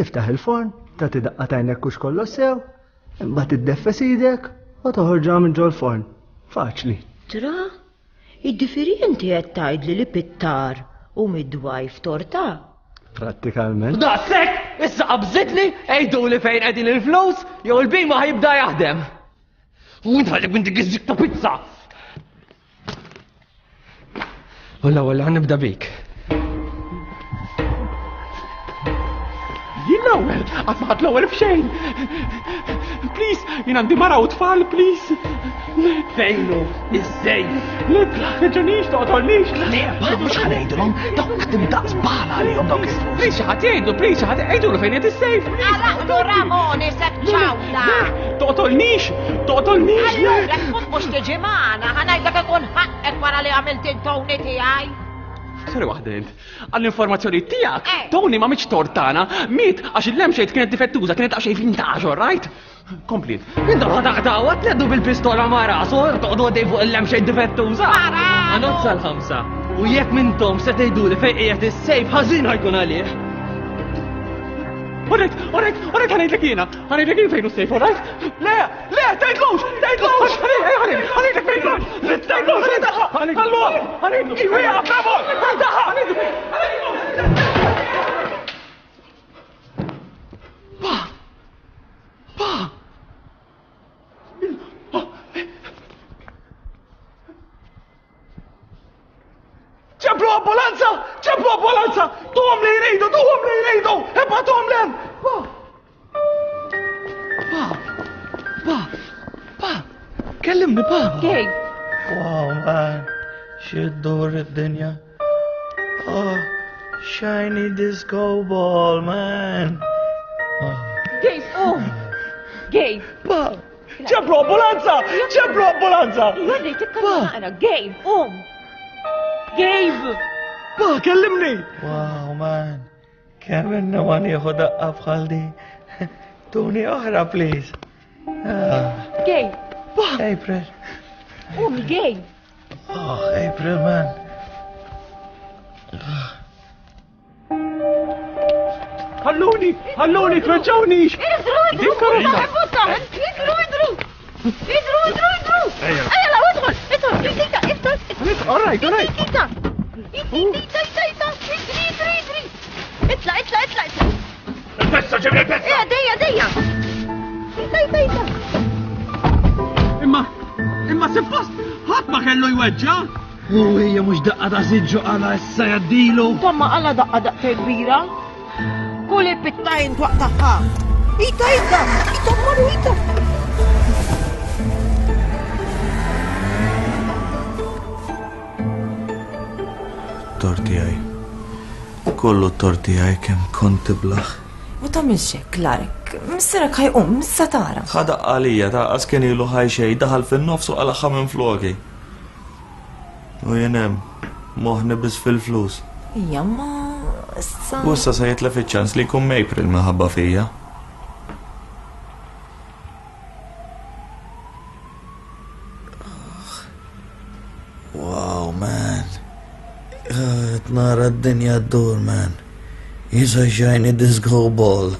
Tiftaħ il-forn, tagħti daqqa t'għajnek hux kollox sew, imbagħad iddeffes idek u toħorġha minn ġol-forn. Faċli. Tra? Jiġifieri inti qed tgħidli li pittar u midwife torta? Prattikalment. Daqshekk! Issa qabżitli, għiduli fejn qegħdin il-flus, jew il-bima ħajibda jaħdem. U int ħallik minn dik iż-zik ta' pizza. U l-ewwel ħa nibda bik. Jien l-ewwel, qatt ma ħadd l-ewwel f'xejn. Please, jien għandi mara u tfal, please. Fejnu, iż-żejn. Le, reġunix, toqtolnix. Le, ba, mhux ħa ngħidilhom, dawk qed imdaqs bala għalihom dawk il-flus. Please, xi ħadd jgħidlu, please, xi ħadd jgħidulu fejn qed is-sejf. Għalaqlu Ramon isek ċawla. Toqtolnix, toqtolnix. Allura tkun mhux tiġi magħna, ħa ngħidlek ikun ħaqqek wara li għamilt il-toni tiegħi. Sorry waħda int. Għall-informazzjoni tiegħek, Tony ma mitx tortana, miet għax il-lampshade kienet difettuża, kienet daqsxejn vintage, all right? Kompli. Intom ħa taqtgħu, tleddu bil-pistola ma' rasu, toqgħodu għaddej fuq il-lampshade difettuża. Għanod sal-ħamsa. U jekk minntom se tgħiduli fejn qiegħed is-sejf ħażin ħajkun għalih. All right, all right, all right, ħa ngħidlek jiena, ħa ngħidlek jien fejn hu s-sejf, all right? Le, le, tgħidlux, tgħidlux, ħa ngħidlek fejn hu, tgħidlux, ħallu, ħa ngħidlu, iwa, bravo, ħa ngħidlu, Pa, pa. ċemplu ambulanza! ċemplu ambulanza! Tuhom li jridu, tuhom li jridu! Ibgħatuhom 'l hemm! Pa! Pa! Pa! Pa! Kellimni, pa! Gej! Wow, man. Xiddur id-dinja. Oh, shiny disco ball, man. Gej, um! Gej! Pa! ċemplu ambulanza! ċemplu ambulanza! Jolli, tikkalma naqra, Gej, um! Gabe! Pa, kellimni! Wow, man. Kemm inna ma nieħu daqqa bħal di. Tuni oħra, please. Ah. Gabe! Pa! April. Um, Gabe! Oh, April, man. Ħalluni, ħalluni, tweġġawniex! Idru, idru, idru, idru! Idru, idru, idru! Ejja, la, idħol, idħol, idika, idħol! All right, all right. Idika! Idika, idika, idika, idri, idri, idri! Itla, itla, itla, itla! Il-pezza, ġibni il-pezza! Ejja, dejja, dejja! Ita, ita, ita! Imma, imma suppost, ħadd ma kellu jweġġa'! U hija mhux daqqa ta' siġġu għala issa jaddilu. Tomma għala daqqa daqqa kbira. Kull il-pittajn twaqtaħħa. Ita, ita, ita, marru, ita. Torti għaj. Kollu torti għaj kem kont tiblaħ. U tagħmilx hekk, Clark. Missierek ħajqum, issa tara. Ħadaq għalija ta' qas kien ilu ħaj xejn daħal fin-nofs u qalaħħa minn floki. U jien hemm moħħni biss fil-flus. Ija, ma issa. U issa se jitlef iċ-ċans li jkun April minħabba fija. Wow, man. Qed nara d-dinja ddur, man. Jisa shiny disco ball.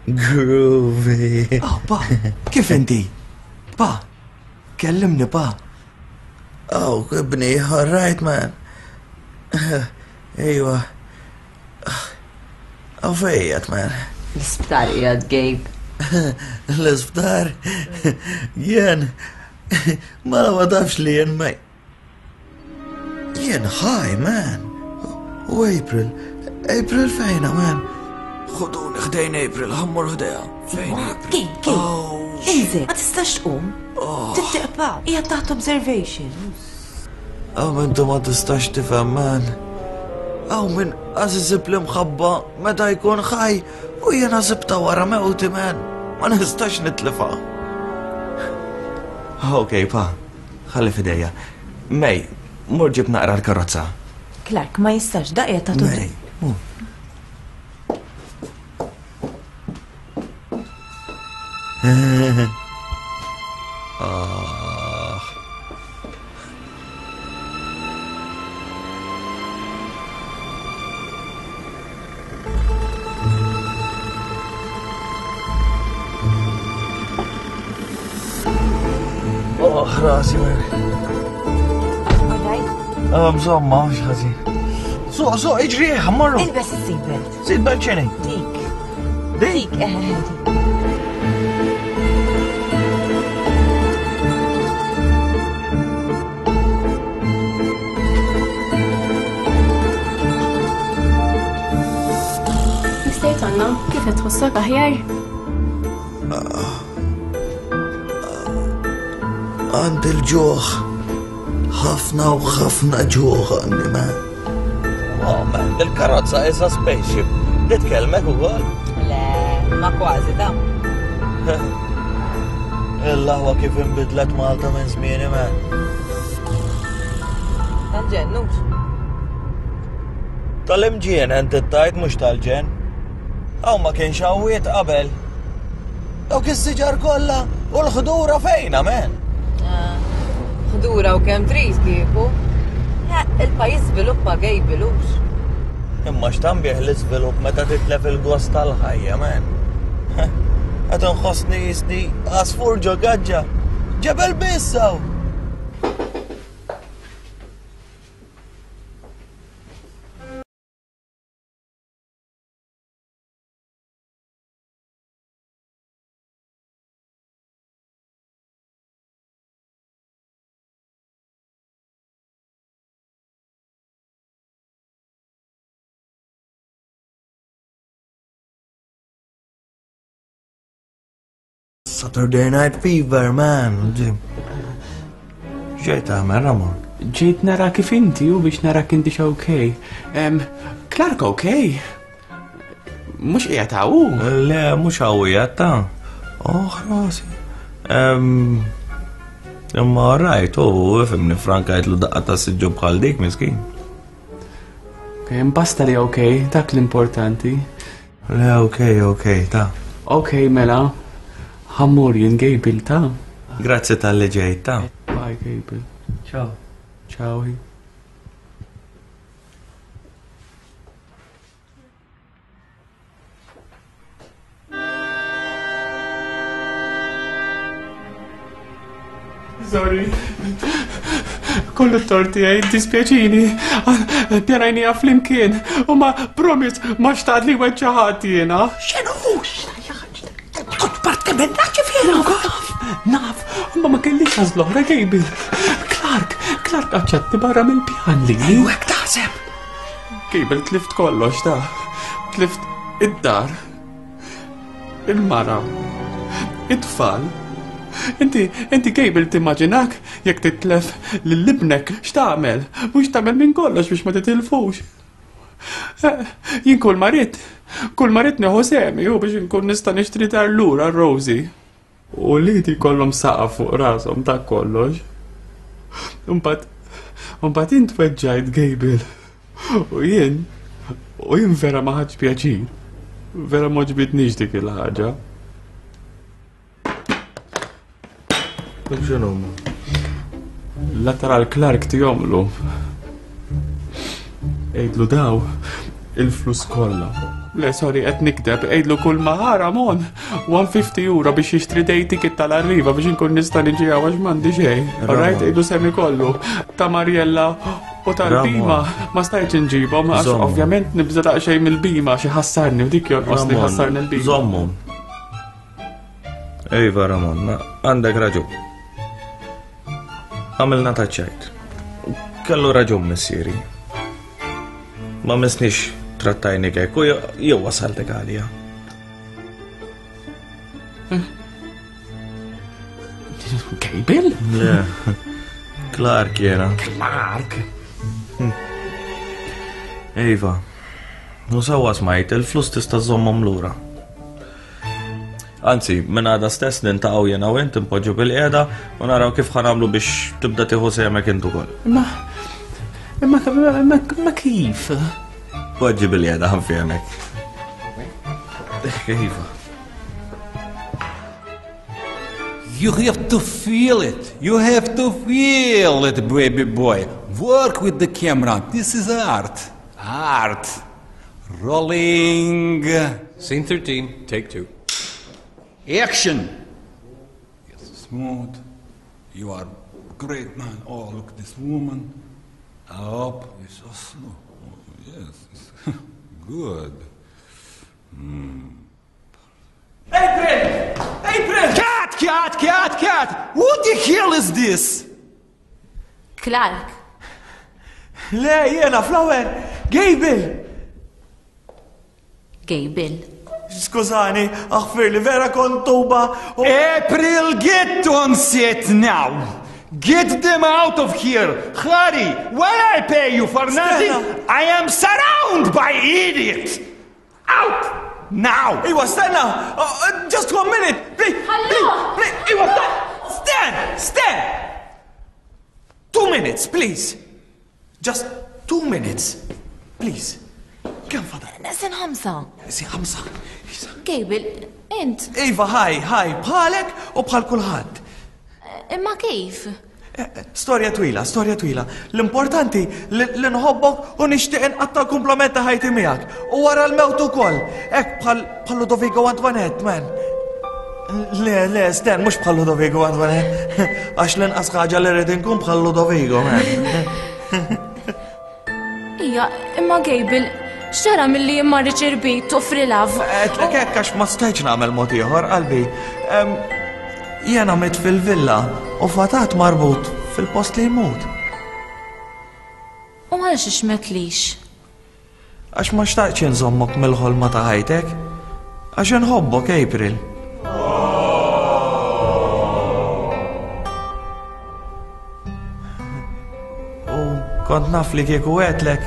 Groovy. Oh, pa, kif inti? Pa, kellimni, pa. Oh, ibni, all right, man. Ejwa. Aw fejjat, man. L-isptar qiegħed Gabe. L-isptar? Jien. Mela ma tafx li jien ma. Jien ħaj, man. U April. April fejna, man. Ħuduni ħdejn April, ħammur ħdejha. Fejn April? Gabe, Gabe. Inżel, ma tistax tqum. Tittiqpa, hija taħt observation. Aw intu ma tistax tifhem, man. Aw min għażiżib l-imħabba meta jkun ħaj u jiena sibta wara mewti, man. Ma nistax nitlifa. Ok, pa, ħalli fidejja. May, mur ġib naqra l-karozza. Clark, ma jistax, daqja taħt May, mur. Ah. Oh, rasi, man. All right. Ah, Insomma, mhux ħażin. Suq, suq, iġri, ħammorru. Ilbes is-seatbelt. Seatbelt x'inhi? Dik. Dik? Dik, eh, dik. Mister Tonno, kif qed tħossok aħjar? Għandi l-ġuħ. Ħafna u ħafna ġuħ għandi, man. Oh, man, il-karozza isa spaceship. Titkellmek ukoll? Le, ma kważi ta. Il-laħwa kif inbidlet Malta minn żmieni, man. Tal-ġen, nux. Tal-imġien ent tajt mhux tal-ġen. Aw ma kienx hawiet qabel. Dawk is-siġar kollha u l-ħdura fejna, man. Ħdura u kemm trid kieku. Il-pajjiż żviluppa Gabe lux. Imma x'tambih l-iżvilupp meta titlef il-gost tal-ħajja, man. Qed inħossni jisni għasfur ġo gaġġa. Ġebel biss hawn. Saturday Night Fever, man. Ġejt tagħmel, Ramon? Ġejt nara kif inti u biex nara inti okej. Em, Clark okej. Mhux qiegħed hawn. Le, mhux hawn qiegħed ta'. Oh, rasi. Em, Imma rajt, u ifhimni frankajtlu daqqa ta' siġġu bħal dik, miskin. Ok, basta li ok, dak l-importanti. Le, ok, ok, ta. Ok, mela, ħa mmur jien Gable, ta. Grazzi talli ġejt, ta. Bye, Gable. Ciao. Ciao. Sorry. Kollu t-tort tiegħi, dispjaċini. Pjanajnieha flimkien. U ma promise, ma xtaqt li weġġa' ħadd jiena. X'inhu? Kont parti minna ġifieri. Naf, naf, ma ma kellix għażla oħra, Gable. Clark, Clark aċċetti barra mill-pjan li. U hekk taħseb. Gable, tlift kollox ta. Tlift id-dar. Il-mara. It-tfal. Inti, inti Gable timmaġinak jekk titlef lil ibnek x'tagħmel? Mhux tagħmel minn kollox biex ma titilfux. Eh, Jien kull ma rrid, kull ma rrid nieħu sehmi u biex inkun nista' nixtri dar lura Rosie. U li jkollhom saqaf fuq rashom dak kollox. Imbagħad, imbagħad int weġġajt Gable. U jien, u jien vera ma ħadx pjaċir. Vera ma għoġbitnix dik il-ħaġa. Dak x'inhuma? Lateral Clark tihomlu. Għidlu daw il-flus kollha. Le, sorry, qed nikdeb, għidlu kull ma ħa Ramon one fifty euro biex jixtri day ticket tal-Arriva biex inkun nista' niġi hawn għax m'għandi xejn. Alright, għidlu sehmi kollu. Ta' Mariella u tal-bima ma stajtx inġibhom għax Żommhom. ovvjament nibża' daqsxejn mill-bima xi ħassarni u dik jonqosni Ramon, ħassarni l-bima. Żommhom. Iva, Ramon, na- għandek raġun. Għamilna taċ-ċajt. Kellu raġun missieri. Ma missnix trattajni hekk u jew wasaltek għalija. Gable? Le. Clark jena. Clark? Iva. U sewwa smajt, il-flus tista' żommhom lura. Anzi, minn għada stess niltaqgħu jena u int impoġġu bil-qiegħda u naraw kif ħa nagħmlu biex tibda tieħu sehemek int ukoll. Imma imma imma imma kif? Poġġi bil-qiegħda ħa nfehmek. Iva. You have to feel it. You have to feel it, baby boy. Work with the camera. This is art. Art. Rolling. Scene thirteen, take two. Action. Yes, smooth. You are great man. Oh, look this woman. Up. It's so slow. Oh, yes, it's good. Mm. April! April! Cut, cut, cut, cut! What the hell is this? Clark. Le, jena, Flower! Gable! Gable. Skużani, aħfirli, vera kont tuba. April, get on set now! Get them out of here! Hurry! When I pay you for nothing, I am surrounded by idiots! Out! Now! Iwa, stenna! Uh, uh, just one minute! Please! Please! Please! Iwa, stand! Stand! Two minutes, please! Just two minutes. Please. Kemm fadal? Neqsin ħamsa. Neqsin ħamsa. Gable, int. Iva, hi, hi, bħalek u bħal kulħadd. Imma kif? Storja twila, storja twila. L-importanti li li nħobbok u nixtieq inqatta' l-kumplament ta' ħajti miegħek. U wara l-mewt ukoll. Hekk bħal bħal Ludovico Antoinette, man. Le, le, sten, mhux bħal Ludovico Antoinette. Għax l-inqas ħaġa li rrid inkun bħal Ludovico, man. Ija, imma Gable, x'ġara milli ma riċerbit u free love? Għedtlek hekk għax ma stajtx nagħmel mod ieħor, qalbi. Em, Jena mit fil-villa u fatat marbut fil-post li jmut. U għalxiex m'għedtlix? Għax ma xtaqtx inżommok mill-ħolma ta' ħajtek. Għax nħobbok, April. U kont naf li kieku għedtlek,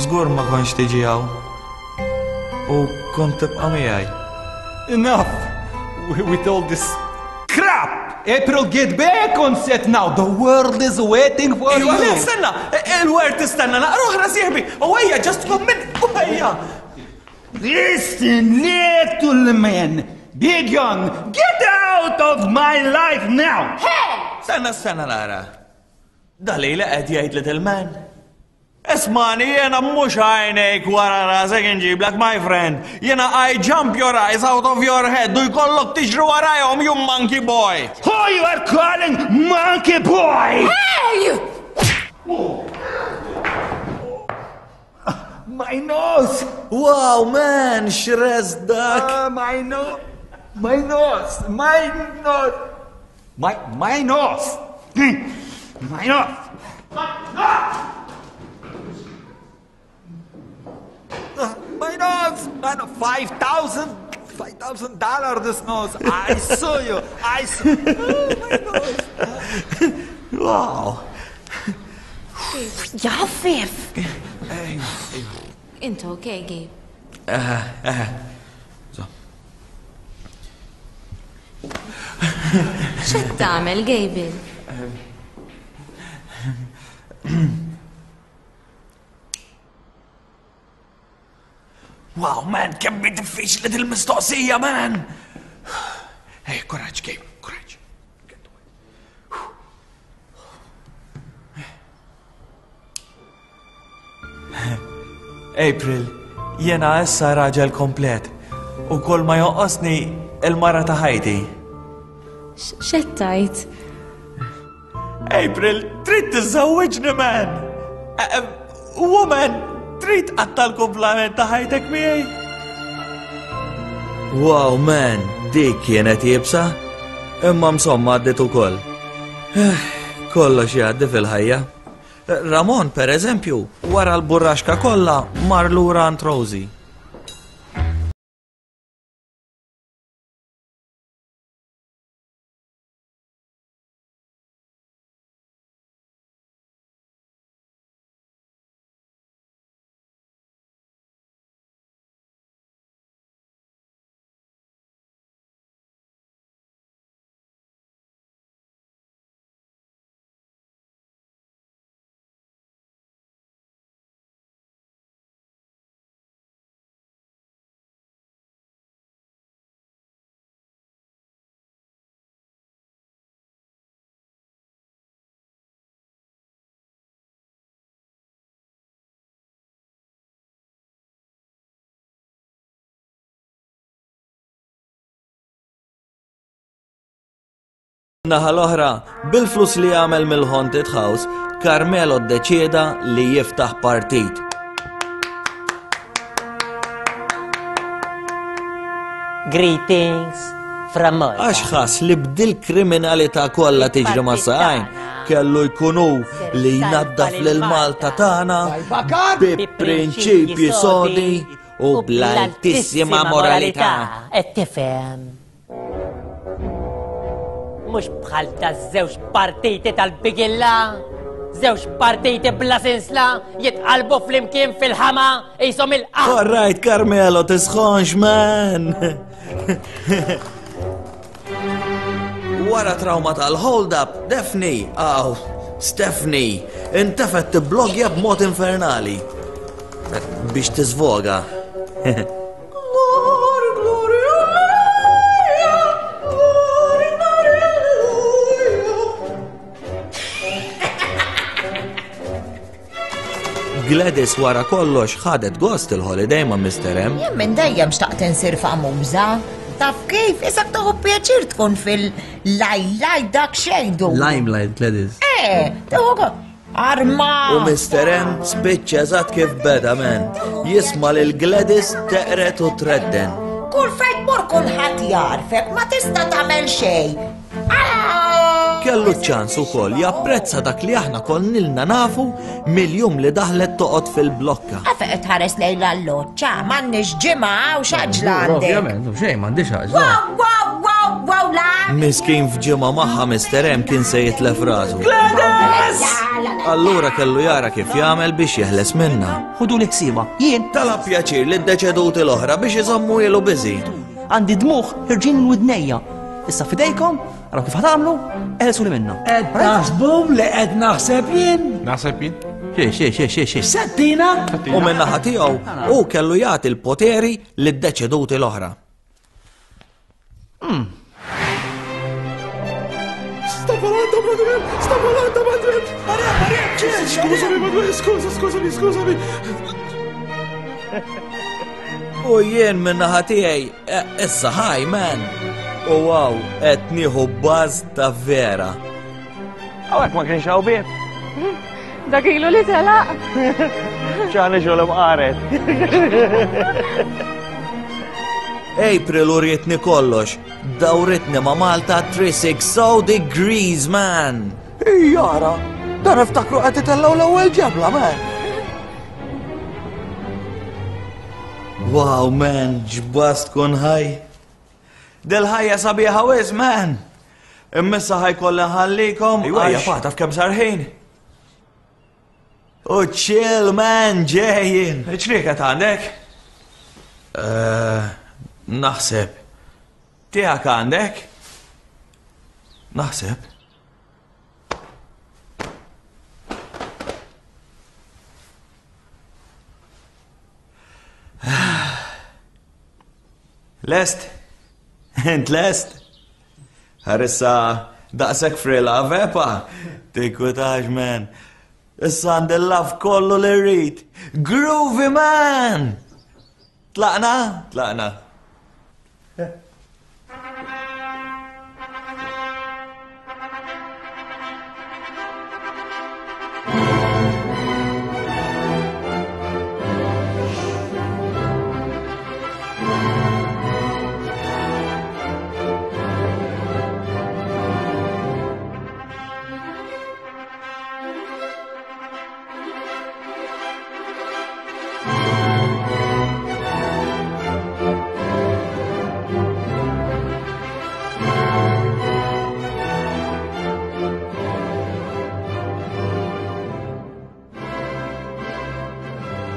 żgur ma kontx tiġi hawn. U kont tibqa' miegħi. Enough with all this crap! April, get back on set now. The world is waiting for Ejwa, you. le, stenna, il-word tistenna, naqra oħra sieħbi, u ejja, just one minute, u ejja. Listen, little man. Big John, get out of my life now. Stenna, stenna, nara. Dalila qed jgħid little man. Ismani, jena mhux għajnejk wara rasek inġiblek, my friend. Jena I jump your eyes out of your head u jkollok tiġri warajhom, you monkey boy. Who you are calling monkey boy? Hey! My nose! Wow, man, x'res dak! Uh, my nose! My nose! My nose! My, my nose! My nose! My nose! My nose! Five thousand! Five thousand dollars this nose! I saw you! I saw oh, my nose! Wow! Jaffif! Int okay, Gabe? Eh, eh. X'qed tagħmel, Gabriel? Wow, man, kemm hi diffiċli dil-mistoqsija, man! Hey, kuraġġ, Gabe, kuraġġ. April, jena issa raġel komplet u kull ma jonqosni il-mara ta' ħajti. X'qed tgħid? April, trid tiżżewwiġni, man! Eh, eh, Woman, trid tqatta' l-kumplament ta' ħajtek miegħi? Wow, man, dik kienet iebsa. Imma msomma għaddit ukoll. Eh, Kollox jgħaddi fil-ħajja. Ramon, per eżempju, wara l-burraxka kollha mar lura għand Rosie. Naħa l-oħra, bil-flus li għamel mill-Haunted House, Carmelo ddeċieda li jiftaħ partit. Greetings from Malta. Għax ħass li bdil kriminalità kollha tiġri ma' saqajn, kellu jkunu li jnaddaf lil Malta tagħna bi prinċipji sodi u bl-altissima moralità. Qed tifhem. Mhux bħal ta' żewġ partiti tal-bigilla, żewġ partiti bla sinsla jitqalbu flimkien fil-ħama qishom il-qaħ. All right, Carmelo, tisħonx, man! Wara trauma tal-hold-up, Daphne, aw, Stephanie, intefet tibblogja b'mod infernali. Biex tiżvoga. Gladys wara kollox ħadet gost il-holiday ma' Mister M. Jien minn dejjem xtaqt insir famuża. Taf kif, isak toħu pjaċir tkun fil-lajlaj dak xejdu. Limelight, Gladys. Eh, toħu go- Arma! U Mister M spiċċa eżatt kif beda, men. Jisma' lil Gladys teqret u tredden. Kull fejn tmur kulħadd jarfek, ma tista' tagħmel xejn. Kellu ċans ukoll japprezza dak li aħna konnilna nafu mill-jum li daħlet toqgħod fil-blokka. Għafe qed tħares lejn l-alloċċa, m'għandniex ġimgħa u x'għaġla għandek. Ovvjament, xejn m'għandix għaġla. Wow, wow, wow, wow, la! Miskin f'ġimgħa magħha Mister M kien se jitlef rasu. Gladys! Allura kellu jara kif jagħmel biex jeħles minnha. Ħudu li ħsieba. Jien talab pjaċir li d-deċeduti l-oħra biex iżommu ilu biżi. Għandi dmuħ ħirġin minn widnejja. Issa fidejkom, Araw kif ħa tagħmlu, eħelsuni minna. Qed taħsbum li qed naħseb jien? Naħseb jien? Xie, xie, xie, xie, xie. Settina? U min-naħa tiegħu hu kellu jagħti l-poteri lid-deċeduti l-oħra. Sta volando, Manuel! Sta volando, Manuel! Maria, Maria, Scusami, Manuel, scusa, scusami, scusami. U jien min-naħa tiegħi, eh, issa ħaj, man. U wow, qed nieħu baż ta' vera. Hawnhekk ma kienx hawn bieb. Dak ilu li telaq. ċani ġol imqaret. April urietni kollox, dawritni ma' Malta three sixty degrees, man. Jara, dan iftakru qed itellgħu l-ewwel ġebla, man. Wow, man, ġbas tkun ħaj. Del-ħajja sabiħa wis, man. Immissa ħajkolli nħallikom. Ejwa, Ejja, pa, taf kemm sar ħin. U chill, man, ġejjin. Ċrieket għandek? Eh, naħseb. Tiegħek għandek? Naħseb. Lest? Int lest? Ħarissa daqshekk free love, eh, pa? Tinkwitax, man. Issa għandi l-love kollu li rrid. Groovy, man! Tlaqna? Tlaqna.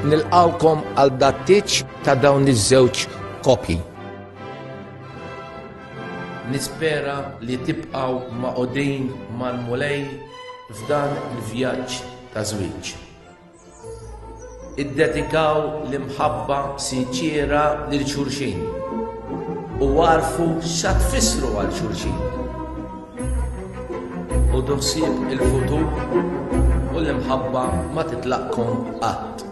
Nilqawkom għal dattiċ ta' dawn iż-żewġ kopji. Nispera li tibqgħu maqudin mal-Mulej f'dan il-vjaġġ ta' żwieġ. Iddedikaw l-imħabba sinċiera lil xulxin u għarfu xa tfissru għal xulxin. U ħsieb il-futur u l-imħabba ma titlaqkom qatt.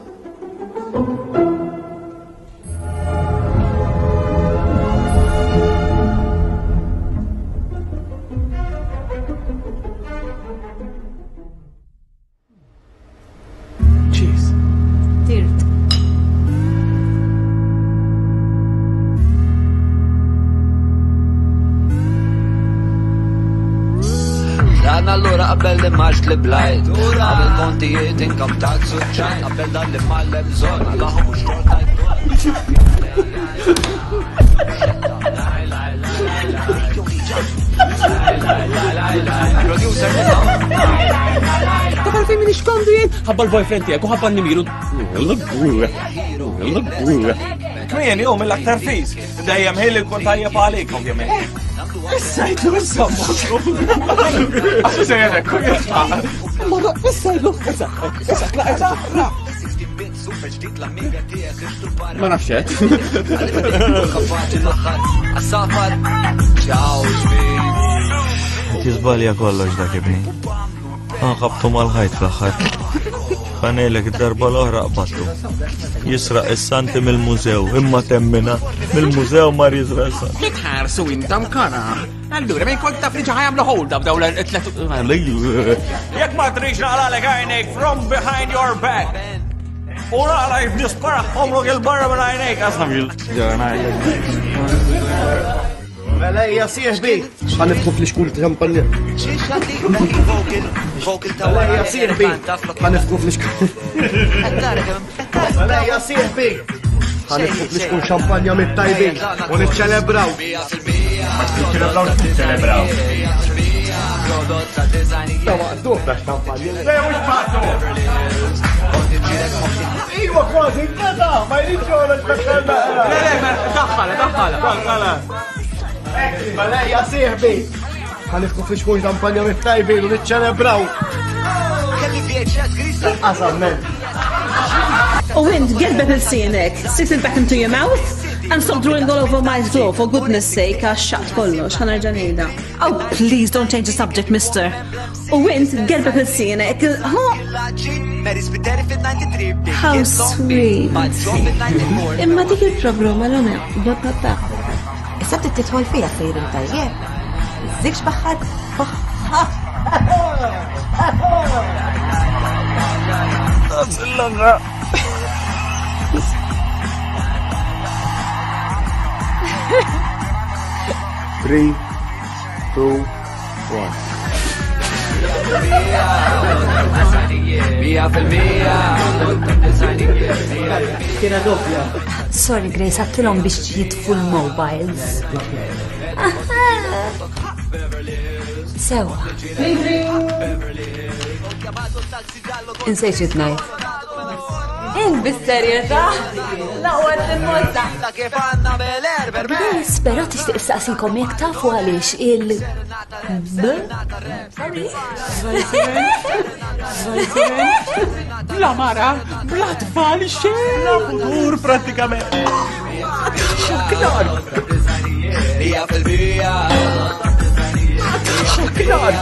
Cheers. Tirt. Dan allura qabel li maġ li blajt, qabel kontijiet income tax u ċajt, qabel dan li mallem zon, għahu mux xorta Producer Taf għalfejn minix komdu jien? Ħabba l-boyfriend tiegħek u ħabba n-nimiru. Kmieni hu mill-aktar fis. Dejjem ħin li nkun tajjeb għalik, ovvjament. Issa jitlu issa. Għaxu sejjerek, kun jitfa. Ma issa jitlu, issa, issa, issa, issa. Ma nafx hekk. Tiżbalja kollox dak ibni. Nħabtu mal-ħajt fl-aħħar. Ħanejlek id-darba l-oħra qbattu. Jisraq is-santi mill-mużew, imma temmina mill-mużew mar jisraq is-santi. Kitħarsu intom kara. Allura, minn kont taf li ġa ħajamlu hold up daw l-tlet. Jekk ma trix naqlalek għajnejk from behind your back. U naqla nispara omrok il-barra minn għajnejk. Asna bil. Mela hija sieħbi. Ħa nifħu fl-ixkul ta' xampanja. Mela hija sieħbi. Ħa nifħu fl-ixkul. Mela hija sieħbi. Ħa nifħu fl-ixkul xampanja mit-tajbin u niċċelebraw. Niċċelebraw, niċċelebraw. Ta' maqduh da xampanja. Le mhux maqduh. Iwa kważi nkata, ma jridx joħroġ daħħalna. Le, le, daħħala, daħħala. Daħħala. Mela hija sieħbi. Ħa niftħu flixkun xampanja mit-tajbin u niċċelebraw. Qasam, men. U int, get back il-sienek, stick it back into your mouth and stop drawing all over my floor, for goodness sake, għax xaqt kollox, ħa nerġa' ngħidha. Oh, please don't change the subject, mister. U int, get back il-sienek. How sweet. Imma dik il-problema l-għana, ba Issa bdiet tidħol fija sejrin tajjeb. Żikx baħħad. Three, two, one. Kienet doppja. Sorry Grace, għattilhom biex jitfu l-mobiles. Sewa. Insejt xi tnajt. Int bis-serjetà? Laqwa il-mozza. Grace, però tixtieq issaqsikom jekk tafu għaliex il B. Sorry. Bla mara, bla tfal xejn. Bla futur pratikament. Xoknar. Xoknar.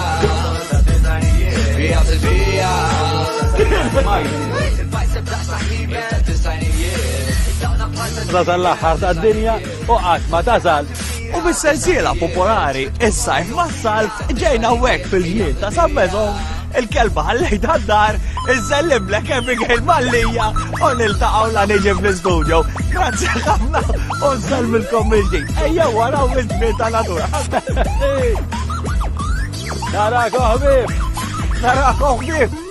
Tasal l-aħħar tad-dinja u qatt ma tasal. U bis-sensiela popolari, is-sajf mas-salf ġejna hawnhekk fil-ġnien ta' San Mezon, il-kelba ħallejt għad-dar, iżellimlek Abigail Mallija u niltaqgħu la niġi fl-istudio. Grazzi ħafna u nsellmilkom mill-ġdid. Ejja waraw il-ġnien ta' natura. Narakom ħbieb! Narakom ħbieb!